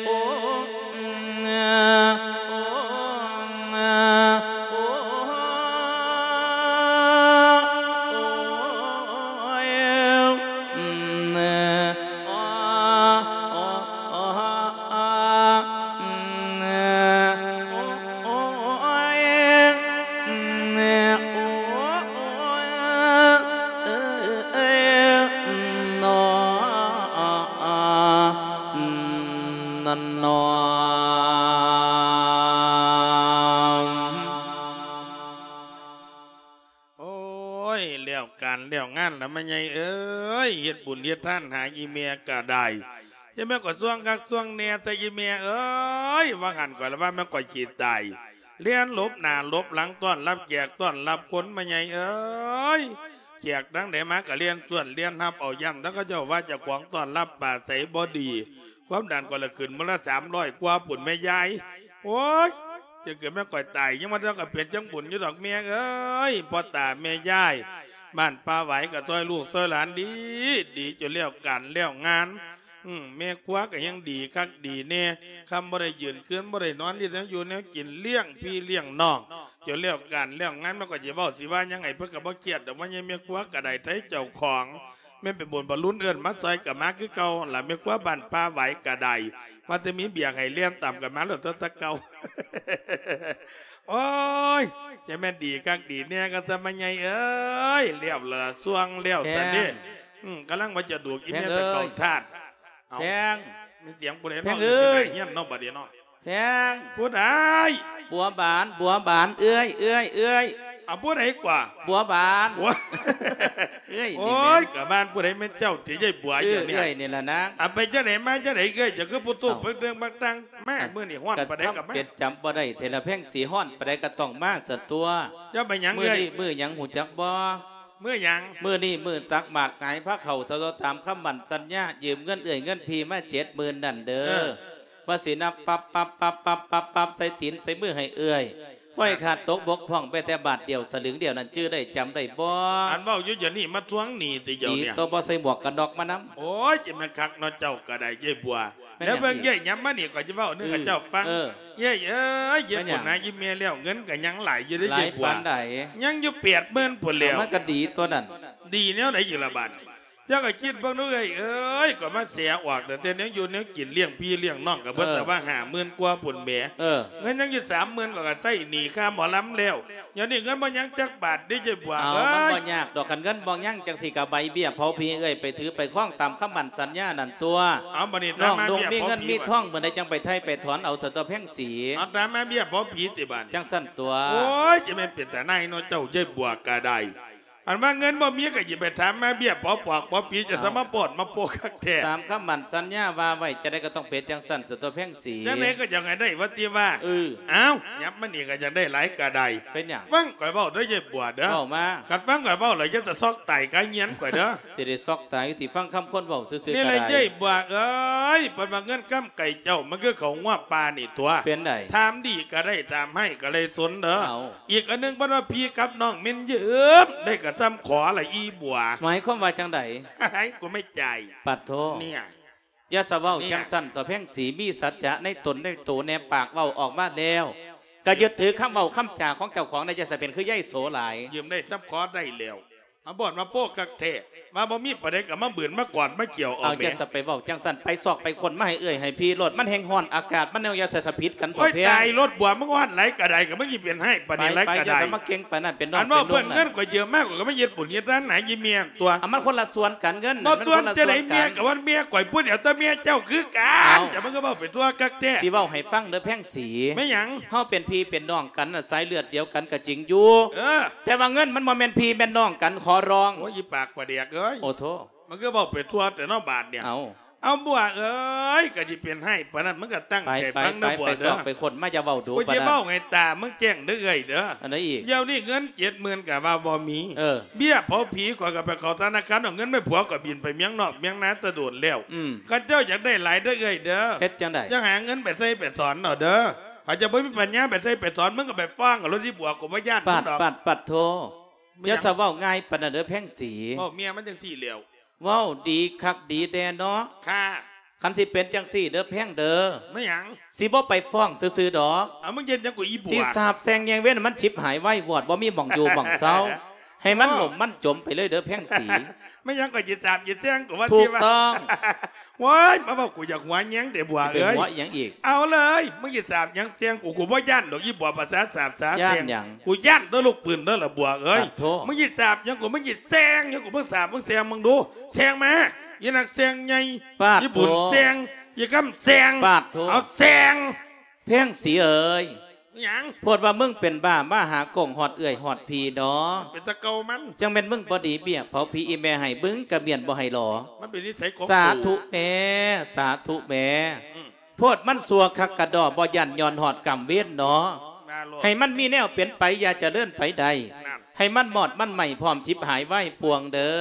ໂອ້ ໂອ້ ໂອ້ ໂອ້ ໂອ້ ໂອ້ຍ ແລ້ວການແລ້ວງານລະ ແມ່ໃຫຍ່ເອີຍ ເຮັດບຸນເຮັດທານຫາອີ່ແມ່ກະໄດ້ ຢ່າແມ່ນກໍຊ່ວງຄັກຊ່ວງແນ່ແຕ່ອີ່ແມ່ເອີຍ ວ່າຫັ້ນກໍລະວ່າແມ່ນກໍຂີ້ຕາຍ ແລ່ນຫຼົບໜ້າຫຼົບຫຼັງຕ້ອນຮັບແຂກຕ້ອນຮັບຄົນ ແມ່ໃຫຍ່ເອີຍ ແຂກທາງໃດມາກໍແລ່ນສວນແລ່ນຮັບເອົາ ຢ້ານແຕ່ເຂົາເຈົ້າວ່າເຈົ້າຂອງຕ້ອນຮັບປາໄສບໍ່ດີ ຄວາມດັນກໍລະຂຶ້ນມື້ລະສາມຮ້ອຍກວ່າພຸ້ນແມ່ຍາຍ ໂອ້ຍ ຈະເກີດແມ່ນຂ້ອຍຕາຍ ຍັງວ່າເຈົ້າກໍເປັນຈັ່ງບຸນຢູ່ດອກແມ່ເອີຍ ພໍ່ຕາແມ່ຍາຍ ບ້ານປ່າຫວາຍກໍຊ່ອຍລູກຊ່ອຍຫຼານດີ ດີຈົນແລ້ວການແລ້ວງານ ອືມ ແມ່ຄົວກໍຍັງດີຄັກດີແນ່ ຄ່ຳບໍ່ໄດ້ຢືນ ຄືນບໍ່ໄດ້ນອນ ເຮັດແນວຢູ່ແນວກິນ ລ້ຽງພີ່ລ້ຽງນ້ອງ ຈົນແລ້ວການແລ້ວງານ ມັນກໍຊິເວົ້າຊິວ່າຫຍັງໃຫ້ເພິ່ນກໍບໍ່ຄຽດດອກ ວ່າຍາຍແມ່ຄົວກໍໄດ້ໄທເຈົ້າຂອງ ແມ່ນໄປບຸນບະລຸນເອີ້ນມາຊ່ອຍກໍມາຄືເກົ່າລະ ແມ່ຄົວບ້ານປ່າຫວາຍກໍໄດ້ ວ່າແຕ່ມີບຽກໃຫ້ແລ່ນຕາມກັນມາໂລດຕົວະແຕ່ເກົ່າ ໂອ້ຍ ຢ່າແມ່ນດີຄັກດີແນ່ກໍຊະ ແມ່ໃຫຍ່ເອີຍ ແລ້ວລະຊ່ວງແລ້ວຊະເດ້ ແພງ ອືມ ກຳລັງວ່າຈະດູກອີ່ແມ່ໄປເຂົ້າທາດ ເອົາ ແພງ ມີສຽງຜູ້ໃດເນາະ ແພງເອີຍ ຢູ່ໃນເຮືອນເນາະ ບັດນີ້ເນາະ ແພງ ຜູ້ໃດ? ບົວບານ ບົວບານ ເອື້ອຍ ເອື້ອຍ ເອື້ອຍ. ເອົາ ຜູ້ໃດກວ່າ? ບົວບານ ບົວ ເອື້ອຍ ໂອ້ຍ ນີ້ແມ່ນ ກະບ້ານຜູ້ໃດແມ່ນເຈົ້າຕິ ຍາຍບົວ ເອີ ຢູ່ນີ້ ເອື້ອຍນີ້ລະນາງ. ເອົາ ໄປຈັ່ງໃດມາຈັ່ງໃດເອື້ອຍ? ເຈົ້າຄືຜູ້ໂຕ ເອົາ ເປັນເລື່ອງບັກຕັງ ມາ ເອີ ມື້ນີ້ຮ້ອນປານໃດກໍມາ. ເປັນຈຳບໍ່ໄດ້ ເທລະແພງສີ ຮ້ອນປານໃດກໍຕ້ອງມາຊັ້ນຕົວະ. ເຈົ້າໄປຫຍັງ ມື້ນີ້ເອື້ອຍ? ມື້ຫຍັງຮູ້ຈັກບໍ່? ມື້ຫຍັງ? ມື້ນີ້ມື້ຕັກໝາກຫງາຍພາເຂົ້າ ເທົ່າຕາມຄຳໝັ້ນສັນຍາ ຢືມເງິນເອື້ອຍເງິນພີ່ມາເຈັດໝື່ນນັ້ນເດີ. ເອີ ວ່າຊິນັບປັບ ປັບ ປັບ ປັບ ປັບ ປັບ ໃສ່ຕີນໃສ່ມືໃຫ້ເອື້ອຍ ບໍ່ໃຫ້ຂາດຕົກບົກຜ່ອງແມ້ແຕ່ບາດດຽວ ສະຫຼຶງດຽວນັ້ນ ຈື່ໄດ້ ຈຳໄດ້ບໍ່? ອັນເວົ້າຢູ່ດຽວນີ້ມາທວງໜີ້ຕິ ດຽວນີ້ ໂຕບໍ່ໃສ່ໝວກກັນນັອກມານຳ. ໂອ້ຍ ຈະແມ່ນຄັກເນາະ ເຈົ້າກໍໄດ້ ຍາຍບົວ. ແມ່ນຫຍັງ? ແລ້ວເບິ່ງ ເອີ ເອື້ອຍ ຫຍັບມານີ້ ຂ້ອຍຈະເວົ້າແນວ ເອີ ກັບເຈົ້າຟັງ. ເອີ ເອື້ອຍເອີຍ ເຈົ້າ ແມ່ນຫຍັງ? ບຸນນາອີ່ແມ່ແລ້ວ ເງິນກໍຍັງຫຼາຍຢູ່ເດ້ ເອື້ອຍບົວ. ຫຼາຍປານໃດ? ຍັງຢູ່ແປດໝື່ນພຸ້ນແລ້ວ. ເອົາ ມັນກໍດີຕົວນັ້ນ. ດີແນວໃດອີກລະບາດນີ້? ເຈົ້າກໍຄິດເບິ່ງດູເອື້ອຍເອີຍ ກໍມາເສຍອອກຕັ້ງແຕ່ແນວຢູ່ແນວກິນ ລ້ຽງພີ່ລ້ຽງນ້ອງ ກໍເບິດ ເອີ ແຕ່ວ່າຫ້າໝື່ນກວ່າພຸ້ນແໝ. ເອີ ເງິນຍັງຢູ່ສາມໝື່ນ ກໍ ກໍໃຊ້ໜີ້ຄ່າໝໍລຳແລ້ວ. ດຽວນີ້ເງິນບໍ່ຍັງຈັກບາດເດ້ ຍາຍບົວເອີຍ. ເອົາ ມັນບໍ່ຍາກດອກ ຄັນເງິນບໍ່ຍັງຈັ່ງຊີ້ ກໍໃບເບ້ຍເຜົາຜີເອື້ອຍໄປຖືໄປຄອງຕາມຄຳໝັ້ນສັນຍານັ້ນຕົວະ. ເອົາ ບັດນີ້ ນ້ອງນຸ່ງມີເງິນມີທອງ ເມື່ອໃດຈັ່ງໄປໄຖ່ໄປຖອນເອົາ ສະຕົວະແພງສີ. ເອົາ ຕາມມາເບ້ຍເຜົາຜີຕິບາດ. ຈັ່ງຊັ້ນຕົວະ. ໂອ້ຍ ຈະແມ່ນເປັນຕາໜ່າຍເນາະ ເຈົ້າ ຍາຍບົວກໍໄດ້. ອັນວ່າເງິນບໍ່ມີກໍຢ່າໄປຖາມມາເບ້ຍເຜົາປອກເຜົາຜີ ຈະ ເອົ້າ ສາມາປອດມາໂປະຄັກແທ້. ຕາມຄຳໝັ້ນສັນຍາວ່າໄວ້ ຈັ່ງໃດກໍຕ້ອງເປັນຈັ່ງຊັ້ນ ສະຕົວະແພງສີ. ຈັ່ງໃດກໍຢາກໃຫ້ໄດ້ວ່າຕິວ່າ. ເອີ ເອົ້າ ຫຍັບມານີ້ກໍຢາກໄດ້ຫຼາຍກໍໄດ້. ເປັນຫຍັງ? ຟັງຂ້ອຍເວົ້າເດີ ຍາຍບົວເດີ. ເວົ້າມາ. ຄັນຟັງຂ້ອຍເວົ້າແລ້ວ ຢ່າສະຊອກຕາຍຄາເຮືອນຂ້ອຍເດີ. ຊິໄດ້ຊອກຕາຍຕິ ຟັງຄຳຄົນເວົ້າຊື່ໆກໍໄດ້. ນີ້ແຫຼະ ຍາຍບົວເອີຍ ເພິ່ນວ່າເງິນຄຳໄກ່ເຈົ້າ ມັນຄືເຂົ້າງົວປ່ານີ້ຕົວະ. ເປັນໃດ? ຖາມດີກໍໄດ້ ຖາມຮ້າຍກໍໄດ້ສົນເດີ. ເອົ້າ ອີກອັນໜຶ່ງ ເພິ່ນວ່າພີ່ກັບນ້ອງແມ່ນຢືມໄດ້ກໍສ່ຳຂໍລະອີ່ບົວ. ໝາຍຄວາມວ່າຈັ່ງໃດ? ໃຫ້ກູໄມ່ຈ່າຍ. ປາດໂທ ເນຍ ຢ່າສະເວົ້າຈັ່ງຊັ້ນ ຕົວະແພງສີ ມີສັດຈະໃນຕົນໃນໂຕແນ່ ປາກເວົ້າອອກມາແລ້ວ ກໍຍຶດຖືຄຳເວົ້າຄຳຈາຂອງເຈົ້າຂອງແນ່ ຢ່າສະເປັນຄືຍາຍໂສຫຼາຍ. ຢືມໄດ້ສ່ຳຂໍໄດ້ແລ້ວ. ອາ ບ່ອນວ່າໂປະຄັກແທ້ ວ່າບໍ່ມີປານໃດກໍມາບືນມາກອນມາກ່ຽວເອົາ. ເອົາ ແໝ ຢ່າສະໄປເວົ້າຈັ່ງຊັ້ນ ໄປຊອກໄປຄົ້ນມາໃຫ້ເອື້ອຍໃຫ້ພີ່ໂລດ ມັນແຮງຮ້ອນອາກາດ ມັນແນວຢ່າສະຜິດກັນ. ໂອ້ຍ ເຖົ້າແພງ ຕາຍໂລດບົວ ມຶງຮ້ອນຫຼາຍກະໄດ້ ກໍມຶງຊິເປັນໃຫ້ປານນີ້ຫຼາຍກະໄດ້. ຢ່າສະມາເກັ່ງປານນັ້ນ ເປັນນ້ອງ ອັນເວົ້າເປັນລຸງ ເພິ່ນເງິນກໍເຢີມາ ຂ້ອຍກໍມາເຮັດບຸນເຮັດທານໃຫ້ອີ່ແມ່ຕົວະ. ເອົາ ມັນຄົນລະສ່ວນກັນ ເງິນ ບໍ່ສ່ວນຈັ່ງໃດ ເມຍກໍວ່າເມຍຂ້ອຍຜູ້ດຽວ ແຕ່ເມຍເຈົ້າຄືກັນ. ເອົ້າ ຈະມັນກໍເວົ້າໄປທົ່ວຄັກແທ້. ຊິເວົ້າໃຫ້ຟັງເດີແພງສີ ແມ່ນຫຍັງ? ເຮົາເປັນພີ່ເປັນນ້ອງກັນນະ ສາຍເລືອດດຽວກັນກໍຈິງຢູ່ ເອີ ແຕ່ວ່າເງິນມັນບໍ່ແມ່ນພີ່ແມ່ນນ້ອງກັນ ຂໍຮ້ອງ. ໂອ້ຍ ອີປາກປາແດກເອີຍ ໂອ້ໂທ ມັນຄືເວົ້າໄປທົ່ວແຕ່ເນາະບາດນີ້. ເອົາ ເອົາບົວເອີຍ ກະຊິເປັນໃຫ້ປານນັ້ນ ມຶງກະຕັ້ງໃຈຟັງເດີບົວເດີ. ໄປ ໄປ ໄປຊອກໄປຄົ້ນມາ ຢ່າເວົ້າດູປານນັ້ນ. ກູຊິເວົ້າໃຫ້ຕາມຶງແຈ້ງເດີເອື້ອຍເດີ. ອັນໃດອີກ? ດຽວນີ້ເງິນເຈັດໝື່ນກະວ່າບໍ່ມີ ເອີ ເບ້ຍເຜົາຜີ ຂ້ອຍກະໄປເຂົ້າທະນາຄານ ເອົາເງິນມາໃຫ້ຜົວ ກໍບິນໄປເມືອງນອກເມືອງນາແຕ່ດົນແລ້ວ. ອືມ ຄັນເຈົ້າຢາກໄດ້ຫຼາຍເດີເອື້ອຍເດີ ເຮັດຈັ່ງໃດ? ຈັ່ງຫາເງິນໄປໃຊ້ໄປຖອນເອົາເດີ. ຂ້ອຍຈະບໍ່ມີປັນຍາໄປໃຊ້ໄປຖອນ ມຶງກໍໄປຟ້ອງເອົາໂລດອີ່ບົວ ກູບໍ່ຢ້ານ ປາດ ມຶງດອກ ປາດ ປາດໂທ ເປັນຫຍັງ? ຢ່າສະເວົ້າງ່າຍປານນັ້ນເດີແພງສີ. ເວົ້າເມຍມັນຈັ່ງຊີ້ແລ້ວ. ເວົ້າດີຄັກດີແນ່ເນາະ. ຄ່າ ຄັນຊິເປັນຈັ່ງຊີ້ເດີແພງເດີ. ແມ່ນຫຍັງ? ຊິບໍ່ໄປຟ້ອງຊື່ໆດອກ. ເອົາ ມຶງເຮັດຫຍັງກູອີ່ບົວ? ຊິສາບແຊ່ງແຍງເວັນໃຫ້ມັນຊິບຫາຍໄວວອດ ບໍ່ມີໝ່ອງຢູ່ໝ່ອງເຊົາ ໃຫ້ມັນ ໂອ້ ຫຼົ່ມມັນຈົມໄປເລີຍເດີແພງສີ. ແມ່ນຫຍັງກໍຊິສາບຊິແຊ່ງກູວ່າ ຖືກຕ້ອງ. ໂອ້ຍ ມາເວົ້າກູຢາກຫົວແຍງແທ້ບົວເອີຍ. ຊິໄປຫົວອີ່ຫຍັງອີກ? ເອົາເລີຍ ມຶງຊິສາບຫຍັງແຊ່ງກູ ກູບໍ່ຢ້ານດອກ ອີ່ບົວ ພາສາສາບສາແຊ່ງ. ຢ້ານຫຍັງ? ກູຢ້ານແຕ່ລູກປືນເດີລະບົວເອີຍ. ປາດໂທ ມຶງຊິສາບຫຍັງກູ ມຶງຊິແຊ່ງຫຍັງກູ ມຶງສາບ ມຶງແຊ່ງ ມຶງດູ ແຊ່ງມາ ອີ່ນັກແຊ່ງໃຫຍ່. ປາດໂທ ອີ່ບຸນແຊ່ງ ອີ່ຄຳແຊ່ງ. ປາດໂທ ເອົາແຊ່ງ. ແພງສີເອີຍ ຫຍັງ? ໂພດວ່າມຶງເປັນບ້າ ມາຫາກົງຮອດເອື້ອຍຮອດພີ່ເນາະ. ເປັນຕາເກົ່າມັນ ຈັ່ງແມ່ນມຶງບໍ່ດີ ເບ້ຍເຜົາຜີອີ່ແມ່ໃຫ້ ມຶງກະມ້ຽນບໍ່ໃຫ້ຫຼໍ. ມັນເປັນນິໄສຂອງ ສາທຸແມ່ ສາທຸແມ່. ອືມ ໂພດມັນຊົ່ວຄັກກະດໍ້ ບໍ່ຢ້ານຍ້ອນຮອດກຳເວນເນາະ. ມາໂລດ ໃຫ້ມັນມີແນວເປັນໄປ ຢ່າຈະເລີນໄປໃດ. ນັ້ນ ໃຫ້ມັນມອດມັນໄໝ້ ພ້ອມຈິບຫາຍວາຍປ່ວງເດີ.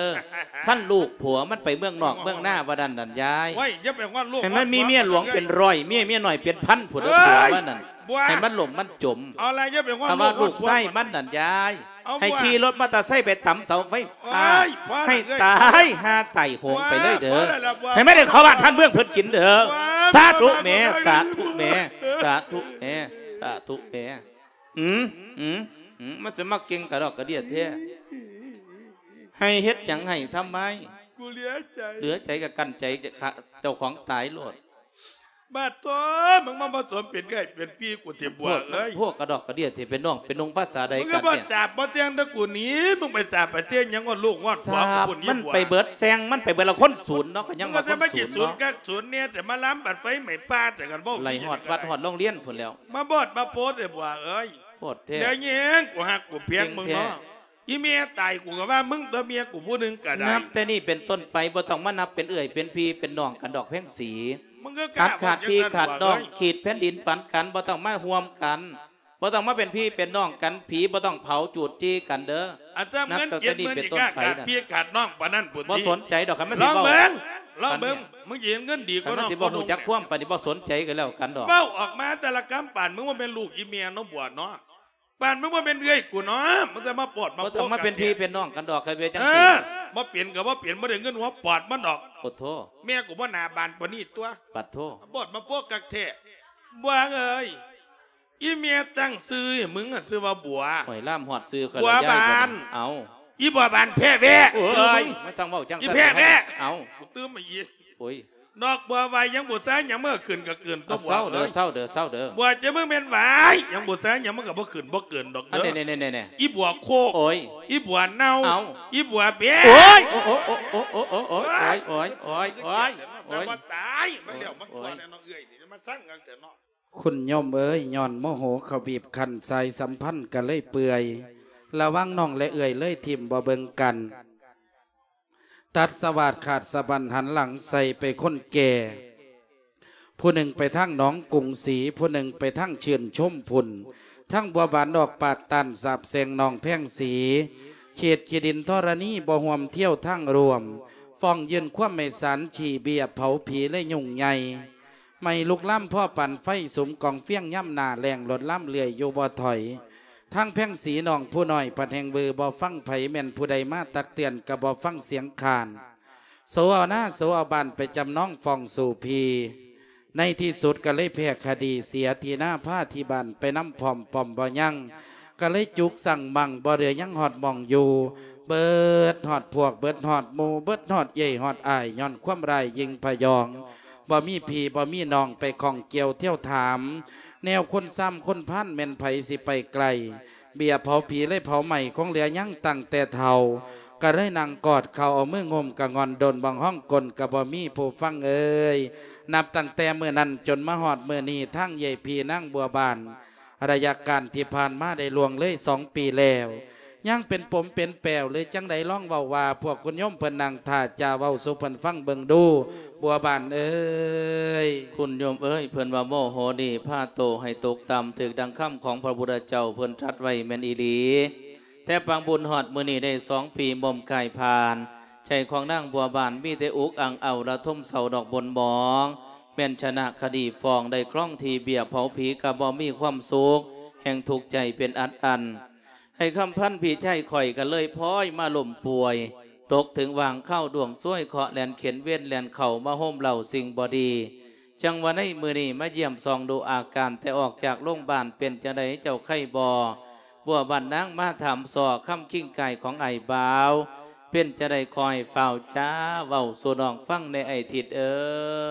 ຄັນລູກຜົວມັນໄປເມືອງນອກເມືອງນາວ່ານັ້ນນັ້ນຍາຍ. ໂອ້ຍ ຢ່າໄປຮອດລູກ ໃຫ້ມັນມີເມຍຫຼວງເປັນຮ້ອຍ ເມຍ ເມຍນ້ອຍເປັນພັນພຸ້ນເດີ ເອີຍ ຜົວມັນນັ້ນ. ບົວ ໃຫ້ມັນຫຼົ່ມມັນຈົມ. ເອົາລະ ຢ່າໄປຮອດລູກ ຄຳວ່າລູກຊາຍມັນນັ້ນຍາຍ. ເອົາ ໃຫ້ ບົວ ຂີ່ລົດມໍເຕີໄຊໄປຕຳເສົາໄຟຟ້າ. ໂອ້ຍ ພໍລະ ໃຫ້ຕາຍຫາໄຕໂຫງໄປເລີຍເດີ. ເອີຍ ພໍລະລະບົວ ໃຫ້ມັນໄດ້ເຂົ້າບ້ານທ່ານເມືອງເພິ່ນກິນເດີ. ບົວ ສາທຸແມ່ ສາທຸແມ່ ສາທຸແມ່ ສາທຸແມ່. ອືມ ອືມ ອືມ ມັນຊິມາເກັ່ງກະດອກກະເດຍແທ້. ໃຫ້ເຮັດຫຍັງໃຫ້ທຳໄມ? ກູເຫຼືອໃຈ ເຫຼືອໃຈກະກັ້ນໃຈເຈົ້າຂອງຕາຍໂລດ. ບາດໂທ້ ມຶງມາບໍ່ສົມເປັນເອື້ອຍເປັນພີ່ກູເຖະບົວເອີຍ. ພວກກະດອກກະເດຍເຖະ ເປັນນ້ອງເປັນນຸ່ງພາສາໃດກັນເນຍ? ມຶງກໍບໍ່ສາບບໍ່ແຈ້ງແຕ່ກູນີ້ ມຶງໄປສາບໄປແຈ້ງຫຍັງຮອດລູກຮອດຜົວກູພຸ້ນອີ່ບົວ. ມັນໄປເບິດແຊງ ມັນໄປເບິດລະຄົນສູນເນາະ ກໍຍັງວ່າຄົນສູນເນາະ. ສູນກັກສູນແນ່ ແຕ່ມາລຳບັດໄຟໄໝ້ປ່າ ແຕ່ກັນເວົ້າໄຫຼຮອດວັດຮອດໂຮງຮຽນພຸ້ນແລ້ວ. ມາບອດມາໂພດເຖະບົວເອີຍ. ໂພດແທ້ ແລ້ວແຍງ ກູຮັກກູພຽງມຶງເນາະ. ອີ່ແມ່ຕາຍ ກູກໍວ່າມຶງຕົວະ ເມຍກູຜູ້ໜຶ່ງກໍໄດ້. ນັບແຕ່ນີ້ເປັນຕົ້ນໄປ ບໍ່ຕ້ອງມານັບເປັນເອື້ອຍເປັນພີ່ເປັນນ້ອງກັນດອກ ແພງສີ. ມຶງກໍກ້າຂາດພີ່ຂາດນ້ອງ ຂີດແຜ່ນດິນປັນກັນ ບໍ່ຕ້ອງມາຮ່ວມກັນ ບໍ່ຕ້ອງມາເປັນພີ່ເປັນນ້ອງກັນ. ຜີບໍ່ຕ້ອງເຜົາຈູດຈີ່ກັນເດີ. ອັນເງິນເຈັດໝື່ນນີ້ກ້າຂາດພີ່ຂາດນ້ອງປານນັ້ນພຸ້ນຕິ. ບໍ່ສົນໃຈດອກ ຄັນມັນຊິເວົ້າ. ລອງເບິ່ງ ລອງເບິ່ງ ມຶງຊິເຫັນເງິນດີກວ່ານ້ອງ. ຄັນມັນຊິບໍ່ຮູ້ຈັກຄວາມປານນີ້ ບໍ່ສົນໃຈກັນແລ້ວກັນດອກ. ເວົ້າອອກມາແຕ່ລະຄຳ ປານມຶງບໍ່ແມ່ນລູກອີ່ແມ່ເນາະບົວເນາະ. ປານມຶງບໍ່ແມ່ນເອື້ອຍກູເນາະ ມຶງຈະມາປອດມາໂພດ ບໍ່ຕ້ອງມາເປັນພີ່ເປັນນ້ອງກັນດອກ ຄັນເປັນຈັ່ງຊີ້. ເອີ ບໍ່ເປັນກໍບໍ່ເປັນ ບໍ່ໄດ້ເງິນຫົວປອດມັນດອກ. ໂອ້ໂທ້ ແມ່ກູບໍ່ໜ້າບານປານນີ້ຕົວະ. ປາດໂທ້ ປອດມາໂພດຄັກແທ້. ບົວເອີຍ ອີ່ແມ່ຕັ້ງຊື່ໃຫ້ມຶງ ຊື່ວ່າບົວ. ໂອ້ຍ ລາມຮອດຊື່ຂ້ອຍແລ້ວ ບົວບານ. ເອົ້າ ອີ່ບົວບານແພ້ແວະ. ໂອ້ຍ ຊື່ມຶງ ມັນຊ່າງເວົ້າຈັ່ງຊັ້ນ ອີ່ແພ້ແວະ. ເອົ້າ ກູຕື່ມມາອີກ. ໂອ້ຍ ດອກບົວວາຍ ຍັງບໍ່ຊາ ຍັງບໍ່ຂຶ້ນກໍເກີນຕົວະ. ເອົ້າ ເຊົາເດີ ເຊົາເດີ ເຊົາເດີ. ບົວຈະມຶງແມ່ນວາຍ ຍັງບໍ່ຊາ ຍັງມັນກໍບໍ່ຂຶ້ນບໍ່ເກີນດອກເດີ. ອັນນີ້ໆໆໆ ອີ່ບົວໂຄກ. ໂອ້ຍ ອີ່ບົວເນົ່າ. ເອົ້າ ອີ່ບົວແບະ. ໂອ້ຍ ໂອ້ຍ ໂອ້ຍ ບໍ່ຕາຍ ມັນແລ້ວມັນທົ່ວແລ້ວເນາະເອື້ອຍ ມາສັ່ງກັນເຖາະເນາະ. ຄຸນໂຍມເອີຍ ຍ້ອນໂມໂຫເຂົາບີບຄັ້ນ ສາຍສຳພັນກໍເລີຍເປື່ອຍ ລະຫວ່າງນ້ອງແລະເອື້ອຍເລີຍຖິ້ມບໍ່ເບິ່ງກັນ. ຕັດສະຫວາດຂາດສະບັນ ຫັນຫຼັງໃສ່ໄປຄົນແກ່. ຜູ້ໜຶ່ງໄປທາງໜອງກຸງສີ ຜູ້ໜຶ່ງໄປທາງຊື່ນຊົມພຸ້ນ. ທັງບົວບານອອກປາກຕ້ານສາບແຊ່ງນ້ອງແພງສີ ເຂດຂີ້ດິນທໍລະນີບໍ່ຮ່ວມທຽວທາງຮ່ວມ ຟ້ອງຍື່ນຄວາມໃຫ້ສານຂີ້ເບ້ຍເຜົາຜີເລີຍຫຍຸ້ງໃຫຍ່. ໄໝ້ລຸກລາມພໍປານໄຟ ສຸມກອງຟຽງຍາມໜ້າແລ້ງ ລົດລາມເລື່ອຍຢູ່ບໍ່ຖອຍ. ທາງແພງສີນ້ອງຜູ້ນ້ອຍພັດແຮ່ງວືບໍ່ຟັງໃຜ ແມ່ນຜູ້ໃດມາຕັກເຕືອນກໍບໍ່ຟັງສຽງຄ້ານ. ໂສເອົານາໂສເອົາບ້ານໄປຈຳນອງຟ້ອງສູ້ພີ້. ໃນທີ່ສຸດກໍເລີຍແພ້ຄະດີ ເສຍທີ່ນາພາທີ່ບ້ານໄປນຳພ້ອມປ້ອມບໍ່ຍັງ. ກໍເລີຍຈຸກສັງມັ່ງ ບໍ່ເຫຼືອຍັງຮອດໝ່ອງຢູ່. ເບິດຮອດພວກ ເບິດຮອດໝູ່ ເບິດຮອດເອື້ອຍຮອດອ້າຍ ຍ້ອນຄວາມຮ້າຍຍິ່ງພະຍອງ. ບໍ່ມີພີ່ບໍ່ມີນ້ອງໄປຂ້ອງກ່ຽວທຽວຖາມ ແນວຄົນຊາມຄົນພານແມ່ນໃຜຊິໄປໄກ. ເບ້ຍເຜົາຜີເລີຍເຜົາໄໝ້ ຄົງເຫຼືອຍັງຕັ້ງແຕ່ເຖົ້າ ກໍເລີຍນັ່ງກອດເຂົ່າ ເອົາມືງຸ້ມກະງ່ອນດົນ ບາງຮ້ອງກົນກໍບໍ່ມີຜູ້ຟັງເອີຍ. ນັບຕັ້ງແຕ່ມື້ນັ້ນຈົນມາຮອດມື້ນີ້ ທາງເອື້ອຍພີ່ນາງບົວບານ ໄລຍະການທີ່ຜ່ານມາໄດ້ລ່ວງເລີຍສອງປີແລ້ວ ຍັງເປັນປົມເປັນແປວ ຫຼື ຈັ່ງໃດ ລອງເວົ້າວ່າ ພວກຄຸນໂຍມເພິ່ນນັ່ງຖ້າຈະເວົ້າສູ່ເພິ່ນຟັງເບິ່ງດູ ບົວບານເອີຍ. ຄຸນໂຍມເອີຍ ເພິ່ນວ່າໂມໂຫນີ້ພາໂຕໃຫ້ຕົກຕ່ຳ ຖືກດັ່ງຄຳຂອງພະພຸດທະເຈົ້າເພິ່ນຕັດໄວ້ແມ່ນອີ່ຫຼີ. ແຕ່ປາງບຸນຮອດມື້ນີ້ໄດ້ສອງປີ ໝົມກາຍຜ່ານ ໃຈຂອງນາງບົວບານມີແຕ່ອຸກອັ່ງເອົ້າລະທົມເສົ້າດອກບົນໝອງ ແມ່ນຊະນະຄະດີຟ້ອງໄດ້ຄອງທີ່ ເບ້ຍເຜົາຜີກໍບໍ່ມີຄວາມສຸກ ແຮ່ງທຸກໃຈເປັນອັດອັນ. ອ້າຍຄຳພັນພີ່ຊາຍຂ້ອຍກໍເລີຍພອຍມາລົ້ມປ່ວຍ ຕົກເຖິງຫວ່າງຄາວດວງຊວຍ ເຄາະແລ່ນເຂັນເວນແລ່ນເຂົ້າມາໂຮມເລົ້າສິ່ງບໍ່ດີ. ຈັ່ງວ່າໃນມື້ນີ້ມາຢ້ຽມສ່ອງດູອາການ ແຕ່ອອກຈາກໂລງບານ ເປັນຈັ່ງໃດເຈົ້າໄຄບໍ່? ບົວບານນາງມາຖາມສໍ້ຄຳຄິງກາຍຂອງອ້າຍບ່າວ ເປັນຈັ່ງໃດຄ່ອຍຟ້າວຈາເວົ້າສູ່ນ້ອງຟັງແດ່ ອ້າຍທິດເອີ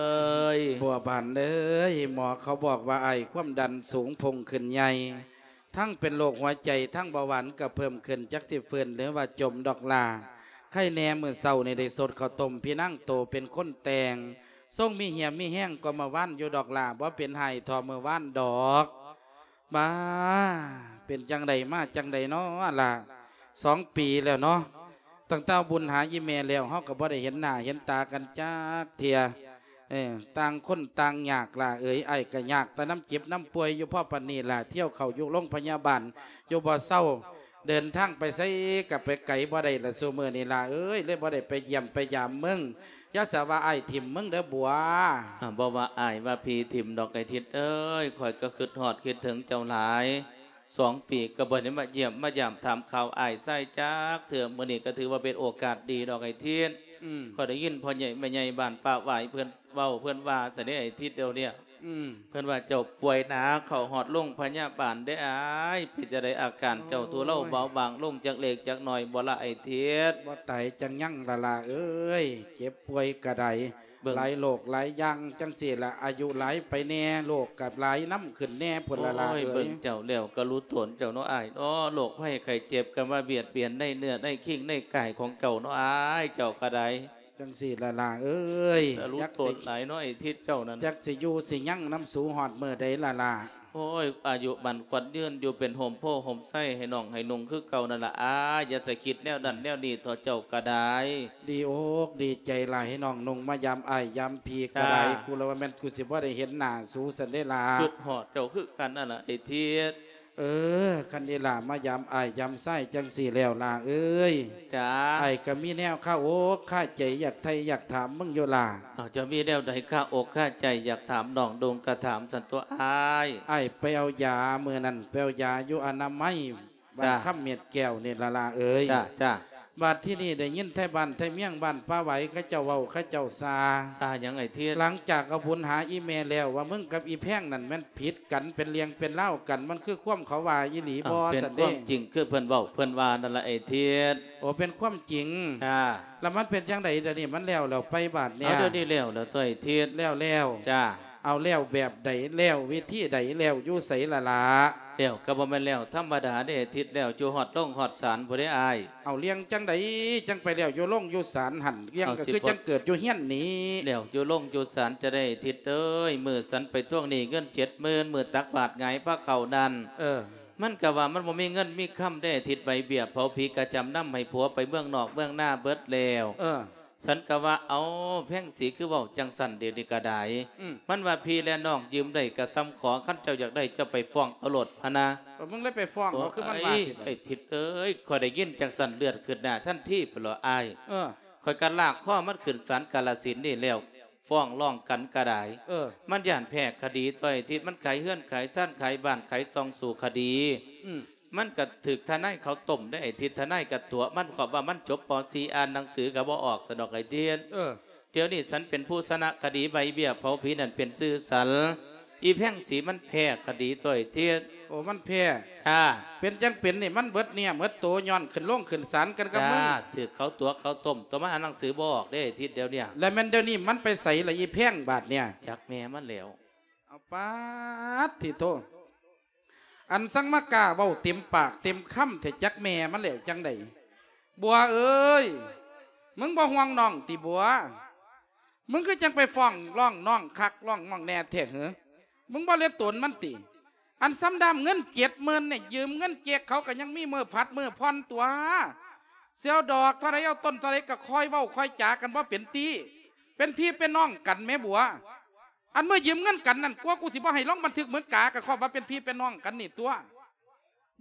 ຍ. ບົວບານເອີຍ ໝໍເຂົາບອກວ່າອ້າຍຄວາມດັນສູງ ພຸ່ງຂຶ້ນໃຫຍ່ ທັງເປັນໂລກຫົວໃຈ ທັງເບົາຫວານກໍເພີ່ມຂຶ້ນ ຈັກຊິຟື້ນ ຫຼືວ່າຈົມດອກຫຼ້າ. ໄຄແນ່ມື້ເຊົ້ານີ້ໄດ້ສົດເຂົ້າຕົ້ມ ພີ່ນາງໂຕເປັນຄົນແຕ່ງ ຊົງມີຮຽມມີແຮງກວ່າເມື່ອວານຢູ່ດອກຫຼ້າ ບໍ່ເປັນໄຫ້ທໍ່ເມື່ອວານດອກ. ບາ ເປັນຈັ່ງໃດມາຈັ່ງໃດເນາະຫຼ້າ ສອງປີແລ້ວເນາະ. ຕັ້ງແຕ່ບຸນຫາອີ່ແມ່ແລ້ວ ເຮົາກໍບໍ່ໄດ້ເຫັນໜ້າເຫັນຕາກັນຈັກເທື່ອ. ເອີ ຕ່າງຄົນຕ່າງຍາກຫຼ້າເອີຍ ອ້າຍກໍຍາກແຕ່ນຳເຈັບນຳປ່ວຍຢູ່ພໍປານນີ້ລະ ທ່ຽວເຂົ້າຢູ່ໂລງພະຍາບານຢູ່ບໍ່ເຊົາ ເດີນທາງໄປໃສກໍໄປໄກບໍ່ໄດ້ລະຊຸມື້ນີ້ຫຼ້າເອີຍ ເລີຍບໍ່ໄດ້ໄປຢ້ຽມໄປຢາມເບິ່ງ. ຢ່າສະວ່າອ້າຍຖິ້ມເບິ່ງເດີບົວ. ອາ ບໍ່ວ່າອ້າຍວ່າພີ່ຖິ້ມດອກ ໄອ້ທິດເອີຍ ຂ້ອຍກໍຄຶດຮອດຄິດເຖິງເຈົ້າຫຼາຍ. ສອງປີກໍບໍ່ໄດ້ມາຢ້ຽມມາຢາມຖາມຂ່າວອ້າຍຊາຍຈັກເທື່ອ ມື້ນີ້ກໍຖືວ່າເປັນໂອກາດດີດອກໄອ້ທິດ. ອືມ ຂ້ອຍໄດ້ຍິນພໍ່ໃຫຍ່ແມ່ໃຫຍ່ບ້ານປ່າຫວາຍເພິ່ນເວົ້າ ເພິ່ນວ່າຊັ້ນເດ້ໄອ້ທິດດຽວເນີ້ຍ. ອືມ ເພິ່ນວ່າເຈົ້າປ່ວຍໜັກ ເຂົ້າຮອດໂຮງພະຍາບານເດ້ອ້າຍ. ເປັນຈັ່ງໃດອາການເຈົ້າ? ໂອ້ຍ ທຸເລົາເບົາບາງລົງຈັກເລັກຈັກໜ້ອຍບໍ່ລະອ້າຍທິດ? ບໍ່ຕາຍຈັ່ງຍັງລະຫຼ້າເອີຍ ເຈັບປ່ວຍກະໄດ້ ເບິ່ງ ຫຼາຍໂລກຫຼາຍຢ່າງຈັ່ງຊີ້ລະ ອາຍຸຫຼາຍໄປແດ່ ໂລກກະຫຼາຍນຳຂຶ້ນແດ່ພຸ້ນລະຫຼ້າເອີຍ. ໂອ້ຍ ເບິ່ງເຈົ້າແລ້ວກະຮູ້ຕົນເຈົ້າເນາະອ້າຍເນາະ ໂລກໄພໄຂ້ເຈັບກະມາບຽດບຽນໃນເນື້ອໃນຄີງໃນກາຍຂອງເຈົ້າເນາະອ້າຍ ເຈົ້າກະໄດ້. ຈັ່ງຊີ້ລະຫຼ້າເອີຍ ກະຮູ້ຕົນຫຼາຍເນາະໄອ້ທິດເຈົ້ານັ້ນ ຈັກຊິຢູ່ຊິຍັງນຳສູຮອດມື້ໃດລະຫຼ້າ? ໂອ້ຍ ອາຍຸໝັ້ນຂວັນຍືນ ຢູ່ເປັນຮົ່ມໂພຮົ່ມໄຊໃຫ້ນ້ອງໃຫ້ນຸ່ງຄືເກົ່ານັ້ນລະອ້າຍ ຢ່າໄດ້ຄິດແນວນັ້ນແນວນີ້ເຖາະ ເຈົ້າກະໄດ້. ດີອົກດີໃຈຫຼາຍ ໃຫ້ນ້ອງນຸ່ງມາຢາມອ້າຍຢາມພີ່ກະໄດ້. ກູລະວ່າແມ່ນກູຊິບໍ່ໄດ້ເຫັນໜ້າສູຊັ້ນເດ້ລະ ຄຶດຮອດເຈົ້າຄືກັນນັ້ນລະໄອ້ທິດ. ເອີ ຄັນອີ່ຫຼ້າມາຢາມອ້າຍຢາມຊາຍຈັ່ງຊີ້ແລ້ວຫຼ້າເອີຍ ຈ້າ ອ້າຍກະມີແນວຄາອົກຄາໃຈຢາກໄຖ່ຢາກຖາມມຶງຢູ່ຫຼ້າ. ເອົາ ເຈົ້າມີແນວໃດຄາອົກຄາໃຈຢາກຖາມນ້ອງດຸ່ງກະຖາມຊັ້ນຕົວອ້າຍ. ອ້າຍໄປເອົາຢາ ມື້ນັ້ນໄປເອົາຢາຢູ່ອະນາໄມ ບ້ານ ຈ້າ ຄຳເມັດແກ້ວນີ້ລະຫຼ້າເອີຍ. ຈ້າ ຈ້າ ບາດທີນີ້ໄດ້ຍິນໄທບ້ານໄທເມືອງບ້ານປ່າໄຫວເຂົາເຈົ້າເວົ້າເຂົາເຈົ້າຊ່າ. ຊ່າຫຍັງໄອ້ທິດ? ຫຼັງຈາກເອົາບຸນຫາອີ່ແມ່ແລ້ວ ວ່າມຶງກັບອີ່ແພງນັ້ນແມ່ນຜິດກັນ ເປັນເລື່ອງເປັນລາວກັນ ມັນຄືຄວາມເຂົາວ່າອີ່ຫຼີບໍ່? ເປັນຄວາມຈິງຄືເພິ່ນເວົ້າເພິ່ນວ່ານັ້ນລະໄອ້ທິດ. ໂອ ເປັນຄວາມຈິງ. ຈ້າ ລະມັນເປັນຈັ່ງໃດດຽວນີ້? ມັນແລ້ວແລ້ວໄປບາດເນີ້ຍ? ເອົາ ດຽວນີ້ແລ້ວແລ້ວຕົວະໄອ້ທິດ. ແລ້ວແລ້ວ. ຈ້າ ເອົາແລ້ວແບບໃດ? ແລ້ວວິທີໃດ? ແລ້ວຢູ່ໃສລະຫຼ້າ? ແລ້ວກະບໍ່ແມ່ນແລ້ວທຳມະດາເດ້ທິດ ແລ້ວຢູ່ຮອດໂຮງຮອດສານພຸ້ນເດ້ອ້າຍ. ເອົາ ເລື່ອງຈັ່ງໃດຈັ່ງໄປແລ້ວຢູ່ໂຮງຢູ່ສານຫັ້ນ? ເລື່ອງກະຄືຈັ່ງເກີດຢູ່ເຮືອນນີ້. ແລ້ວຢູ່ໂຮງຢູ່ສານຈະໄດ້ທິດເອີຍ ມື້ສັນໄປທວງໜີ້ເງິນເຈັດໝື່ນ ມື້ຕັກບາດຫງາຍພາເຂົ້ານັ້ນ. ເອີ ມັນກະວ່າມັນບໍ່ມີເງິນມີຄຳເດ້ທິດ ໃບເບ້ຍເຜົາຜີກະຈຳນຳໃຫ້ຜົວໄປເມືອງນອກເມືອງນາເບິດແລ້ວ. ເອີ ສັນກະວ່າ ເອົາ ແພງສີຄືເວົ້າຈັ່ງຊັ້ນດຽວນີ້ກະໄດ້. ອືມ ມັນວ່າພີ່ແລະນ້ອງຢືມໄດ້ກະສ່ຳຂໍ ຄັນເຈົ້າຢາກໄດ້ເຈົ້າໄປຟ້ອງເອົາໂລດຫັ້ນນະ. ເອີ ມຶງເລີຍໄປຟ້ອງເອົາ ຄືມັນວ່າຊິໄດ້. ໄອ້ທິດເອີຍ ຂ້ອຍໄດ້ຍິນຈັ່ງຊັ້ນເລືອດຂຶ້ນໜ້າທັນທີພຸ້ນລະອ້າຍ. ເອີ ຂ້ອຍກະລາກຄໍມັນຂຶ້ນສານກາລະສິນນີ້ແລ້ວ ຟ້ອງຮ້ອງກັນກະໄດ້. ເອີ ມັນຢ້ານແພ້ຄະດີຕົວະໄອ້ທິດ ມັນຂາຍເຮືອນຂາຍຊານຂາຍບ້ານຂາຍຊ່ອງສູ້ຄະດີ. ອືມ ມັນກະຖືກທະນາຍເຂົາຕົ້ມໄດ້ໄອ້ທິດ ທະນາຍກະຕົວະມັນ ເພາະວ່າມັນຈົບ ປໍສີ່ ອ່ານໜັງສືກະບໍ່ອອກຊັ້ນດອກໄອ້ທິດ. ເອີ ດຽວນີ້ສັນເປັນຜູ້ຊະນະຄະດີໃບເບ້ຍເຜົາຜີນັ້ນເປັນຊື່ສັນ ອີ່ແພງສີມັນແພ້ຄະດີຕົວະໄອ້ທິດ. ໂອ ມັນແພ້. ຈ້າ ເປັນຈັ່ງເປັນນີ້ ມັນເບິດເນື້ອເໝິດໂຕ ຍ້ອນຂຶ້ນໂຮງຂຶ້ນສານກັນກັບມຶງ. ຈ້າ ຖືກເຂົາຕົວະເຂົາຕົ້ມ ຕົວະມັນອ່ານໜັງສືບໍ່ອອກເດ້ໄອ້ທິດດຽວເນີ້ຍ. ແລະແມ່ນດຽວນີ້ມັນໄປໃສລະອີ່ແພງບາດເນີ້ຍ? ຈັກແມ່ມັນແລ້ວ. ເອົາປາດທິໂທ ອັນສັງມາກ້າເວົ້າເຕັມປາກເຕັມຄຳແທ້ ຈັກແມ່ມັນແລ້ວຈັ່ງໃດ? ບົວເອີຍ ມຶງບໍ່ຫ່ວງນ້ອງຕິບົວ? ມຶງຄືຈັ່ງໄປຟ້ອງຮ້ອງນ້ອງຄັກຮ້ອງນ້ອງແນ່ແທ້ເຫີ? ມຶງບໍ່ເລັດຕົນມັນຕິ? ອັນສ່ຳດາມເງິນເຈັດໝື່ນນີ້ ຢືມເງິນເຈັກເຂົາກະຍັງມີມື້ຜັດມື້ຜ່ອນຕົວະ. ຊິເອົາດອກເທົ່າໃດ ເອົາຕົ້ນເທົ່າໃດກະຄ່ອຍເວົ້າຄ່ອຍຈາກັນບໍ່ເປັນຕິ. ເປັນພີ່ເປັນນ້ອງກັນແມ້ບົວ. ອັນເມື່ອຢືມເງິນກັນນັ້ນ ກວ່າກູຊິບໍ່ໃຫ້ລົງບັນທຶກເໝິກາ ກະຄອບວ່າເປັນພີ່ເປັນນ້ອງກັນນີ້ຕົວະ.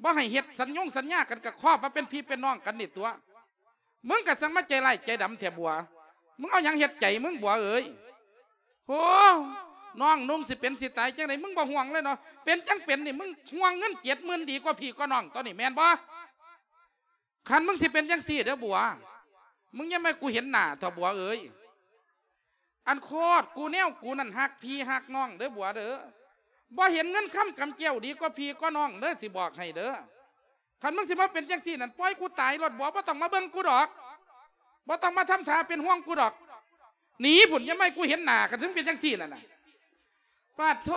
ບໍ່ໃຫ້ເຮັດສັນຍົງສັນຍາກັນ ກະຄອບວ່າເປັນພີ່ເປັນນ້ອງກັນນີ້ຕົວະ. ມຶງກະຊ່າງມາໃຈຮ້າຍໃຈດຳແທ້ບົວ. ມຶງເອົາຫຍັງເຮັດໃຈມຶງບົວເອີຍ? ໂຫ ນ້ອງນຸ່ງຊິເປັນຊິຕາຍຈັ່ງໃດ ມຶງບໍ່ຫ່ວງເລີຍເນາະ. ເປັນຈັ່ງເປັນນີ້ ມຶງຫ່ວງເງິນເຈັດໝື່ນດີກວ່າພີ່ກວ່ານ້ອງ ຕອນນີ້ແມ່ນບໍ່? ຄັນມຶງຊິເປັນຈັ່ງຊີ້ເດີບົວ ມຶງຢ່າມາໃຫ້ກູເຫັນໜ້າເຖາະບົວເອີຍ. ອັນໂຄດກູແນວກູນັ້ນຮັກພີ່ຮັກນ້ອງເດີບົວເດີ. ບໍ່ເຫັນເງິນຄຳກຳແກ້ວດີກວ່າພີ່ກວ່ານ້ອງເດີ ຊິບອກໃຫ້ເດີ. ຄັນມຶງຊິມາເປັນຈັ່ງຊີ້ນັ້ນ ປ່ອຍກູຕາຍໂລດບົວ ບໍ່ຕ້ອງມາເບິ່ງກູດອກ. ບໍ່ຕ້ອງມາທຳທ່າເປັນຫ່ວງກູດອກ. ໜີພຸ້ນ ຢ່າມາໃຫ້ກູເຫັນໜ້າ ຄັນເຖິງເປັນຈັ່ງຊີ້ນັ້ນນະ. ປາດໂທ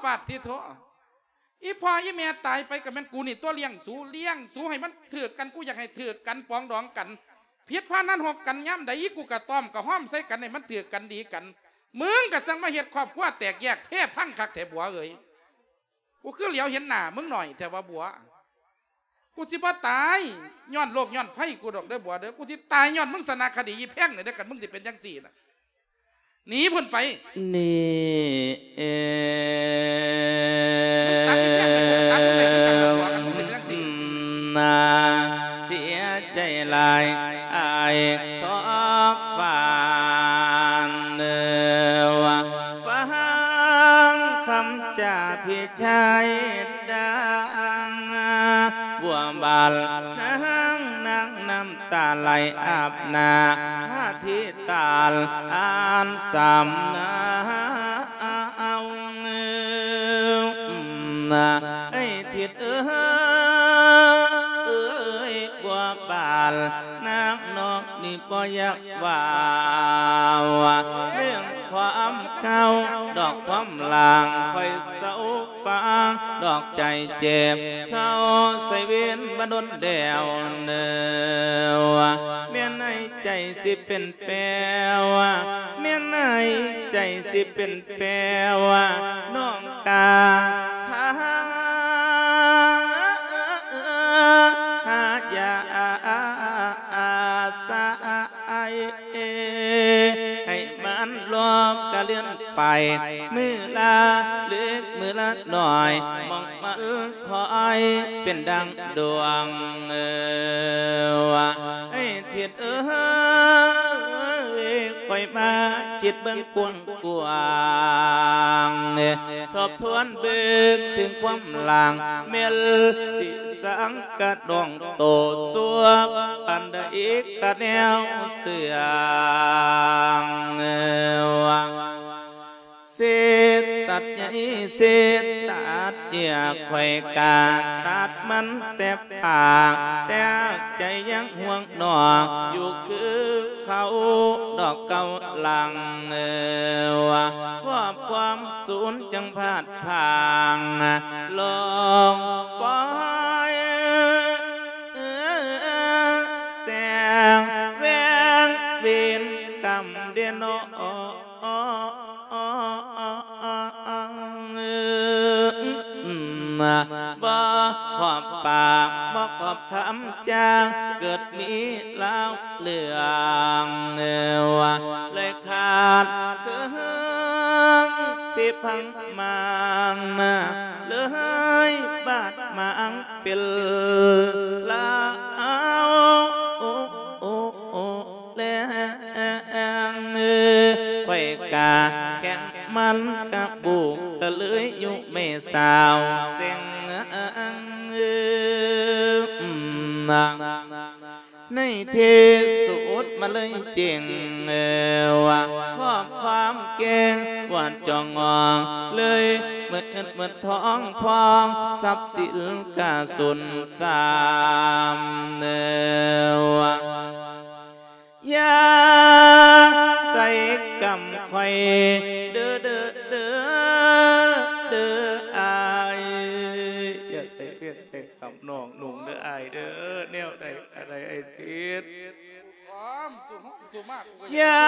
ປາດຕິໂທ ອີ່ພໍ່ອີ່ແມ່ຕາຍໄປກະແມ່ນກູນີ້ຕົວະລ້ຽງສູ ລ້ຽງສູໃຫ້ມັນຖືກກັນ ກູຢາກໃຫ້ຖືກກັນປອງດອງກັນ ຜິດພາດນັ້ນຮົບກັນຍາມໃດ ອີ່ກູກະຕ້ອມກະຫ້ອມໃສ່ກັນໃຫ້ມັນຖືກກັນດີກັນ ມຶງກະຈັ່ງມາເຮັດຄອບຄົວແຕກແຍກເພພັງຄັກແທ້ບົວເອີຍ. ກູຄືຫຼຽວເຫັນໜ້າມຶງໜ້ອຍແທ້ວ່າບົວ. ກູຊິບໍ່ຕາຍຍ້ອນໂລກຍ້ອນໄພກູດອກເດີບົວເດີ ກູຊິຕາຍຍ້ອນມຶງຊະນະຄະດີອີ່ແພງນີ້ເດີ ຄັນມຶງຊິເປັນຈັ່ງຊີ້ນະ. ໜີພຸ້ນໄປ ໜີ ເອ ນາ ເສຍໃຈຫຼາຍອ້າຍທອບຟານເດີ ຟັງຄຳຈາພີ່ຊາຍດັງ ບົວບານນາງ ນ້ຳຕາໄຫຼອາບໜ້າ ອະທິຖານອັນສຳເນົາ. ຢາກວ່າ ເລື່ອງຄວາມເກົ່າ ດອກຄວາມຫຼັງ ຂ້ອຍເຊົາຟັງ ດອກໃຈເຈັບ ເຊົາໃສ່ເວນມາດົນແລ້ວເນີ ແມ່ນໃນໃຈຊິເປັນ ແປວ່າ ແມ່ນໃນໃຈຊິເປັນແປວ່າ ນ້ອງກາ ຖ້າ ຫາຢາສາຍ ໃຫ້ມັນລອບກະເລື່ອນໄປ ມື້ລະເລັກມື້ລະໜ້ອຍ ມອງມັນ ຄອຍເປັນດັ່ງດວງ ເອີ ວ່າ ເອີຍ ທິດເອີຍ ຂ້ອຍມາຄິດເບິ່ງກວ້າງໆ ເອີ ທົບທວນເບິ່ງເຖິງຄວາມຫຼັງ ແມ່ນຊິສັງກະດອງໂຕ ຊົ່ວປານໃດກະແນວເຊື່ອງ ເອີ ວ່າ ເສດຕັດໃຫຍ່ ເສດຕັດເຫຍື່ອ ຂ້ອຍກະຕັດມັນແຕ່ປາກ ແຕ່ໃຈຍັງຫ່ວງນ້ອງ ຢູ່ຄືເກົ່າດອກເກົ່າຫຼັງ ເອີ ວ່າ ຄອບຄວາມສູນຈັ່ງພາດພາງ ລອງປ່ອຍ ແສງແວງເວນກຳເດເນາະ ບໍ່ຂອບປາກ ບໍ່ຂອບຄຳຈາ ເກີດມີລາວເລື່ອງ ເລີຍຂາດເຄື່ອງທີ່ພັງມາງນາ ເລີຍບາດໝາງເປັນລາວ ແລງ ຂ້ອຍກະແຂ່ງມັນກະບຸກ ກະເລີຍຍຸແມ່ສາວເສັງ ໃນທີ່ສຸດມາເລີຍເຈັງ ວ່າຄອບຄວາມເກັ່ງ ຫວາດຈ່ອງງອງ ເລີຍເໝິດເງິນເໝິດທອງພອງ ຊັບສິນກະສູນ ສາມ ເອີ ວ່າ ຢ່າໃສ່ກຳຂ້ອຍເດີ ເດີ ເດີ ເດີ ອ້າຍ ຢ່າໃສ່ເວນໃສ່ກຳນ້ອງນຸ່ງເດີ ອ້າຍເດີ ແນວໃດກະໄດ້ ອ້າຍທິດ ຢ່າ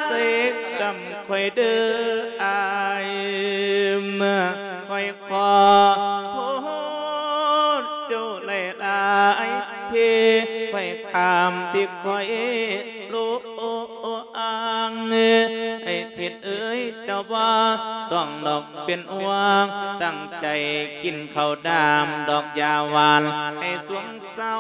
ເສກກຳຂ້ອຍເດີອ້າຍ ຂ້ອຍຂໍໂທດເຈົ້າຫຼາຍໆ ທີ່ຂ້ອຍຂ້າມ ທີ່ຂ້ອຍຫຼວງ ອ້າຍທິດເອີຍ ເຈົ້າບໍ່ຕ້ອງດອກ ເປັນຫ່ວງ ຕັ້ງໃຈກິນເຂົ້າດາມ ດອກຢາຫວານໃຫ້ສວງເຊົ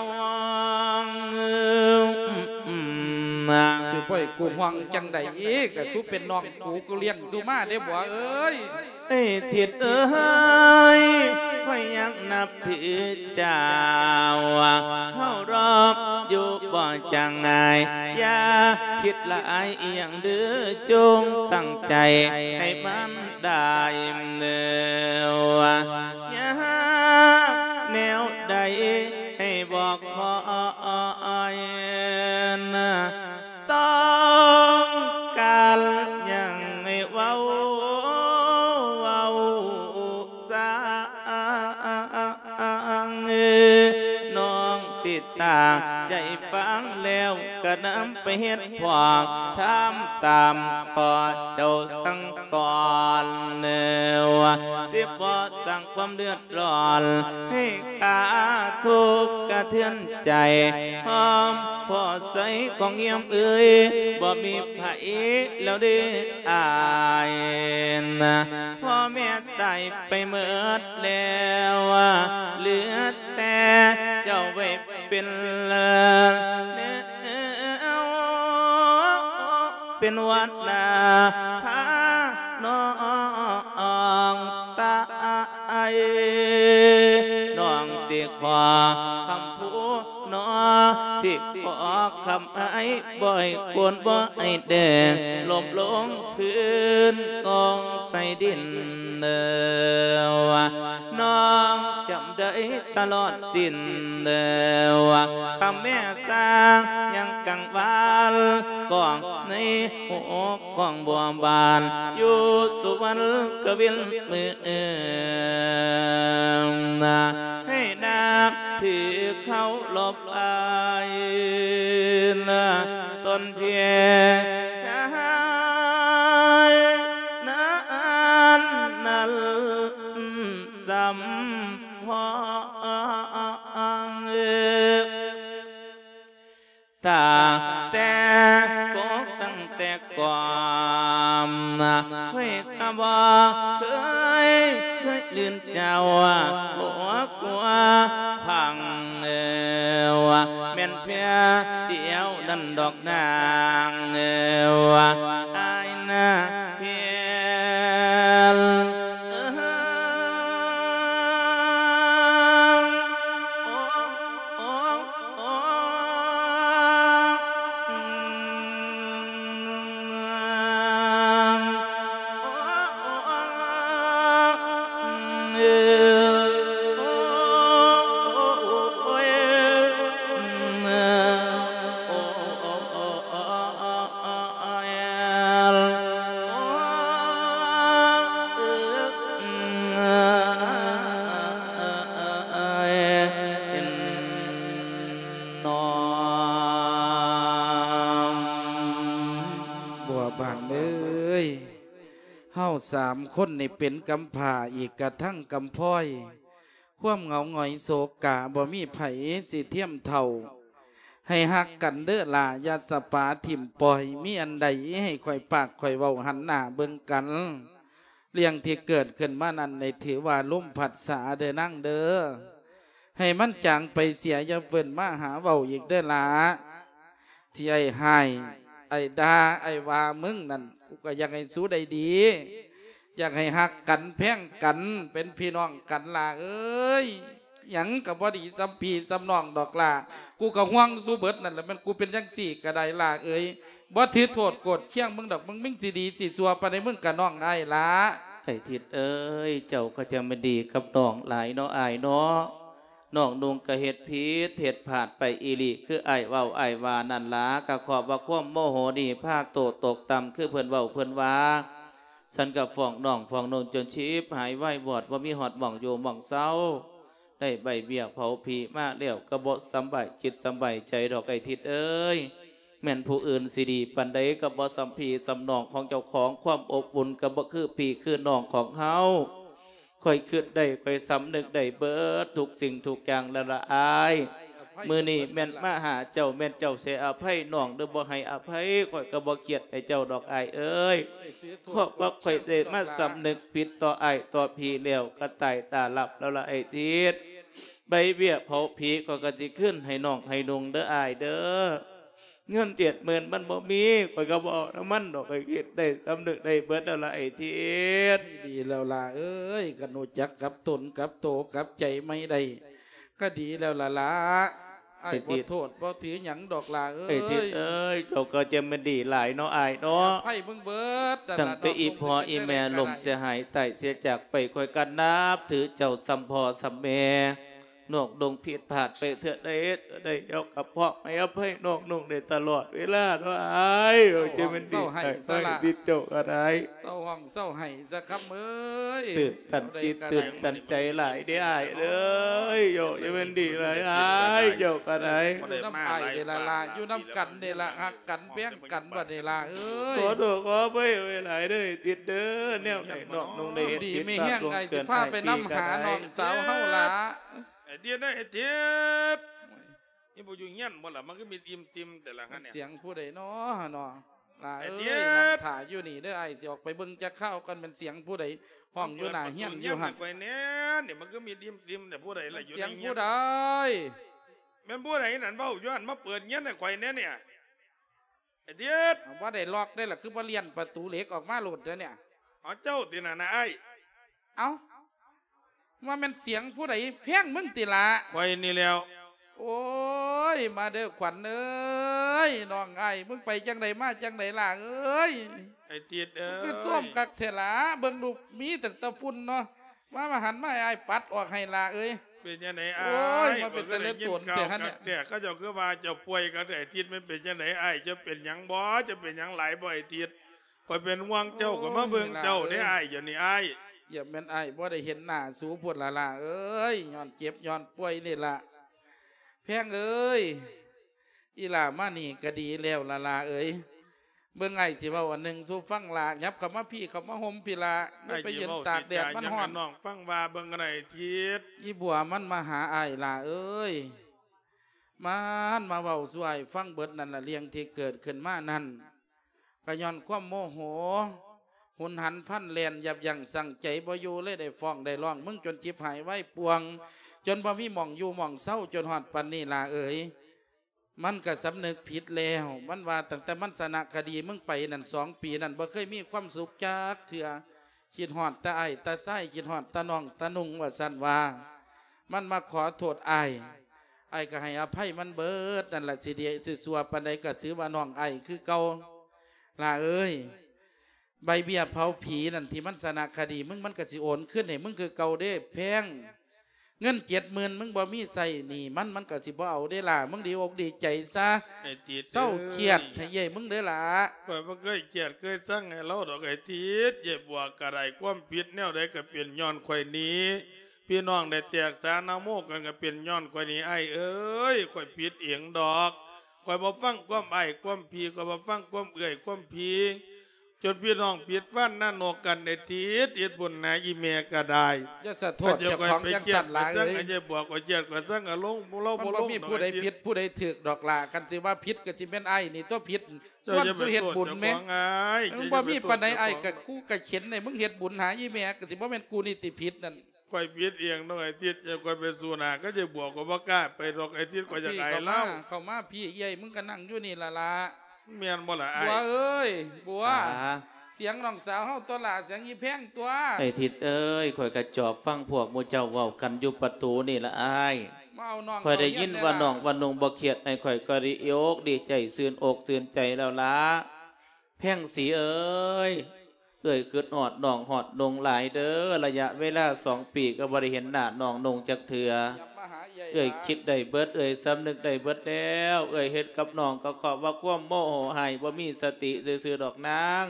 າ. ຊິບໍ່ໃຫ້ກູຫ່ວງຈັ່ງໃດອີກ? ກະສູເປັນນ້ອງກູ ກູລ້ຽງສູມາເດ້ບົວເອີຍ. ເອີຍ ທິດເອີຍ ຂ້ອຍຍັງນັບຖືເຈົ້າ ເຄົາລົບຢູ່ບໍ່ຈາງງ່າຍ ຢ່າຄິດຫຼາຍອີ່ຫຍັງເດີ ຈົ່ງຕັ້ງໃຈໃຫ້ມັນ ໄດ້ເດີວ່າ ຍາກແນວໃດໃຫ້ບອກຂ້ອຍນະ ຕ້ອງການຫຍັງໃຫ້ເວົ້າ ເວົ້າຊະ ນ້ອງຊິຕັ້ງໃຈຟັງແລ້ວ ກະນຳໄປເຮັດພ້ອມ ທຳຕາມພໍ່ເຈົ້າສັ່ງສອນ ວ່າຊິບໍ່ສ້າງຄວາມເດືອດຮ້ອນ ໃຫ້ກະທົບກະເທືອນໃຈ ຫອມພໍ່ໃສຂອງຢ້ຽມເອີຍ ບໍ່ມີໃຜແລ້ວເດ້ອ້າຍນະ ພໍ່ແມ່ຕາຍໄປເໝິດແລ້ວ ເຫຼືອແຕ່ເຈົ້າໄວ້ ເປັນແນວ ເປັນວັດນາພານ້ອງຕາຍ ນ້ອງຊິຂໍຄຳພູໜໍ ຊິຂໍຄຳອ້າຍ ບໍ່ໃຫ້ໂກນ ບໍ່ໃຫ້ແດງ ລົ້ມລົງພື້ນ ກອງໃສ່ດິນເດີ ນ້ອງຈຳໄດ້ ຕະຫຼອດສິ້ນເດີ ຄ່ຳແມ່ສາງຍັງກັງວານ ກ້ອງໃນຫົວຂອງບົວບານ ຢູ່ສຸວັນກະວິນມື້ອື່ນ ໃຫ້ນັບຖືເຄົາລົບ ອ້າຍນະ ຕົນເພຍຊາຍນານນັ້ນສຳພອງ ຕັ້ງແຕ່ກົກຕັ້ງແຕ່ກ່ອນ ຂ້ອຍກະບໍ່ເຄີຍ ເຄີຍລືນເຈົ້າ ບໍ່ກົວພັງ ແມ່ນເທື່ອດຽວນັ້ນດອກນາງ ອ້າຍນາເພັນ. ບົວບານເອີຍ ເຮົາສາມຄົນນີ້ເປັນກຳພ້າ ອີກກະທັງກຳພ້ອຍ ຄວາມເຫງົາຫງອຍໂສກະ ບໍ່ມີໃຜຊິທຽມເທົ່າ. ໃຫ້ຮັກກັນເດີຫຼ້າ ຢ່າສະປາຖິ້ມປ່ອຍ ມີອັນໃດໃຫ້ຂ້ອຍປາກຂ້ອຍເວົ້າ ຫັນໜ້າເບິ່ງກັນ. ເລື່ອງທີ່ເກີດຂຶ້ນມານັ້ນ ໃຫ້ຖືວ່າລົມພັດສາເດີນາງເດີ. ໃຫ້ມັນຈາງໄປເສຍ ຢ່າເຟີ້ນມາຫາເວົ້າອີກເດີຫຼ້າ. ທີ່ອ້າຍຮ້າຍ ອ້າຍດ່າ ອ້າຍວ່າມຶງນັ້ນ ກູກະຢາກໃຫ້ສູໄດ້ດີ ຢາກໃຫ້ຮັກກັນແພງກັນ ເປັນພີ່ນ້ອງກັນຫຼ້າເອີຍ. ຫຍັງກະບໍ່ດີສ່ຳພີ່ສ່ຳນ້ອງດອກຫຼ້າ ກູກະຫ່ວງສູເບິດນັ້ນແຫຼະ ແມ່ນກູເປັນຈັ່ງຊີ້ກະໄດ້ຫຼ້າເອີຍ. ບໍ່ຖືໂທດໂກດຄຽງມຶງດອກ ມຶງ ມຶງຊິດີຊິຊົ່ວປານໃດ ມຶງກະນ້ອງອ້າຍລະ. ໄອ້ທິດເອີຍ ເຈົ້າກະຈະແມ່ນດີກັບນ້ອງຫຼາຍເນາະອ້າຍເນາະ. ນ້ອງນຸ່ງກະເຮັດຜິດເຮັດພາດໄປອີ່ຫຼີ ຄືອ້າຍເວົ້າອ້າຍວ່ານັ້ນລະ ກະຂອບວ່າຄວາມໂມໂຫນີ້ພາໂຕຕົກຕ່ຳ ຄືເພິ່ນເວົ້າເພິ່ນວ່າ. ສັນກະຟ້ອງນ້ອງຟ້ອງນຸ່ງຈົນຊິບຫາຍວາຍວອດ ບໍ່ມີຮອດໝ່ອງຢູ່ໝ່ອງເຊົາ. ໄດ້ໃບເບ້ຍເຜົາຜີມາແລ້ວ ກະບໍ່ສຳບາຍຈິດສຳບາຍໃຈດອກໄອ້ທິດເອີຍ. ແມ່ນຜູ້ອື່ນຊິດີປານໃດ ກະບໍ່ສ່ຳພີ່ສ່ຳນ້ອງຂອງເຈົ້າຂອງ ຄວາມອົບອຸ່ນກະບໍ່ຄືພີ່ຄືນ້ອງຂອງເຮົາ. ຂ້ອຍຄິດໄດ້ ຂ້ອຍສຳນຶກໄດ້ເບິດທຸກສິ່ງທຸກຢ່າງແລ້ວລະອ້າຍ. ມື້ນີ້ແມ່ນມາຫາເຈົ້າ ແມ່ນເຈົ້າໃຫ້ອະໄພນ້ອງ ຫຼືບໍ່ໃຫ້ອະໄພ ຂ້ອຍກະບໍ່ຄຽດໃຫ້ເຈົ້າດອກອ້າຍເອີຍ. ເພາະວ່າຂ້ອຍໄດ້ມາສຳນຶກຜິດຕໍ່ອ້າຍຕໍ່ພີ່ແລ້ວ ກະຕາຍຕາຫຼັບແລ້ວລະໄອ້ທິດ. ໃບເບ້ຍເຜົາຜີຂ້ອຍກະຊິຄືນໃຫ້ນ້ອງໃຫ້ນຸ່ງເດີອ້າຍເດີ. ເງິນເຈັດໝື່ນມັນບໍ່ມີ ຂ້ອຍກະບໍ່ເອົານຳມັນດອກ ຂ້ອຍຄິດໄດ້ສຳນຶກໄດ້ເບິດແລ້ວລະໄອ້ທິດ. ດີແລ້ວຫຼ້າເອີຍ ຄັນຮູ້ຈັກກັບຕົນກັບໂຕກັບໃຈໃໝ່ໄດ້ ກະດີແລ້ວລະຫຼ້າ. ອ້າຍບໍ່ໂທດບໍ່ຖືຫຍັງດອກຫຼ້າເອີຍ. ໄອ້ທິດເອີຍ ເຈົ້າກະຈະແມ່ນດີຫຼາຍເນາະອ້າຍເນາະ. ໃຫ້ມຶງເບິດ ຕັ້ງແຕ່ອີ່ພໍ່ອີ່ແມ່ລົ້ມເສຍຫາຍຕາຍເສຍຈາກໄປ ຂ້ອຍກະນັບຖືເຈົ້າສ່ຳພໍ່ສ່ຳແມ່. ນ້ອງນຸ່ງຜິດພາດໄປເທື່ອໃດເທື່ອໃດ ເຈົ້າກະພ້ອມໃຫ້ອະໄພນ້ອງນຸ່ງໄດ້ຕະຫຼອດເວລາເນາະອ້າຍ. ເຈົ້າຈະແມ່ນດີໃຫ້ເຈົ້າກະໄດ້. ເຊົາຮ້ອງເຊົາໄຫ້ສາຄຳເອີຍ. ຕື່ນຕັນຈິດຕື່ນຕັນໃຈຫຼາຍເດ້ອ້າຍເອີຍ. ເຈົ້າຈະແມ່ນດີຫຼາຍອ້າຍ ເຈົ້າກະໄດ້. ຢູ່ນຳອ້າຍນີ້ລະລະ ຢູ່ນຳກັນນີ້ລະ ຮັກກັນແພງກັນບັດນີ້ລະເອີຍ. ຂໍໂທດຂໍອະໄພໄວ້ຫຼາຍເດີໄອ້ທິດເດີ. ແນວໃດນ້ອງນຸ່ງໄດ້ເຮັດຜິດພາດລ່ວງເກີນອ້າຍພີ່ກະໄດ້. ໄອ້ທິດເອີຍ ໄອ້ທິດ ນີ້ບໍ່ຢູ່ເຮືອນບໍ່ລະ ມັນຄືມີດອີ່ມຕິ່ມແຕ່ລະຫັ້ນ. ສຽງຜູ້ໃດນໍ ເນາະ ຫຼ້າເອີຍ. ນັ່ງຖ້າຢູ່ນີ້ເດີ ອ້າຍຊິອອກໄປເບິ່ງຈັກຄາວກ່ອນ ແມ່ນສຽງຜູ້ໃດຮ້ອງຢູ່ໜ້າເຮືອນຢູ່ຫັ້ນ. ເປີດປະຕູເຮືອນໃຫ້ຂ້ອຍແດ່ ນີ້ມັນຄືມີດອີ່ມຕິ່ມແຕ່ຜູ້ໃດລະຢູ່ໃນເຮືອນ. ສຽງຜູ້ໃດ? ແມ່ນຜູ້ໃດນັ້ນເວົ້າຢູ່ຫັ້ນ ມາເປີດເຮືອນໃຫ້ຂ້ອຍແດ່ນີ້. ໄອ້ທິດ ບໍ່ໄດ້ລັອກເດ້ລະ ຄືບໍ່ລ້ຽນປະຕູເຫຼັກອອກມາໂລດເດ້ນີ້. ເອົາ ເຈົ້າຕິນັ້ນນະອ້າຍ. ເອົ້າ ວ່າແມ່ນສຽງຜູ້ໃດແພງມຶງຕິລະ? ຂ້ອຍນີ້ແລ້ວ. ໂອ້ຍ ມາເດີຂວັນເອີຍ ນ້ອງອ້າຍ ມຶງໄປຈັ່ງໃດມາຈັ່ງໃດຫຼ້າເອີຍ? ໄອ້ຕິດເອີຍ ຄືໂຊມຄັກແທ້ຫຼ້າ ເບິ່ງດູມີແຕ່ຕະຝຸ່ນເນາະ. ມາ ມາຫັນມາໃຫ້ອ້າຍປັດອອກໃຫ້ຫຼ້າເອີຍ. ເປັນຈັ່ງໃດອ້າຍ? ໂອ້ຍ ມັນເປັນແຕ່ເລະໂຕນແທ້ຫັ້ນແຫຼະ. ຂ້າເຈົ້າຄືວ່າເຈົ້າປ່ວຍຄັກແທ້ ອາທິດ ມັນເປັນຈັ່ງໃດອ້າຍ? ເຈົ້າເປັນຫຍັງບໍ່? ເຈົ້າເປັນຫຍັງຫຼາຍບໍ່ ອາທິດ? ຂ້ອຍເປັນຫ່ວງເຈົ້າ ຂ້ອຍມາເບິ່ງເຈົ້າເດ້ອ້າຍ. ດຽວນີ້ອ້າຍ ຢ່າແມ່ນອ້າຍບໍ່ໄດ້ເຫັນໜ້າສູພຸ້ນລະຫຼ້າເອີຍ ຍ້ອນເຈັບຍ້ອນປ່ວຍນີ້ລະ. ແພງເອີຍ ອີ່ຫຼ້າມານີ້ກະດີແລ້ວລະຫຼ້າເອີຍ. ເບິ່ງອ້າຍຊິເວົ້າອັນໜຶ່ງສູ່ຟັງຫຼ້າ ຫຍັບເຂົ້າມາພີ້ ເຂົ້າມາຮົ່ມພີ້ຫຼ້າ ຢ່າໄປຢືນຕາກແດດມັນຮ້ອນ. ນ້ອງຟັງວ່າເບິ່ງກັນໄດ້ທິດ. ອີ່ບົວມັນມາຫາອ້າຍຫຼ້າເອີຍ ມັນມາເວົ້າສູ່ອ້າຍຟັງເບິດນັ້ນລະ ເລື່ອງທີ່ເກີດຂຶ້ນມານັ້ນ ກະຍ້ອນຄວາມໂມໂຫ ຮຸນຫັນພັນແລ່ນ ຢັບຢັ້ງຊົ່ງໃຈບໍ່ຢູ່ ເລີຍໄດ້ຟ້ອງໄດ້ຮ້ອງມຶງຈົນຈິບຫາຍວາຍປ່ວງ ຈົນບໍ່ມີໝ່ອງຢູ່ໝ່ອງເຊົາ ຈົນຮອດປານນີ້ຫຼ້າເອີຍ. ມັນກະສຳນຶກຜິດແລ້ວ ມັນວ່າຕັ້ງແຕ່ມັນຊະນະຄະດີມຶງໄປນັ້ນ ສອງປີນັ້ນ ບໍ່ເຄີຍມີຄວາມສຸກຈັກເທື່ອ ຄິດຮອດແຕ່ອ້າຍແຕ່ຊາຍ ຄິດຮອດແຕ່ນ້ອງແຕ່ນຸ່ງ ວ່າຊັ້ນວ່າ. ມັນມາຂໍໂທດອ້າຍ ອ້າຍກະໃຫ້ອະໄພມັນເບິດນັ້ນລະ ຊິດີຊິຊົ່ວປານໃດກະຖືວ່ານ້ອງອ້າຍຄືເກົ່າ ຫຼ້າເອີຍ. ໃບເບ້ຍເຜົາຜີນັ້ນ ທີ່ມັນຊະນະຄະດີມຶງ ມັນກະຊິໂອນຄືນໃຫ້ມຶງຄືເກົ່າເດ້ແພງ. ເງິນເຈັດໝື່ນ ມຶງບໍ່ມີໃຊ້ໜີ້ມັນ ມັນກະຊິບໍ່ເອົາເດ້ຫຼ້າ. ມຶງດີອົກດີໃຈຊະ ເຊົາຄຽດໃຫ້ເອື້ອຍມຶງເດີຫຼ້າ. ຂ້ອຍບໍ່ເຄີຍຄຽດເຄີຍຊັງໃຫ້ລາວດອກໄອ້ທິດ. ເອື້ອຍບົວກະໄດ້ຄວາມຜິດແນວໃດກະເປັນຍ້ອນຂ້ອຍນີ້ ພີ່ນ້ອງໄດ້ແຕກສານາໂມກັນກະເປັນຍ້ອນຂ້ອຍນີ້ອ້າຍເອີຍ. ຂ້ອຍຜິດເອງດອກ ຂ້ອຍບໍ່ຟັງຄວາມອ້າຍຄວາມພີ່ ຂ້ອຍບໍ່ຟັງຄວາມເອື້ອຍຄວາມພີ່ ຈົນພີ່ນ້ອງຜິດຫວັງໜ້ານົກກັນໄອ້ທິດ. ເຮັດບຸນຫາອີ່ແມ່ກະໄດ້ ຢ່າສະໂທດເຈົ້າຂອງຈັ່ງຊັ້ນຫຼ້າເອີຍ. ເອື້ອຍບົວກະຄຽດກະຊັງອາລົມ ມັນບໍ່ມີຜູ້ໃດຜິດຜູ້ໃດຖືກດອກຫຼ້າ. ຄັນຊິວ່າຜິດກະຊິແມ່ນອ້າຍນີ້ຕົວະຜິດ ຊວນສູ່ເຮັດບຸນແມ. ມັນບໍ່ມີປານໃດ ອ້າຍກະກູກະເຂັນໃຫ້ມຶງເຮັດບຸນຫາອີ່ແມ່ ກະຊິບໍ່ແມ່ນກູນີ້ຕິຜິດນັ້ນ. ຂ້ອຍຜິດເອງເນາະໄອ້ທິດ ຂ້ອຍໄປສູ້ໜ້າກັບເອື້ອຍບົວ ຂ້ອຍບໍ່ກ້າໄປດອກໄອ້ທິດ ຂ້ອຍຢາກອາຍລາວ. ເຂົ້າມາ ເຂົ້າມາພີ້ ເອື້ອຍ ມຶງກະນັ່ງຢູ່ນີ້ລະລະ. ແມ່ນບໍ່ລະອ້າຍ? ບົວເອີຍ ບົວ ສຽງນ້ອງສາວເຮົາຕົວະຫຼ້າ ສຽງອີ່ແພງຕົວະ. ໄອ້ທິດເອີຍ ຂ້ອຍກະຈອບຟັງພວກໝູ່ເຈົ້າເວົ້າກັນຢູ່ປະຕູນີ້ລະອ້າຍ. ມາເອົານ້ອງ ຂ້ອຍໄດ້ຍິນວ່ານ້ອງວ່ານຸ່ງບໍ່ຄຽດໃຫ້ຂ້ອຍ ຂ້ອຍດີອົກດີໃຈ ຊື່ນອົກຊື່ນໃຈແລ້ວລະ. ແພງສີເອີຍ ເອື້ອຍຄຶດຮອດນ້ອງຮອດນຸ່ງຫຼາຍເດີ. ໄລຍະເວລາສອງປີກະບໍ່ໄດ້ເຫັນໜ້ານ້ອງນຸ່ງຈັກເທື່ອ. ເອື້ອຍຄິດໄດ້ເບິດ ເອື້ອຍສຳນຶກໄດ້ເບິດແລ້ວ. ເອື້ອຍເຮັດກັບນ້ອງກະເພາະວ່າຄວາມໂມໂຫຮ້າຍ ບໍ່ມີສະຕິຊື່ໆດອກນາງ.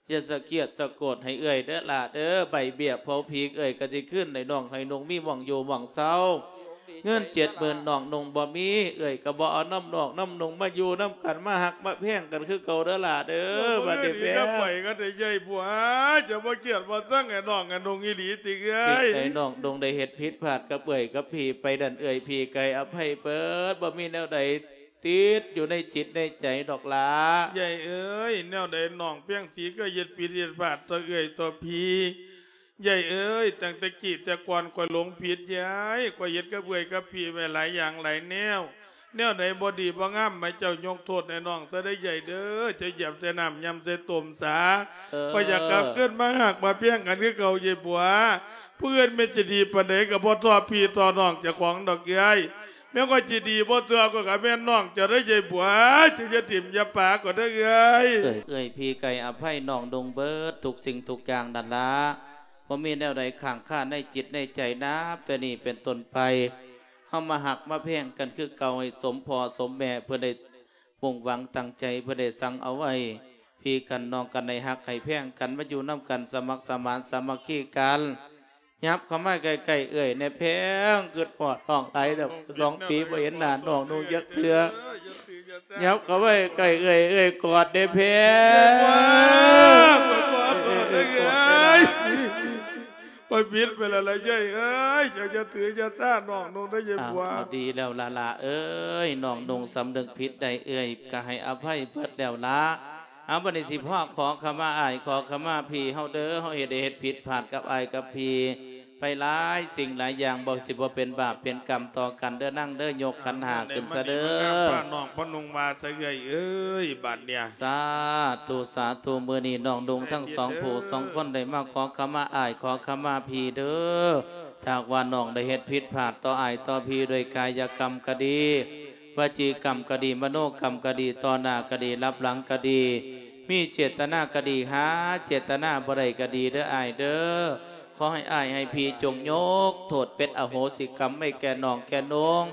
ຢ່າສະກຽດສະໂກດໃຫ້ເອື້ອຍເດີຫຼ້າເດີ. ໃບເບ້ຍເຜົາຜີເອື້ອຍກະຊິຄືນໃຫ້ນ້ອງໃຫ້ນຸ່ງມີໝ່ອງຢູ່ໝ່ອງເຊົາ. ເງິນເຈັດໝື່ນນ້ອງນຸ່ງບໍ່ມີ ເອື້ອຍກະບໍ່ເອົານຳນ້ອງນຳນຸ່ງມາຢູ່ນຳກັນ ມາຮັກມາແພງກັນຄືເກົ່າເດີຫຼ້າເດີ. ບາດນີ້ແພງ ຢ່າໄປກັນເດີເອື້ອຍບົວ ຈະບໍ່ກຽດບໍ່ຊັງໃຫ້ນ້ອງໃຫ້ນຸ່ງອີ່ຫຼີຕິເອື້ອຍ? ຊິໃຫ້ນ້ອງນຸ່ງໄດ້ເຮັດຜິດພາດກັບເອື້ອຍກັບພີ່ໄປນັ້ນ ເອື້ອຍພີ່ກະໃຫ້ອະໄພເບີດ ບໍ່ມີແນວໃດຕິດຢູ່ໃນຈິດໃນໃຈດອກຫຼ້າ. ເອື້ອຍເອີຍ ແນວໃດນ້ອງແພງສີກະເຮັດຜິດເຮັດພາດຕໍ່ເອື້ອຍຕໍ່ພີ່ ເອື້ອຍເອີຍ ຕັ້ງແຕ່ກີ້ແຕ່ກ່ອນຂ້ອຍຫຼົງຜິດເອື້ອຍ ຂ້ອຍເຮັດກັບເອື້ອຍກັບພີ່ໄວ້ຫຼາຍຢ່າງຫຼາຍແນວ ແນວໃດບໍ່ດີບໍ່ງາມໃຫ້ເຈົ້າຍົກໂທດໃຫ້ນ້ອງຊະເດີເອື້ອຍເດີ. ເຈົ້າຢຽບໃສ່ນ້ຳ ຍ່ຳໃສ່ຕົ້ມສາ ເອີ ຂ້ອຍຢາກກັບຄືນມາຮັກມາແພງກັນຄືເກົ່າເອື້ອຍບົວ. ຜູ້ອື່ນແມ່ນຈະດີປານໃດກະບໍ່ທໍ່ພີ່ຕໍ່ນ້ອງເຈົ້າຂອງດອກເອື້ອຍ. ແມ່ນຂ້ອຍຈະດີບໍ່ຕົວະກະແມ່ນນ້ອງເຈົ້າເດີເອື້ອຍບົວ ເຈົ້າຢ່າຖິ້ມຢ່າປະຂ້ອຍເດີເອື້ອຍ. ເອື້ອຍ ເອື້ອຍພີ່ກະໃຫ້ອະໄພນ້ອງນຸ່ງເບີດທຸກສິ່ງທຸກຢ່າງນັ້ນລະ ບໍ່ມີແນວໃດຄ້າງຄາໃນຈິດໃນໃຈ. ນັບແຕ່ນີ້ເປັນຕົ້ນໄປ ເຮົາມາຮັກມາແພງກັນຄືເກົ່າ ໃຫ້ສົມພໍ່ສົມແມ່ເພິ່ນໄດ້ມຸ່ງຫວັງຕັ້ງໃຈ ເພິ່ນໄດ້ສັ່ງເອົາໄວ້ ພີ່ກັນນ້ອງກັນ ໃຫ້ຮັກໃຫ້ແພງກັນ ມາຢູ່ນຳກັນ ສະໝັກສະໝານສາມັກຄີກັນ. ຫຍັບເຂົ້າມາໃກ້ໆເອື້ອຍແດ່ແພງ ຄຶດຮອດນ້ອງຫຼາຍແລ້ວ ສອງປີບໍ່ເຫັນໜ້ານ້ອງນຸ່ງຈັກເທື່ອ. ຫຍັບເຂົ້າມາໃກ້ເອື້ອຍ ເອື້ອຍກອດແດ່ແພງ. ຂ້ອຍຜິດໄປແລ້ວລະເອື້ອຍເອີຍ ເຈົ້າຢ່າຖືຢ່າສານ້ອງນຸ່ງເດີເອື້ອຍບົວ. ເອົາ ເອົາ ດີແລ້ວລະຫຼ້າເອີຍ ນ້ອງນຸ່ງສຳນຶກຜິດໄດ້ ເອື້ອຍກະໃຫ້ອະໄພເບິດແລ້ວລະ. ເອົາ ບາດນີ້ຊິພາຂໍຂະມາອ້າຍ ຂໍຂະມາພີ່ເຮົາເດີ ເຮົາເຮັດໄດ້ເຮັດຜິດພາດກັບອ້າຍກັບພີ່ໄປຫຼາຍສິ່ງຫຼາຍຢ່າງ ບໍ່ ຊິບໍ່ເປັນບາບເປັນກຳຕໍ່ກັນເດີນາງເດີ. ຍົກຂັນຫ້າຂຶ້ນຊະເດີ ພານ້ອງພານຸ່ງມາຊະເອື້ອຍເອີຍ ບາດນີ້. ສາທຸ ສາທຸ ມື້ນີ້ນ້ອງນຸ່ງທັງສອງຜູ້ສອງຄົນໄດ້ມາຂໍຂະມາອ້າຍ ຂໍຂະມາພີ່ເດີ. ຖ້າຫາກວ່ານ້ອງໄດ້ເຮັດຜິດພາດຕໍ່ອ້າຍຕໍ່ພີ່ ດ້ວຍກາຍະກຳກະດີ ວະຈີກຳກະດີ ມະໂນກຳກະດີ ຕໍ່ໜ້າກະດີ ລັບຫຼັງກະດີ ມີເຈດຕະນາກະດີ ຫາເຈດຕະນາບໍ່ໄດ້ກະດີເດີອ້າຍເດີ. ຂໍໃຫ້ອ້າຍໃຫ້ພີ່ຈົ່ງຍົກໂທດເປັນອະໂຫສິກຳໃຫ້ແກ່ນ້ອງແກ່ນຸ່ງ,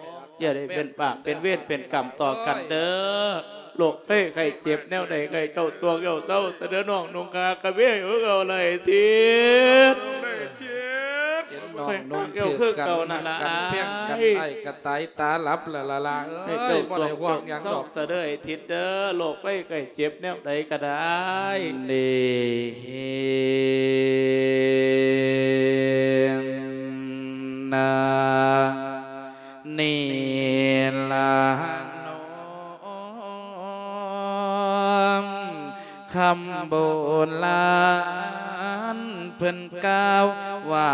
ຢ່າໄດ້ເປັນບາບເປັນເວນເປັນກຳຕໍ່ກັນເດີ້. ໂລກໄພໄຂ້ເຈັບແນວໃດ ໃຫ້ເຈົ້າໂຊກເຈົ້າເຊົາຊະເດີ້ນ້ອງນຸ່ງຄາກະເວຄືເກົ່າໄລທິດ. ເຫັນນ້ອງນຸ່ງຖືກກັນ ມັກກັນແພງກັນ ອ້າຍກະຕາຍຕາຫຼັບລະລະລະເອີຍ ບໍ່ໄດ້ຫ່ວງຫຍັງດອກ ສະເດີ້ໄອ້ທິດເດີ້. ໂລກໄພໄຂ້ເຈັບແນວໃດກະໄດ້ ນີ້ ນະ ນີ້ລະນ້ອງ ຄຳໂບລານເພິ່ນກ່າວວ່າ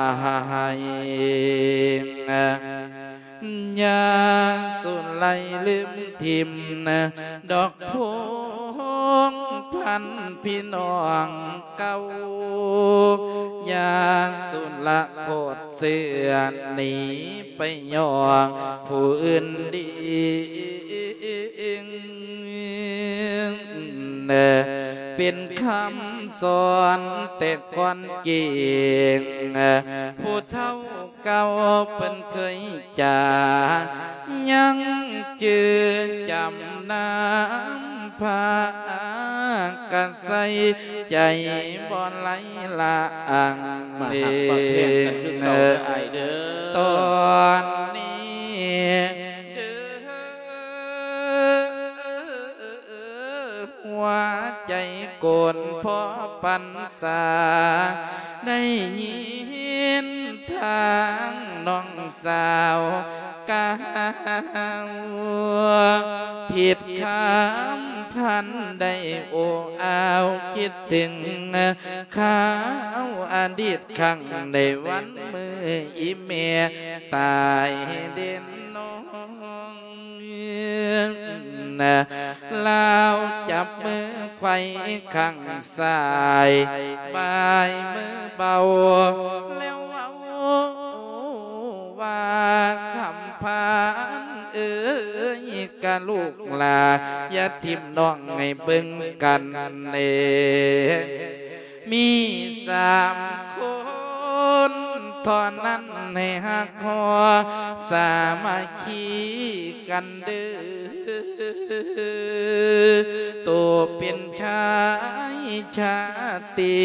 ຢ່າສຸໄລລືມຖິ້ມ ດອກພົງພັນພີ່ນ້ອງເກົ່າ, ຢ່າສຸລະໂຄດເຊື່ອໜີໄປຍ້ອງຜູ້ອື່ນດີ. ເປັນຄຳສອນແຕ່ກ່ອນເກງ ຜູ້ເຖົ້າ ເກົ່າເພິ່ນເຄີຍຈາ ຍັງຈື່ຈຳນຳພາ ກະໃສ່ໃຈບໍ່ໄຫຼລະອາງ ມາຮັກມາແພງກັນຄືເກົ່າເດີອ້າຍເດີ. ຕອນນີ້ເດີ ຫົວໃຈໂກນພໍປັນສາ ໄດ້ຍິນທາງນ້ອງສາວກ່າວ ທິດຄຳພັນໄດ້ໂອ້ອາວ ຄິດເຖິງຄາວອະດີດຄັ້ງໃນວັນມື້ອີ່ແມ່ຕາຍເດນນ້ອງ. ລາວຈັບມືໄຂວ້ຂ້າງຊ້າຍ ບາຍມືເບົາ ແລ້ວເວົ້າວ່າ ຄຳພານເອີຍ ກະລູກຫຼ້າ ຢ່າຖິ້ມນ້ອງໃຫ້ເບິ່ງກັນເນ. ມີສາມຄົນເທົ່ານັ້ນ ໃຫ້ຮັກຫໍ່ສາມັກຄີກັນເດີ ໂຕເປັນຊາຍຊາຕີ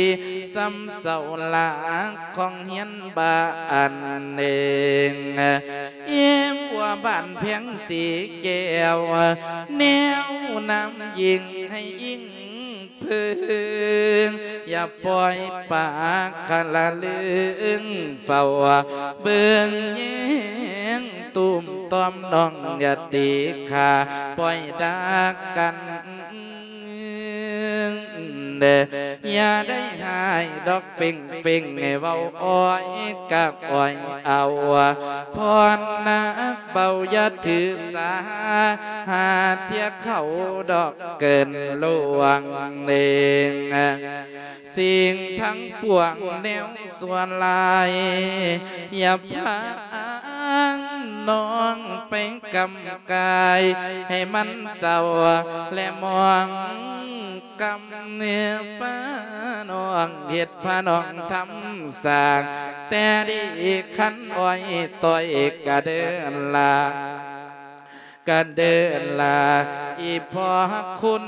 ສ່ຳເສົາຫຼັກຂອງຮຽນບ້ານເອງ ອີ່ຫົວບ້ານແພງສີແກ້ວ ແນວນຳຍິງໃຫ້ອີງ ເພິ່ງ ຢ່າປ່ອຍປາກຄະລະລຶງ ເຝົ້າເບິ່ງແຍງຕຸ້ມຕ່ອມ ນ້ອງຢ່າຕີຂ້າ ປ່ອຍດາກັນເດີ ຢ່າໄດ້ຮ້າຍດອກເຟັງເຟັງ ໃຫ້ເວົ້າອ້ອຍກັບອ້ອຍເອົາ ພອນນາເປົ່າ ຢ່າຖືສາ ຫາເທື່ອເຂົາດອກ ເກີນລ່ວງເນງ ສິ່ງທັງປວງແນວຊົ່ວຮ້າຍ ຢ່າພານ້ອງໄປກຳກາຍ ໃຫ້ມັນເສົ້າແລະໝອງກຳ ພານ້ອງເຮັດພານ້ອງທຳສ້າງ ແຕ່ດີຄັນອ້ອຍຕ້ອຍກະເດີລາ ກະເດີລາອີ່ພໍ່ຄຸນ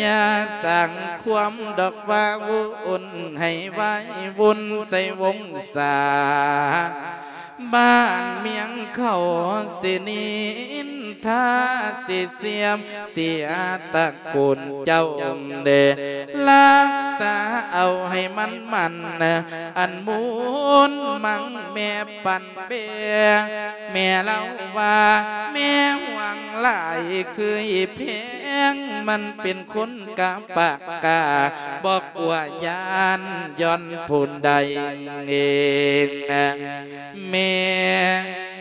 ຢ່າສ້າງຄວາມດອກວ່າວຸ່ນ ໃຫ້ວາຍວຸ່ນໃສ່ວົງສາ ບ້ານເມືອງເຂົາຊິນິນທາ ຊິສຽມເສຍຕະ ໂກນເຈົ້າເດ ລັກສາເອົາໃຫ້ມັນໝັ້ນ ອັນມູນມັງແມ່ປັນແບ ແມ່ເລົ່າວ່າແມ່ຫວງຫຼາຍຄືອີແພງ ມັນເປັນຄົນກະປາກກ້າ ບໍ່ກົວຢ້ານຢ້ອນຜູ້ໃດເອງ ແມ່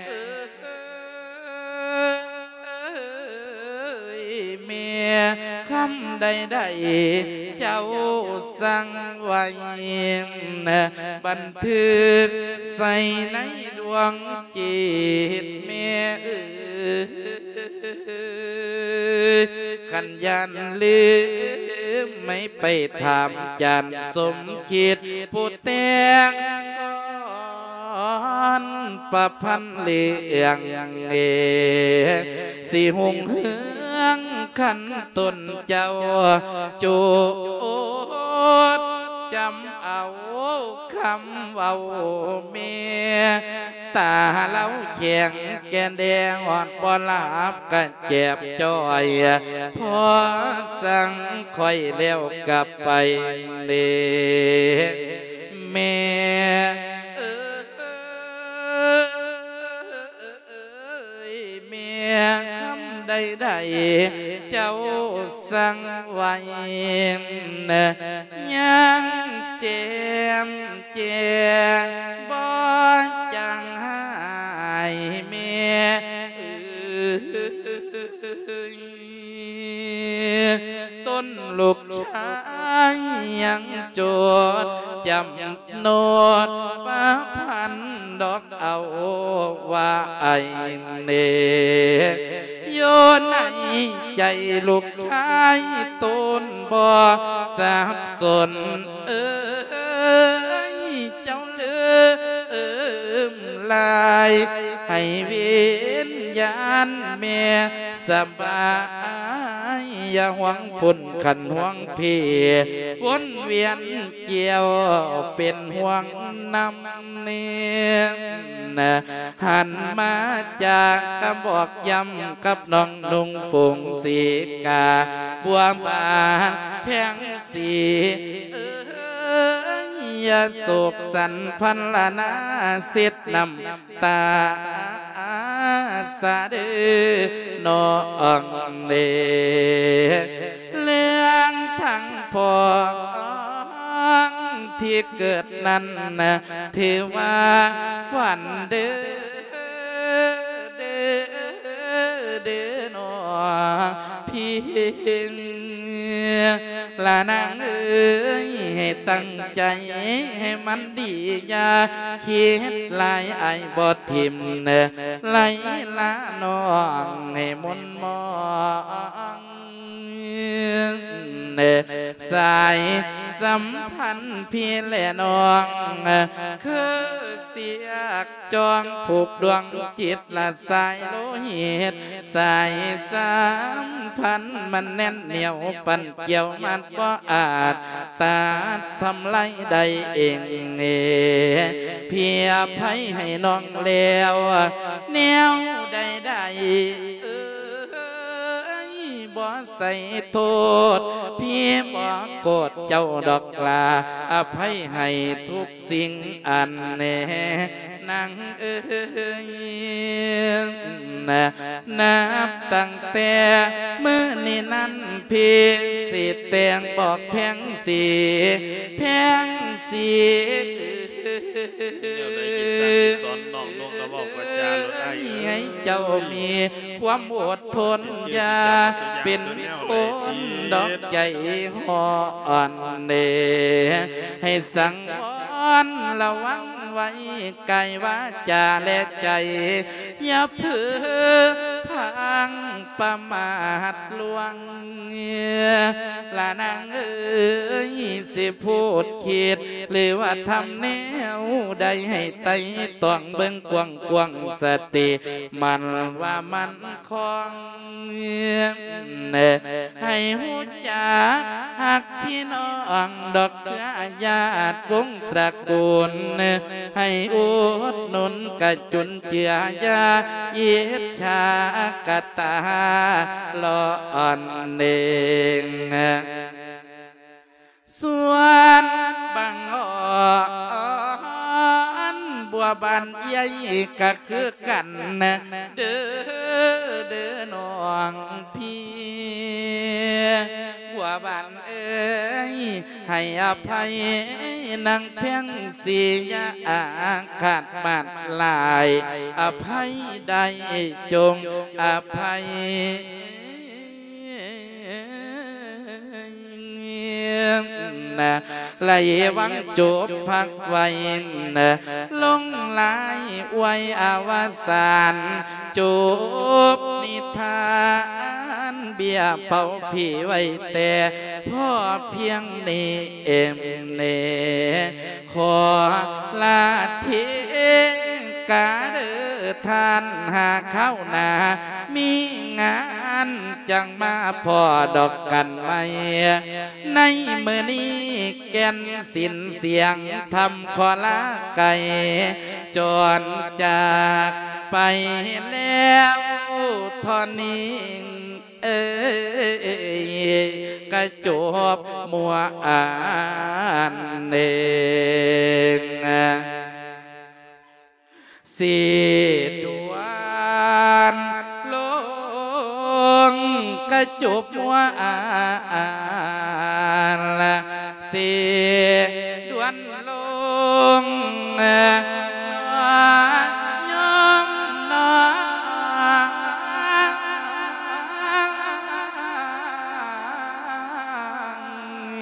ເອີຍ ແມ່ຄຳໃດໆ ເຈົ້າສັ່ງໄວ້ ບັນທຶກໃສ່ໃນດວງຈິດ ແມ່ເອີຍ ຄັນຢ້ານລືມ ໃຫ້ໄປຖາມຈານສົມຄິດ ຜູ້ແຕ່ງກ່ອນປະພັນເລື່ອງເອ ຊິຮຸ່ງເຮືອງຄັນຕົນເຈົ້າ ໂຈດຈຳເອົາຄຳເວົ້າແມ່ ຕາລາວແຂງແກ່ນແດ່ ນອນບໍ່ຫຼັບກະແຈບຈ່ອຍ ພໍສັ່ງຂ້ອຍແລ້ວກັບໄປເດ້ ແມ່ເອີຍ ແມ່ ຄຳໃດໆເຈົ້າສັ່ງໄວ້ ຍັງແຈ່ມແຈ້ງບໍ່ຈາງຫາຍ ແມ່ເອີຍ ຕົນລູກຊາຍຍັງຈົດຈຳ ໂນດປະພັນດອກເອົາວ່າອ້າຍເນ ຢູ່ໃນໃຈລູກຊາຍຕົນບໍ່ສັບສົນ ເອີຍ ເຈົ້າລືມລາຍ ໃຫ້ວິນຍານແມ່ສະບາຍ ຢ່າຫ່ວງພຸ້ນຄັນຫ່ວງພີ ວົນວຽນ ກ່ຽວເປັນຫ່ວງນຳເນ ຫັນມາຈາກກະບອກຢ້ຳກັບນ້ອງນຸ່ງຝູງສີກາ ບົວບານແພງສີ ເອີຍ ໂສກສັນພັນລະນາເຊັດນ້ຳ ຕາສາເດີນ້ອງເດ ເລື່ອງທັງພ້ອງທີ່ເກີດນັ້ນນະ ຖືວ່າຝັນເດີ ເດີ ເດີນ້ອງ ພີງ ລະນາງເອີຍ ໃຫ້ຕັ້ງໃຈໃຫ້ມັນດີ ຢ່າຄິດຫຼາຍ ອ້າຍບໍ່ຖິ້ມເນີ ໄລລານ້ອງໃຫ້ມົນມອງ ສາຍສຳພັນພີ່ແລະນ້ອງ ຄືສຽກ ຈອງຜູກດວງຈິດລະສາຍໂລຫິດ ສາຍສຳພັນມັນແໜ້ນໜຽວ ປັ່ນກ່ຽວມັດບໍ່ອາດຕັດທຳລາຍໄດ້ເອງເອ ພີ່ອະໄພໃຫ້ນ້ອງແລ້ວ ແນວໃດໆ ເອີຍ ບໍ່ໃສ່ໂທດ ພີ່ບໍ່ໂກດເຈົ້າດອກລາ ອະໄພໃຫ້ທຸກສິ່ງອັນແນນາງເອີຍ ນະ ນັບຕັ້ງແຕ່ມື້ນີ້ນັ້ນ ພີ່ຊິແຕ່ງບອກແພງສີ ແພງສີ ແນວໃດເປັນການສອນນ້ອງນົກກະເວົ້າກະຈາໂລດອ້າຍເອີຍ ໃຫ້ເຈົ້າມີຄວາມອົດທົນ ຢ່າເປັນຄົນດອກໃຈຮ້ອນເດ ໃຫ້ສັງວອນລະວັງໄວ້ ກາຍວາຈາແລະໃຈ ຢ່າເຜີພັງປະໝາດລວງ ລະນາງເອີຍ ຊິພູດຄິດ ຫຼືວ່າທຳແນວໃດ ໃຫ້ໄຕ່ຕອງເບິ່ງກວ້າງໆ ສະຕິໝັ້ນວ່າໝັ້ນຄອງ ໃຫ້ຮູ້ຈັກຮັກພີ່ນ້ອງດອກເຄືອຍາດວົງຕະກູນ ໃຫ້ອຸດໜູນກະຈຸນເຈືອ ຢ່າອິດສາກະຕາຫຼອນເໜັງ ສ່ວນບັງອອນບົວບານເອື້ອຍກະຄືກັນເດີ ເດີນ້ອງພີ່ ບົວບານເອີຍ ໃຫ້ອະໄພນາງແພງສີ ຢ່າອາຄາດມາດຫຼາຍ ອະໄພໄດ້ຈົ່ງອະໄພ ນະ ໄລວັງຈົບພັກໄວ້ນະ ລົງລາຍອວຍອະວະສານ ຈົບ ທານເບ້ຍເຜົາຜີໄວ້ແຕ່ພໍພຽງນີ້ເອງເນ. ຂໍລາເທກາເດີທ່ານ ຫາຄາວໜ້າມີງານ ຈັ່ງມາພໍ້ດອກກັນໃໝ່. ໃນມື້ນີ້ແກ່ນສິນສຽງທຳ ຂໍລາໄກຈອນຈາກໄປແລ້ວເທົ່ານີ້ ເອີຍ ກະຈົບມົວອັນເອງ. ຊິດ່ວນລົງ ກະຈົບມົວອັນ ຊິດ່ວນລົງ ຍອມນອງ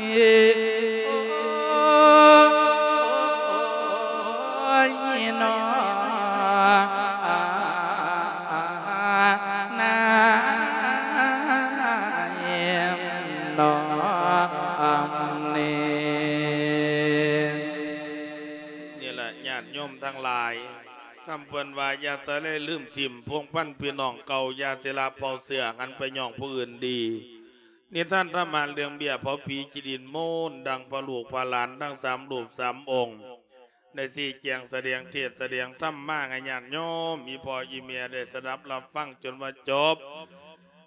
ໂອ້ຍ ນອ ນາຍ ນອ ນີ້ແຫຼະ ຍາດໂຍມທັງຫຼາຍ ຄຳເພິ່ນວ່າ ຢ່າສະເລລືມຖິ້ມ ພົວພັນພີ່ນ້ອງເກົ່າ ຢ່າຊິລະເຜົ່າເຊື້ອ ຫັນໄປຍ້ອງຜູ້ອື່ນດີ. ນິທານທຳມະເລື່ອງເບ້ຍເຜົາຜີຈີດິນມູນ ດັ່ງພະລູກພະຫຼານທັງສາມຮູບສາມອົງ ໄດ້ຊີ້ແຈງສະແດງເທດສະແດງທຳມາໃຫ້ຍາດໂຍມ ອີ່ພໍ່ອີ່ແມ່ໄດ້ສະດັບຮັບຟັງຈົນວ່າຈົບ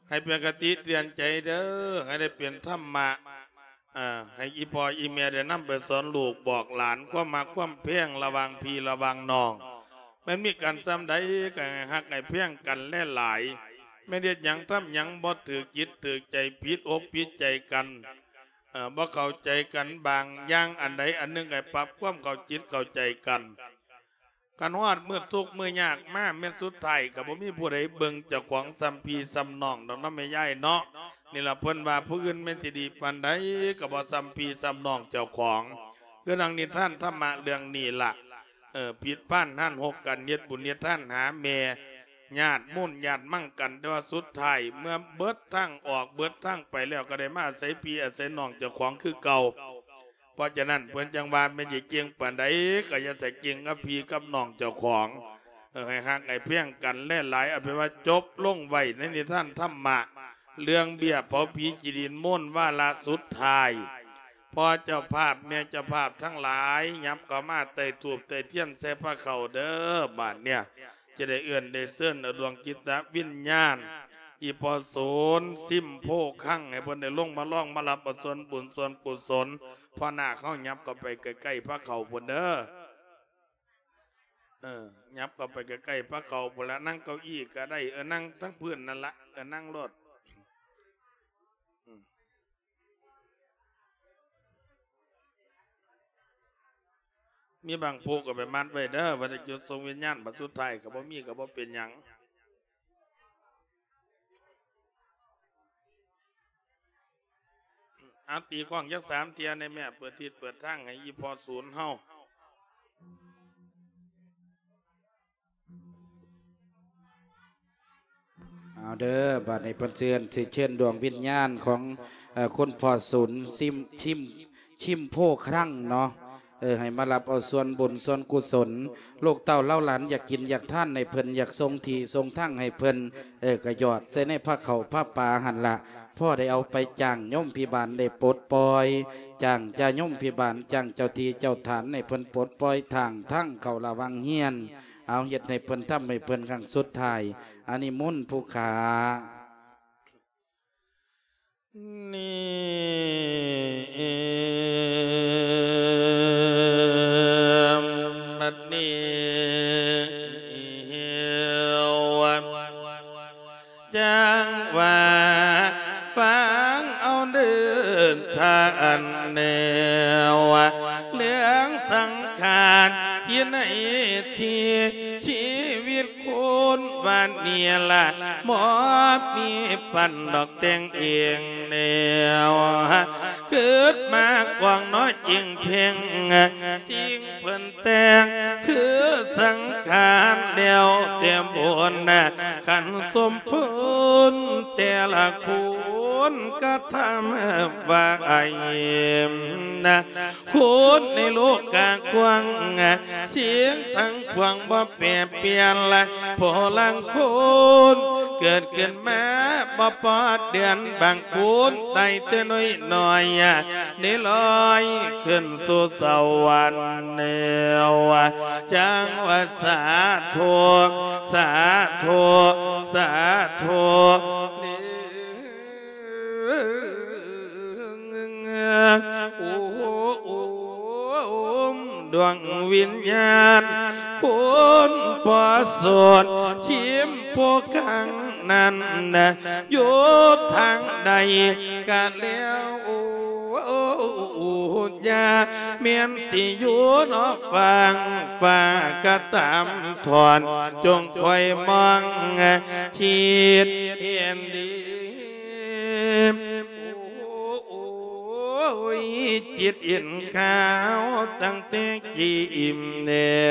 ໃຫ້ເປັນຄະຕິເຕືອນໃຈເດີ ໃຫ້ໄດ້ເປັນທຳມະ ເອີ ໃຫ້ອີ່ພໍ່ອີ່ແມ່ໄດ້ນຳໄປສອນລູກບອກຫຼານ ຄວາມຮັກຄວາມແພງລະຫວ່າງພີ່ລະຫວ່າງນ້ອງ ແມ່ນມີກັນສ່ຳໃດກໍໃຫ້ຮັກໃຫ້ແພງກັນຫຼາຍໆ ແມ່ນເຮັດຫຍັງທຳຫຍັງບໍ່ຖືກຈິດຖືກໃຈ ຜິດອົກຜິດໃຈກັນ ເອີ ບໍ່ເຂົ້າໃຈກັນບາງຢ່າງ ອັນໃດອັນໜຶ່ງໃຫ້ປັບຄວາມເຂົ້າຈິດເຂົ້າໃຈກັນ. ຄັນຮອດມື້ທຸກມື້ຍາກມາ ແມ່ນສຸດທ້າຍກໍບໍ່ມີຜູ້ໃດເບິ່ງເຈົ້າຂອງສ່ຳພີ່ສ່ຳນ້ອງດອກເນາະແມ່ຍາຍເນາະ. ນີ້ລະເພິ່ນວ່າ ຜູ້ອື່ນແມ່ນຊິດີປານໃດກໍບໍ່ສ່ຳພີ່ສ່ຳນ້ອງເຈົ້າຂອງ. ຄືດັ່ງນິທານທຳມະເລື່ອງນີ້ລະ ເອີ ຜິດພານຫັນຫົກກັນ ເຮັດບຸນເຮັດທານຫາແມ່ ຍາດມູນຍາດມັງກັນ ແຕ່ວ່າສຸດທ້າຍເມື່ອເບິດທາງອອກເບິດທາງໄປແລ້ວ ກໍໄດ້ມາອາໄສພີ່ອາໄສນ້ອງເຈົ້າຂອງຄືເກົ່າ. ເພາະສະນັ້ນເພິ່ນຈັ່ງວ່າ ແມ່ນຊິເກັ່ງປານໃດກໍຢ່າໃສ່ເກັ່ງກັບພີ່ກັບນ້ອງເຈົ້າຂອງ ເອີ ໃຫ້ຮັກໃຫ້ແພງກັນຫຼາຍໆ. ເອົາເປັນວ່າຈົບລົງໄວ້ໃນນິທານທຳມະ ເລື່ອງເບ້ຍເຜົາຜີຈີດິນມູນວາລະສຸດທ້າຍ. ພໍ່ເຈົ້າພາບແມ່ເຈົ້າພາບທັງຫຼາຍ ຫຍັບເຂົ້າມາໃຕ້ທູບໃຕ້ທຽນໃສ່ພະເຂົ້າເດີ. ບາດເນີ້ຍ ຈະໄດ້ເອີ້ນໄດ້ເຊີນເອົາດວງຈິດຕະວິນຍານ ອີ່ພໍ່ສນ ຊິມໂພຄັງ ໃຫ້ເພິ່ນໄດ້ລົງມາລອງມາຮັບເອົາສ່ວນບຸນສ່ວນກຸສົນ. ພໍ່ນາກເຮົາຫຍັບເຂົ້າໄປໃກ້ໆພະເຂົ້າພຸ້ນເດີ ເອີ ຫຍັບເຂົ້າໄປໃກ້ໆພະເຂົ້າພຸ້ນລະ ນັ່ງເກົ້າอี้ກໍໄດ້ ເອີ ນັ່ງທັງພື້ນນັ້ນລະ ເອີ ນັ່ງໂລດ. ມີບາງຜູ້ກໍໄປມັດໄວ້ເດີ ວ່າໄດ້ຈຸດສົ່ງວິນຍານ ບັດສຸດທ້າຍກໍບໍ່ມີ ກໍບໍ່ເປັນຫຍັງ. ເອົາ ຕີກ້ອງຈັກສາມເທື່ອແດ່ແມ່ ເປີດທິດເປີດທາງໃຫ້ອີ່ພໍ່ສູນເຮົາ. ເອົາເດີ ບາດນີ້ເພິ່ນເຊີນ ຊິເຊີນດວງວິນຍານຂອງ ເອີ ຄຸນພໍ່ສູນ ຊິມ ຊິມ ຊິມໂພຄລັງເນາະ ເອີ ໃຫ້ມາຮັບເອົາສ່ວນບຸນສ່ວນກຸສົນ. ລູກເຕົ້າເຫຼົ່າຫຼານຢາກກິນຢາກທານໃຫ້ເພິ່ນ ຢາກສົ່ງທີ່ສົ່ງທາງໃຫ້ເພິ່ນ ເອີ ກໍຫຍອດໃສ່ໃນພະເຂົ້າພະປາຫັ້ນລະ ພໍໄດ້ເອົາໄປຈ້າງໂຍມພິບານໄດ້ປົດປ່ອຍ ຈ້າງຈາໂຍມພິບານ ຈ້າງເຈົ້າທີ່ເຈົ້າຖານໃຫ້ເພິ່ນປົດປ່ອຍທາງທາງເຂົ້າລະຫວ່າງຮຽນ. ເອົາ ເຮັດໃຫ້ເພິ່ນ ທຳໃຫ້ເພິ່ນຄັ້ງສຸດທ້າຍ. ອານິມົນຜູ້ຂ້າ. ນີ້ ບັດນີ້ ຈັ່ງວ່າຟັງເອົາເດີທ່ານແນວ ເລື່ອງສັງຂານທີ່ໃນທີ່ຊີວິດຄົນວ່ານີ້ລະ ບໍ່ມີປັນດອກແຕ່ງເອງແນວ ຄິດມາກວາງເນາະຈິງເພັງ ສິ່ງເພິ່ນແຕ່ງຄືສັງຂານແລ້ວແຕ່ບຸນ ຄັນສົມໂພ ຕ່ລະຄົນກະທຳວ່າໄອນະ ຄົນໃນໂລກກະກວ້າງ ສິ່ງທັງປວງບໍ່ແປປ່ຽນລະ ຜູ້ລາງຄົນເກີດຂຶ້ນມາບໍ່ປອດເດືອນ ບາງຄົນໄດ້ແຕ່ນ້ອຍໆ ໄດ້ລອຍຂຶ້ນສູ່ສະຫວັນແລ້ວ ຈັ່ງວ່າສາທຸ ສາທຸ ສາທຸ ໂອມ ດວງວິນຍານ ຄົນບໍ່ສົນທີມຜູ້ກັງນັ້ນນະ ຢູ່ທາງໃດກະແລ້ວ ໂອ ຢ່າແມ່ນຊິຢູ່ນອກຝັ່ງຟ້າກະຕາມທອນ ຈົ່ງຄອຍມອງຄິດເຫັນດີ ໂອ້ຍ ຈິດເຫັນຂາວຕັ້ງແຕ່ກີ້ມແລ້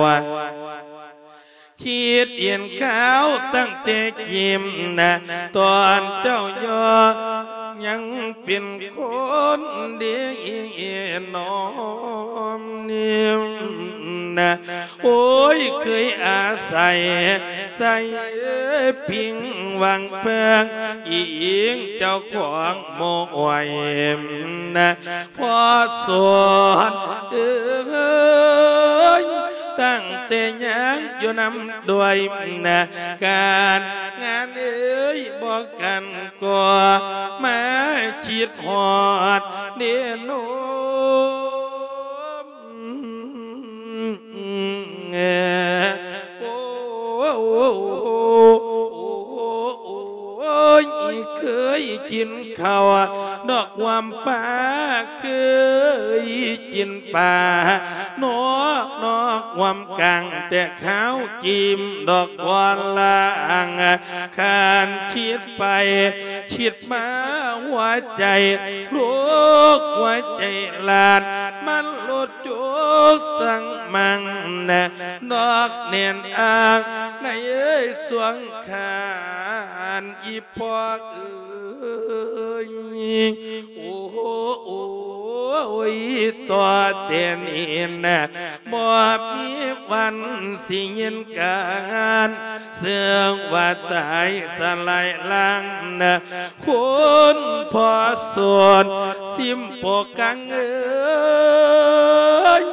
ວ ຄິດເຫັນຂາວຕັ້ງແຕ່ກີ້ມນະ ຕອນເຈົ້າຍໍຍັງເປັນຄົນເດນອມນີ້ນະ ໂອ້ຍ ເຄີຍອາໄສໃສ່ພິງຫວັງເພິ່ງອີງເຈົ້າຂອງໝູ່ອວຍນະ ພໍ່ສອນເອີຍ ຕັ້ງແຕ່ຍັງຢູ່ນຳດ້ວຍນະ ການງານເອີຍບໍ່ກັນກໍມາຄິດຮອດເດໂນມ ໂອ້ ຍ ເຄີຍກິນເຂົ້າດອກຫວມປາ ເຄີຍກິນປານອກ ນອກຫວມກາງ ແຕ່ຂາວຈີ້ມດອກບອນລາງ ຄັນຄິດໄປຄິດມາຫົວໃຈ ໂລກຫົວໃຈລານ ມັນໂລດໂຈກສັງມັງນະ ນອກແໜ້ນອ້າງໃນສວງຄານ ອີ່ພໍ່ເອີຍ ໂອ້ ໂອ້ຍ ຕໍ່ແຕ່ນີ້ນະ ບໍ່ມີວັນຊິຍິນການ ເຊິ່ງວ່າຕາຍສະຫຼາຍລ້າງນະ ຄົນພໍ່ສົນທີມຜູ້ກັງເອີຍ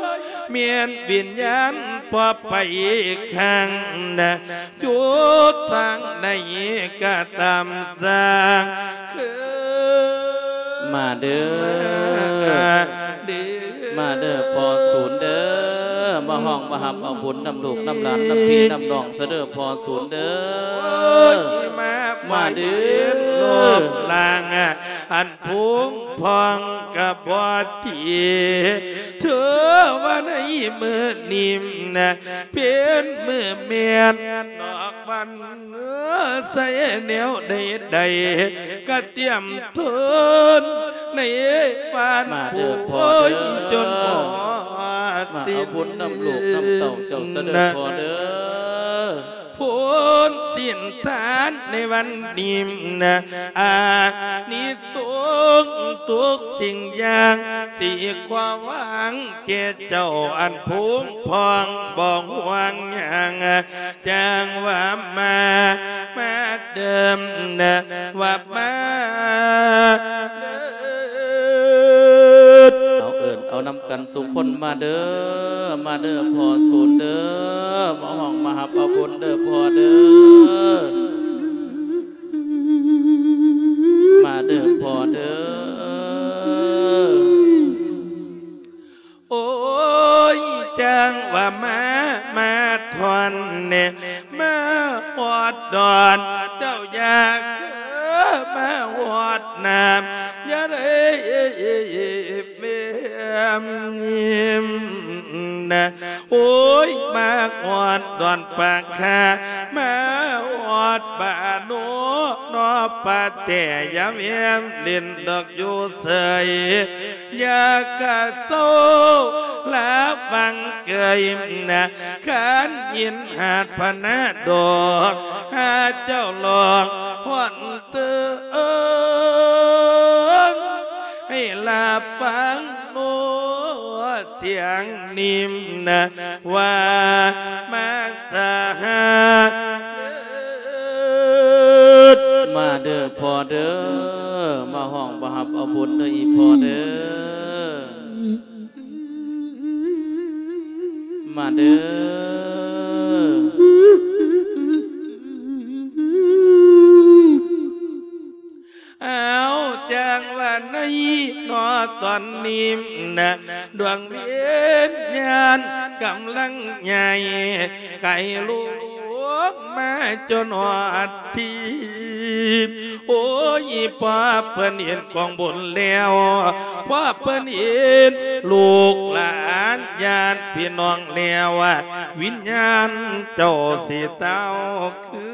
ແມ່ນວິນຍານບໍ່ໄປຂ້າງນະ ຢູ່ທາງໃດກະຕາມສ້າງ ມາເດີ ມາເດີ ມາເດີພໍ່ສູນເດີ ມາຮ້ອງມາຮັບເອົາບຸນນຳລູກນຳຫຼານນຳພີ່ນຳນ້ອງຊະເດີພໍ່ສູນເດີ ມາເດີ ໂລກລ່າງ ອັນ ຜົງພອງກະບໍ່ດີ ເທວະໃນມື້ນີ້ນະ ເປັນມື້ແມ່ນນອກວັນ ໃສ່ແນວໃດໆ ກະຕຽມທົນໃນບ້ານ ມາເດີພໍ່ເດີ ໂອ້ຍ ຈົນຮອດ ມາເອົາບຸນນຳລູກນຳເຕົ້າເຈົ້າຊະເດີພໍ່ເດີ ຜົນສິນທານໃນວັນນີ້ນະ ອານິສົງທຸກສິ່ງຢ່າງ ຊິຂໍຫວັງແກ່ເຈົ້າອັນຜົງພອງບໍ່ຫ່ວງຫຍັງ ຈັ່ງວ່າມາ ມາເດີນະ ວ່າມາເດີນ ເອົາເອີ້ນເອົານຳ ກັນສູ່ຄົນມາເດີ ມາເດີພໍ່ສູນເດີ ມາຮ້ອງມາຮັບເອົາບຸນເດີພໍ່ເດີ ມາເດີພໍ່ເດີ ໂອ້ຍ ຈັ່ງວ່າມາ ມາທ່ອນແນ່ ມາຮອດດອນ ເຈົ້າຢ່າເຄີມາຮອດນ້ຳ ຢ່າໄດ້ແບມຍິ້ມນະ ໂອ້ຍ ມາຮອດດອນປາກຄາ ມາຮອດບ້ານໂນ ນອປະແຕ່ ຢ່າແວມຫຼິ້ນດອກຢູ່ເຊີຍ ຢ່າກະເຊົາລະວັງເກີຍນະ ຄັນຍິນຫາດພະນະດອກ ຫາເຈົ້າລອງຮອດເຕີງ ໃຫ້ລາຟັງໂນ ສຽງນິມນະ ວ່າມາສາຫາເດີ ມາເດີພໍ່ເດີ ມາຮ້ອງມາຮັບເອົາບຸນເດີອີ່ພໍ່ເດີ ມາເດີ. ເອົາ ຈັ່ງວ່າໃນນອຕອນນີ້ນະ ດວງວິນຍານກຳລັງໃຫຍ່ ໄກລຸກມາຈົນຮອດທີ່ ໂອ້ຍ ພໍເພິ່ນເຫັນກອງບຸນແລ້ວ ພໍເພິ່ນເຫັນລູກຫຼານຍາດພີ່ນ້ອງແລ້ວ ວິນຍານເຈົ້າຊິເຊົາ ຄື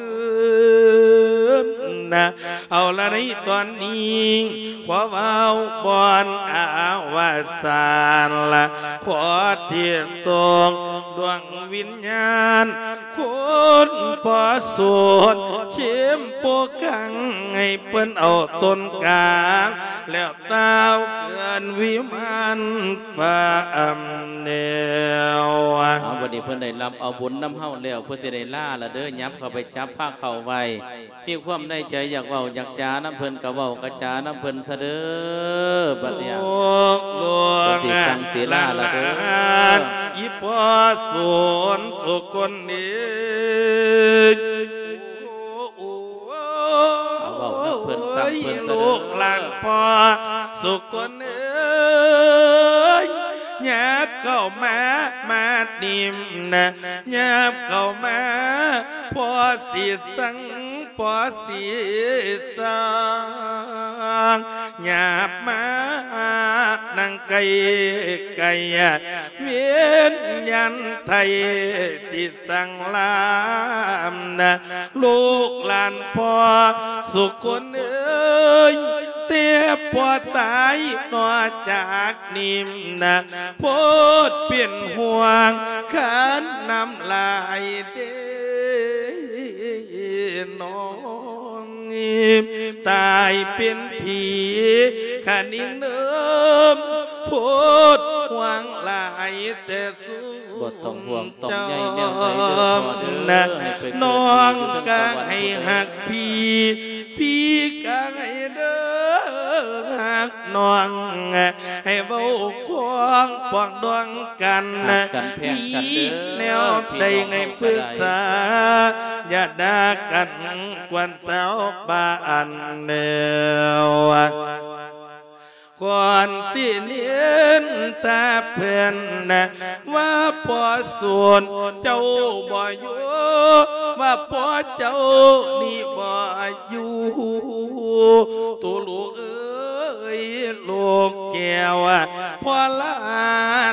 ນນະ ເອົາລະໃນຕອນນີ້ ຂໍເວົ້າບ່ອນອາວະສານລະ ຂໍທີ່ສົ່ງດວງວິນຍານ ຄຸນພໍ່ສູນ ເຂັ້ມໂປກັງ ໃຫ້ເພິ່ນເອົາຕົ້ນກາງ ແລ້ວຕ່າວເກີນວິມານຟ້າອຳແນວ. ເອົາ ບັດນີ້ເພິ່ນໄດ້ຮັບເອົາບຸນນຳເຮົາແລ້ວ ເພິ່ນຊິໄດ້ລາລະເດີ ຫຍັບເຂົ້າໄປຈັບພາເຂົ້າໄວ້ ມີຄວາມໃນໃຈຢາກເວົ້າຢາກຈານຳເພິ່ນກະເວົ້າກະຈານຳເພິ່ນຊະເດີ ບັດນີ້ ລູກຫຼານ ເພິ່ນຊິສັ່ງສິລາລະເດີ ອີ່ພໍ່ສູນສຸຄົນເອີຍ ເວົ້ານຳເພິ່ນ ໂອ້ຍ ສັ່ງເພິ່ນຊະເດີ ລູກຫຼານພໍ່ສຸຄົນເອີຍ ຫຍັບເຂົ້າມາ ມານີ້ນະ ຫຍັບເຂົ້າມາ ພໍ່ຊິສັ່ງ ພໍ່ຊິສັ່ງ ຫຍັບມານັ່ງໃກ້ໆ ເວນຍັນໄທຊິສັ່ງລານະ ລູກຫຼານພໍ່ສຸຄົນເອີຍ ແຕ່ພໍ່ຕາຍນອກຈາກນີ້ນະ ໂພດເປັນຫ່ວງຄັນນ້ຳລາຍເດ້ ນ້ອງ ຕາຍເປັນຜີຂະນິງເນີມ ໂພດຫ່ວງຫຼາຍແຕ່ສູ ບໍ່ຕ້ອງຫ່ວງຕ້ອງໃຍແນວໃດເດີພໍ່ເດີ ໃຫ້ໄປເກີດຢູ່ຢູ່ເທິງສະຫວັນພຸ້ນເດີ ນ້ອງກະໃຫ້ຮັກພີ່ ພີ່ກະໃຫ້ເດີຮັກນ້ອງ ໃຫ້ເວົ້າຄວາມປອງດອງກັນ ຮັກກັນແພງກັນເດີ ມີແນວໃດໃຫ້ປຶກສາ ພີ່ນ້ອງເຮົາກໍໄດ້ ຢ່າດ່າກັນກວນຊາວບ້ານແນວ ຄວນຊິນິນທາເພິ່ນ ວ່າພໍ່ສູນເຈົ້າບໍ່ຢູ່ ວ່າພໍ່ເຈົ້ານີ້ບໍ່ຢູ່ ໂຕລູກເອີຍ ລູກແກ້ວ ພໍ່ລາ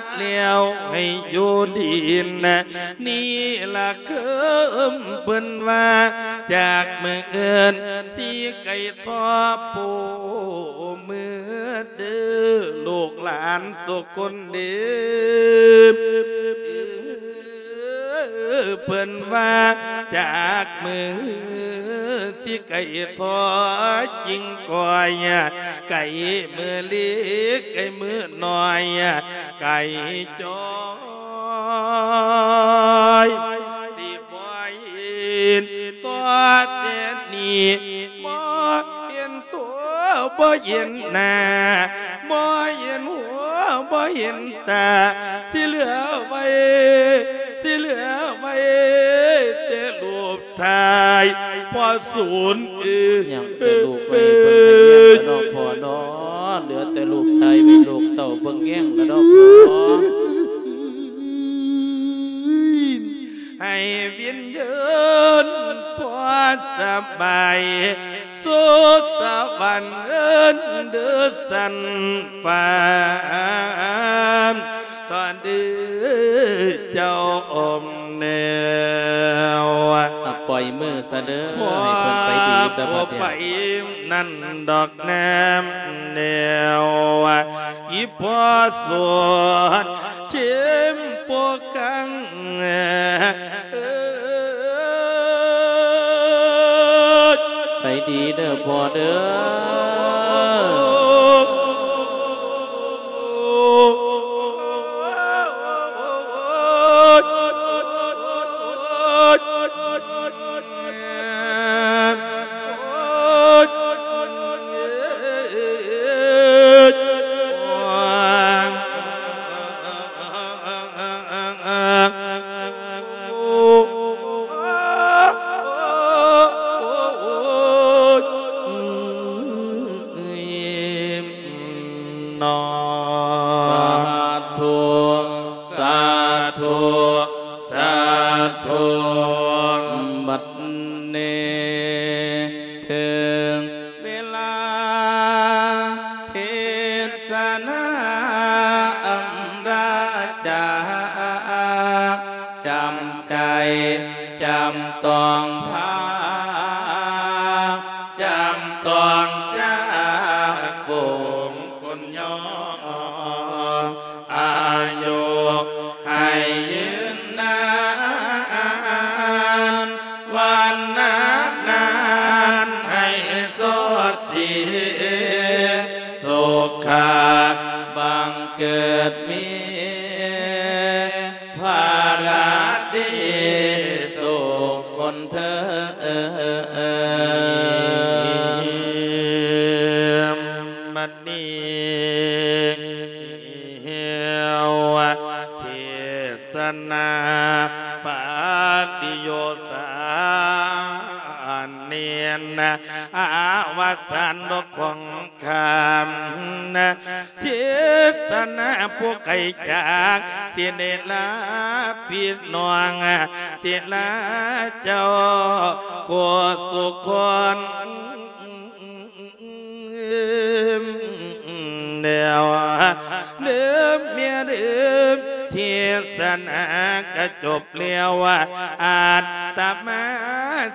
ດແລ້ວໃຫ້ຢູ່ດີນະ ນີ້ລະເຄີມເພິ່ນວ່າ ຈາກມື້ອື່ນຊິໄກທໍ້ຜູ້ມືເດີ ລູກຫຼານສຸຄົນເດີ ເພິ່ນວ່າຈາກມື້ ຊິໄກທໍ້ຈິງກ່ອຍ ໄກມື້ເລັກໄກມື້ນ້ອຍ ໄກຈ່ອຍ ຊິບໍ່ເຫັນຕໍ່ແຕ່ນີ້ ບໍ່ເຫັນຕົວບໍ່ເຫັນໜ້າ ບໍ່ເຫັນຫົວບໍ່ເຫັນຕາ ຊິເຫຼືອໄວ້ ຊິເຫຼືອໄວ້ແຕ່ຮູບ ຖ່າຍພໍ່ສູນເອີຍ ຍັງແຕ່ລູກໄວ້ເບິ່ງໃຫ້ແຍງລະເນາະພໍ່ເນາະ ເຫຼືອແຕ່ລູກຖ່າຍໄວ້ລູກເຕົ້າເບິ່ງແຍງລະເນາະພໍ່ ໃຫ້ວິນຍານພໍ່ສະບາຍ ສູ່ສະຫວັນເດີຊັ້ນຟ້າ ຕອນເດີເຈົ້າອົມແນວ ອະ ປ ອຍມືຊະເດີ ໃຫ້ເພິ່ນໄປດີຊະບັດນີ້ ໄປນັ້ນດອກແນມແນວ ອີ່ພໍ່ສວນເຂັມປົກກັງ ເອີຍ ໄປດີເດີພໍ່ເດີ. ສາທຸ ສາທຸ ສາທຸ. ບັດນີ້ເຖິງເວລາເທດສະນາອຳລາຈາກ ຈຳໃຈ ຈຳຕ້ອງພາ ຈຳຕ້ອງຈາກຝູງຄົນຍອງ ອາຍຸໃຫ້ຍືນນານ ວັນນະນານໃຫ້ສົດສີ ສຸຂະບັງເກີດມີ ພາລະດີສຸກຄົນເທີ້ນ. ບັດນີ້ ເທດສະນາປະຕິໂຍສານເນນ ອາວະສານຂອງ ຄຳເທດສະນາຜູ້ໄກຈາກ ສິໄດ້ລາພີ່ນ້ອງ ສິລາເຈົ້າ ໂຄສຸຄົນ ແລ້ວເດີແມ່ເດີ ເທດສະນາກະຈົບ ແລ້ວອາດຕະມາ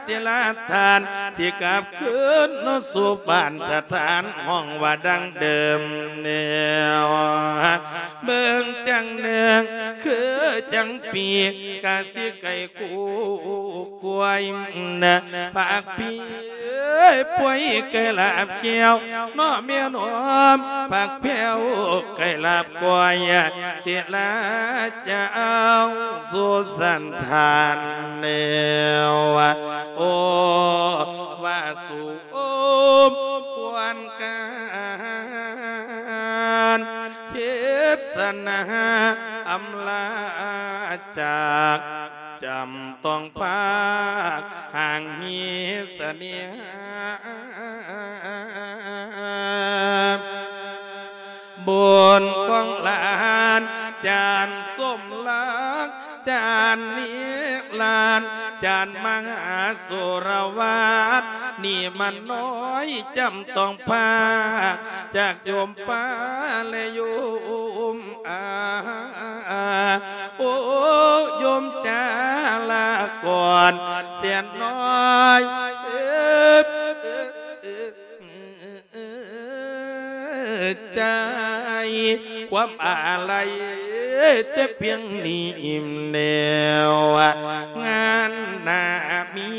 ສິລາທ່ານ ຊິກັບຄືນສູ່ບ້ານສະຖານ ຫ້ອງວ່າດັ່ງເດີມແລ້ວ ເບິ່ງຈັ່ງໜຶ່ງ ຄືຈັ່ງປີກະຊິໄກ່ ກູກວາຍ ຜັກພີ ປ່ວຍໄກ່ລາບແກ້ວ ເນາະແມ່ນອມ ຜັກແພ້ວໄກ່ລາບກ້ອຍ ສິລາຈະເອົາສູ່ສັນທານແນວ ໂອ ວ່າສູ່ ໂອມ ຄວນການ ເທດສະນາອຳລາຈາກ ຈຳຕ້ອງພາກຫ່າງມີສະເໜ່ຫາ ບຸນຂອງຫຼານ ຈານສົມລັກ ຈານນິລານ ຈານມະຫາສຸລະວັດ ນີ້ມັນນ້ອຍ ຈຳຕ້ອງພາກຈາກໂຍມປ້າ ແລະໂຍມອາ ໂອ ໂຍມຈ້າ ລາກ່ອນແສນນ້ອຍ ເອີ ໃຈຄວາມອາໄລແຕ່ພຽງນີ້ແລ້ວ ງານໜ້າມີ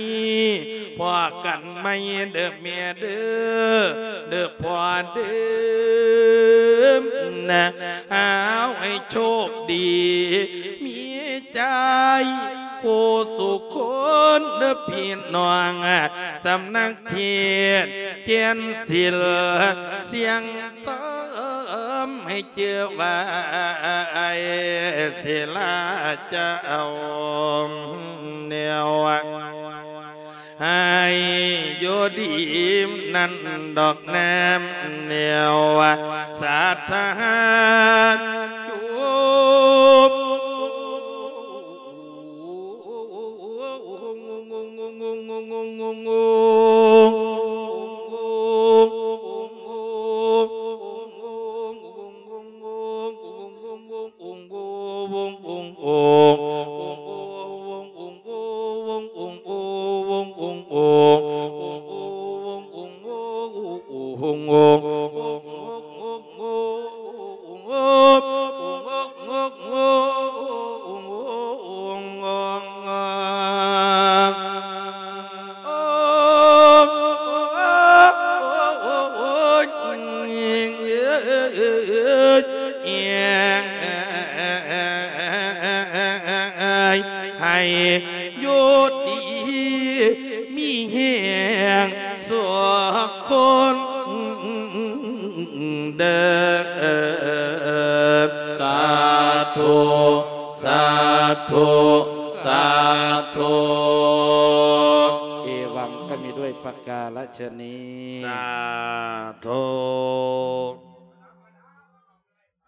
ພໍ້ກັນໃໝ່ເດີແມ່ເດີ ເດີພໍ່ເດີ ເອົາໃຫ້ໂຊກດີ ມີໃຈຄູ່ສູ່ຄົນເດີພີ່ນ້ອງ ສຳນັກເທດແກ່ນສິລ ສຽງທຳໃຫ້ຈື່ໄວ້ ສິລາເຈົ້າ ແນວ ໃຫ້ຢູ່ດີນັ້ນດອກແນມແນວ ສາທານຢູ່ ທຸ ສາທຸ ເອວັງ ກໍມີດ້ວຍປະກາລະຊະນີ ສາທຸ.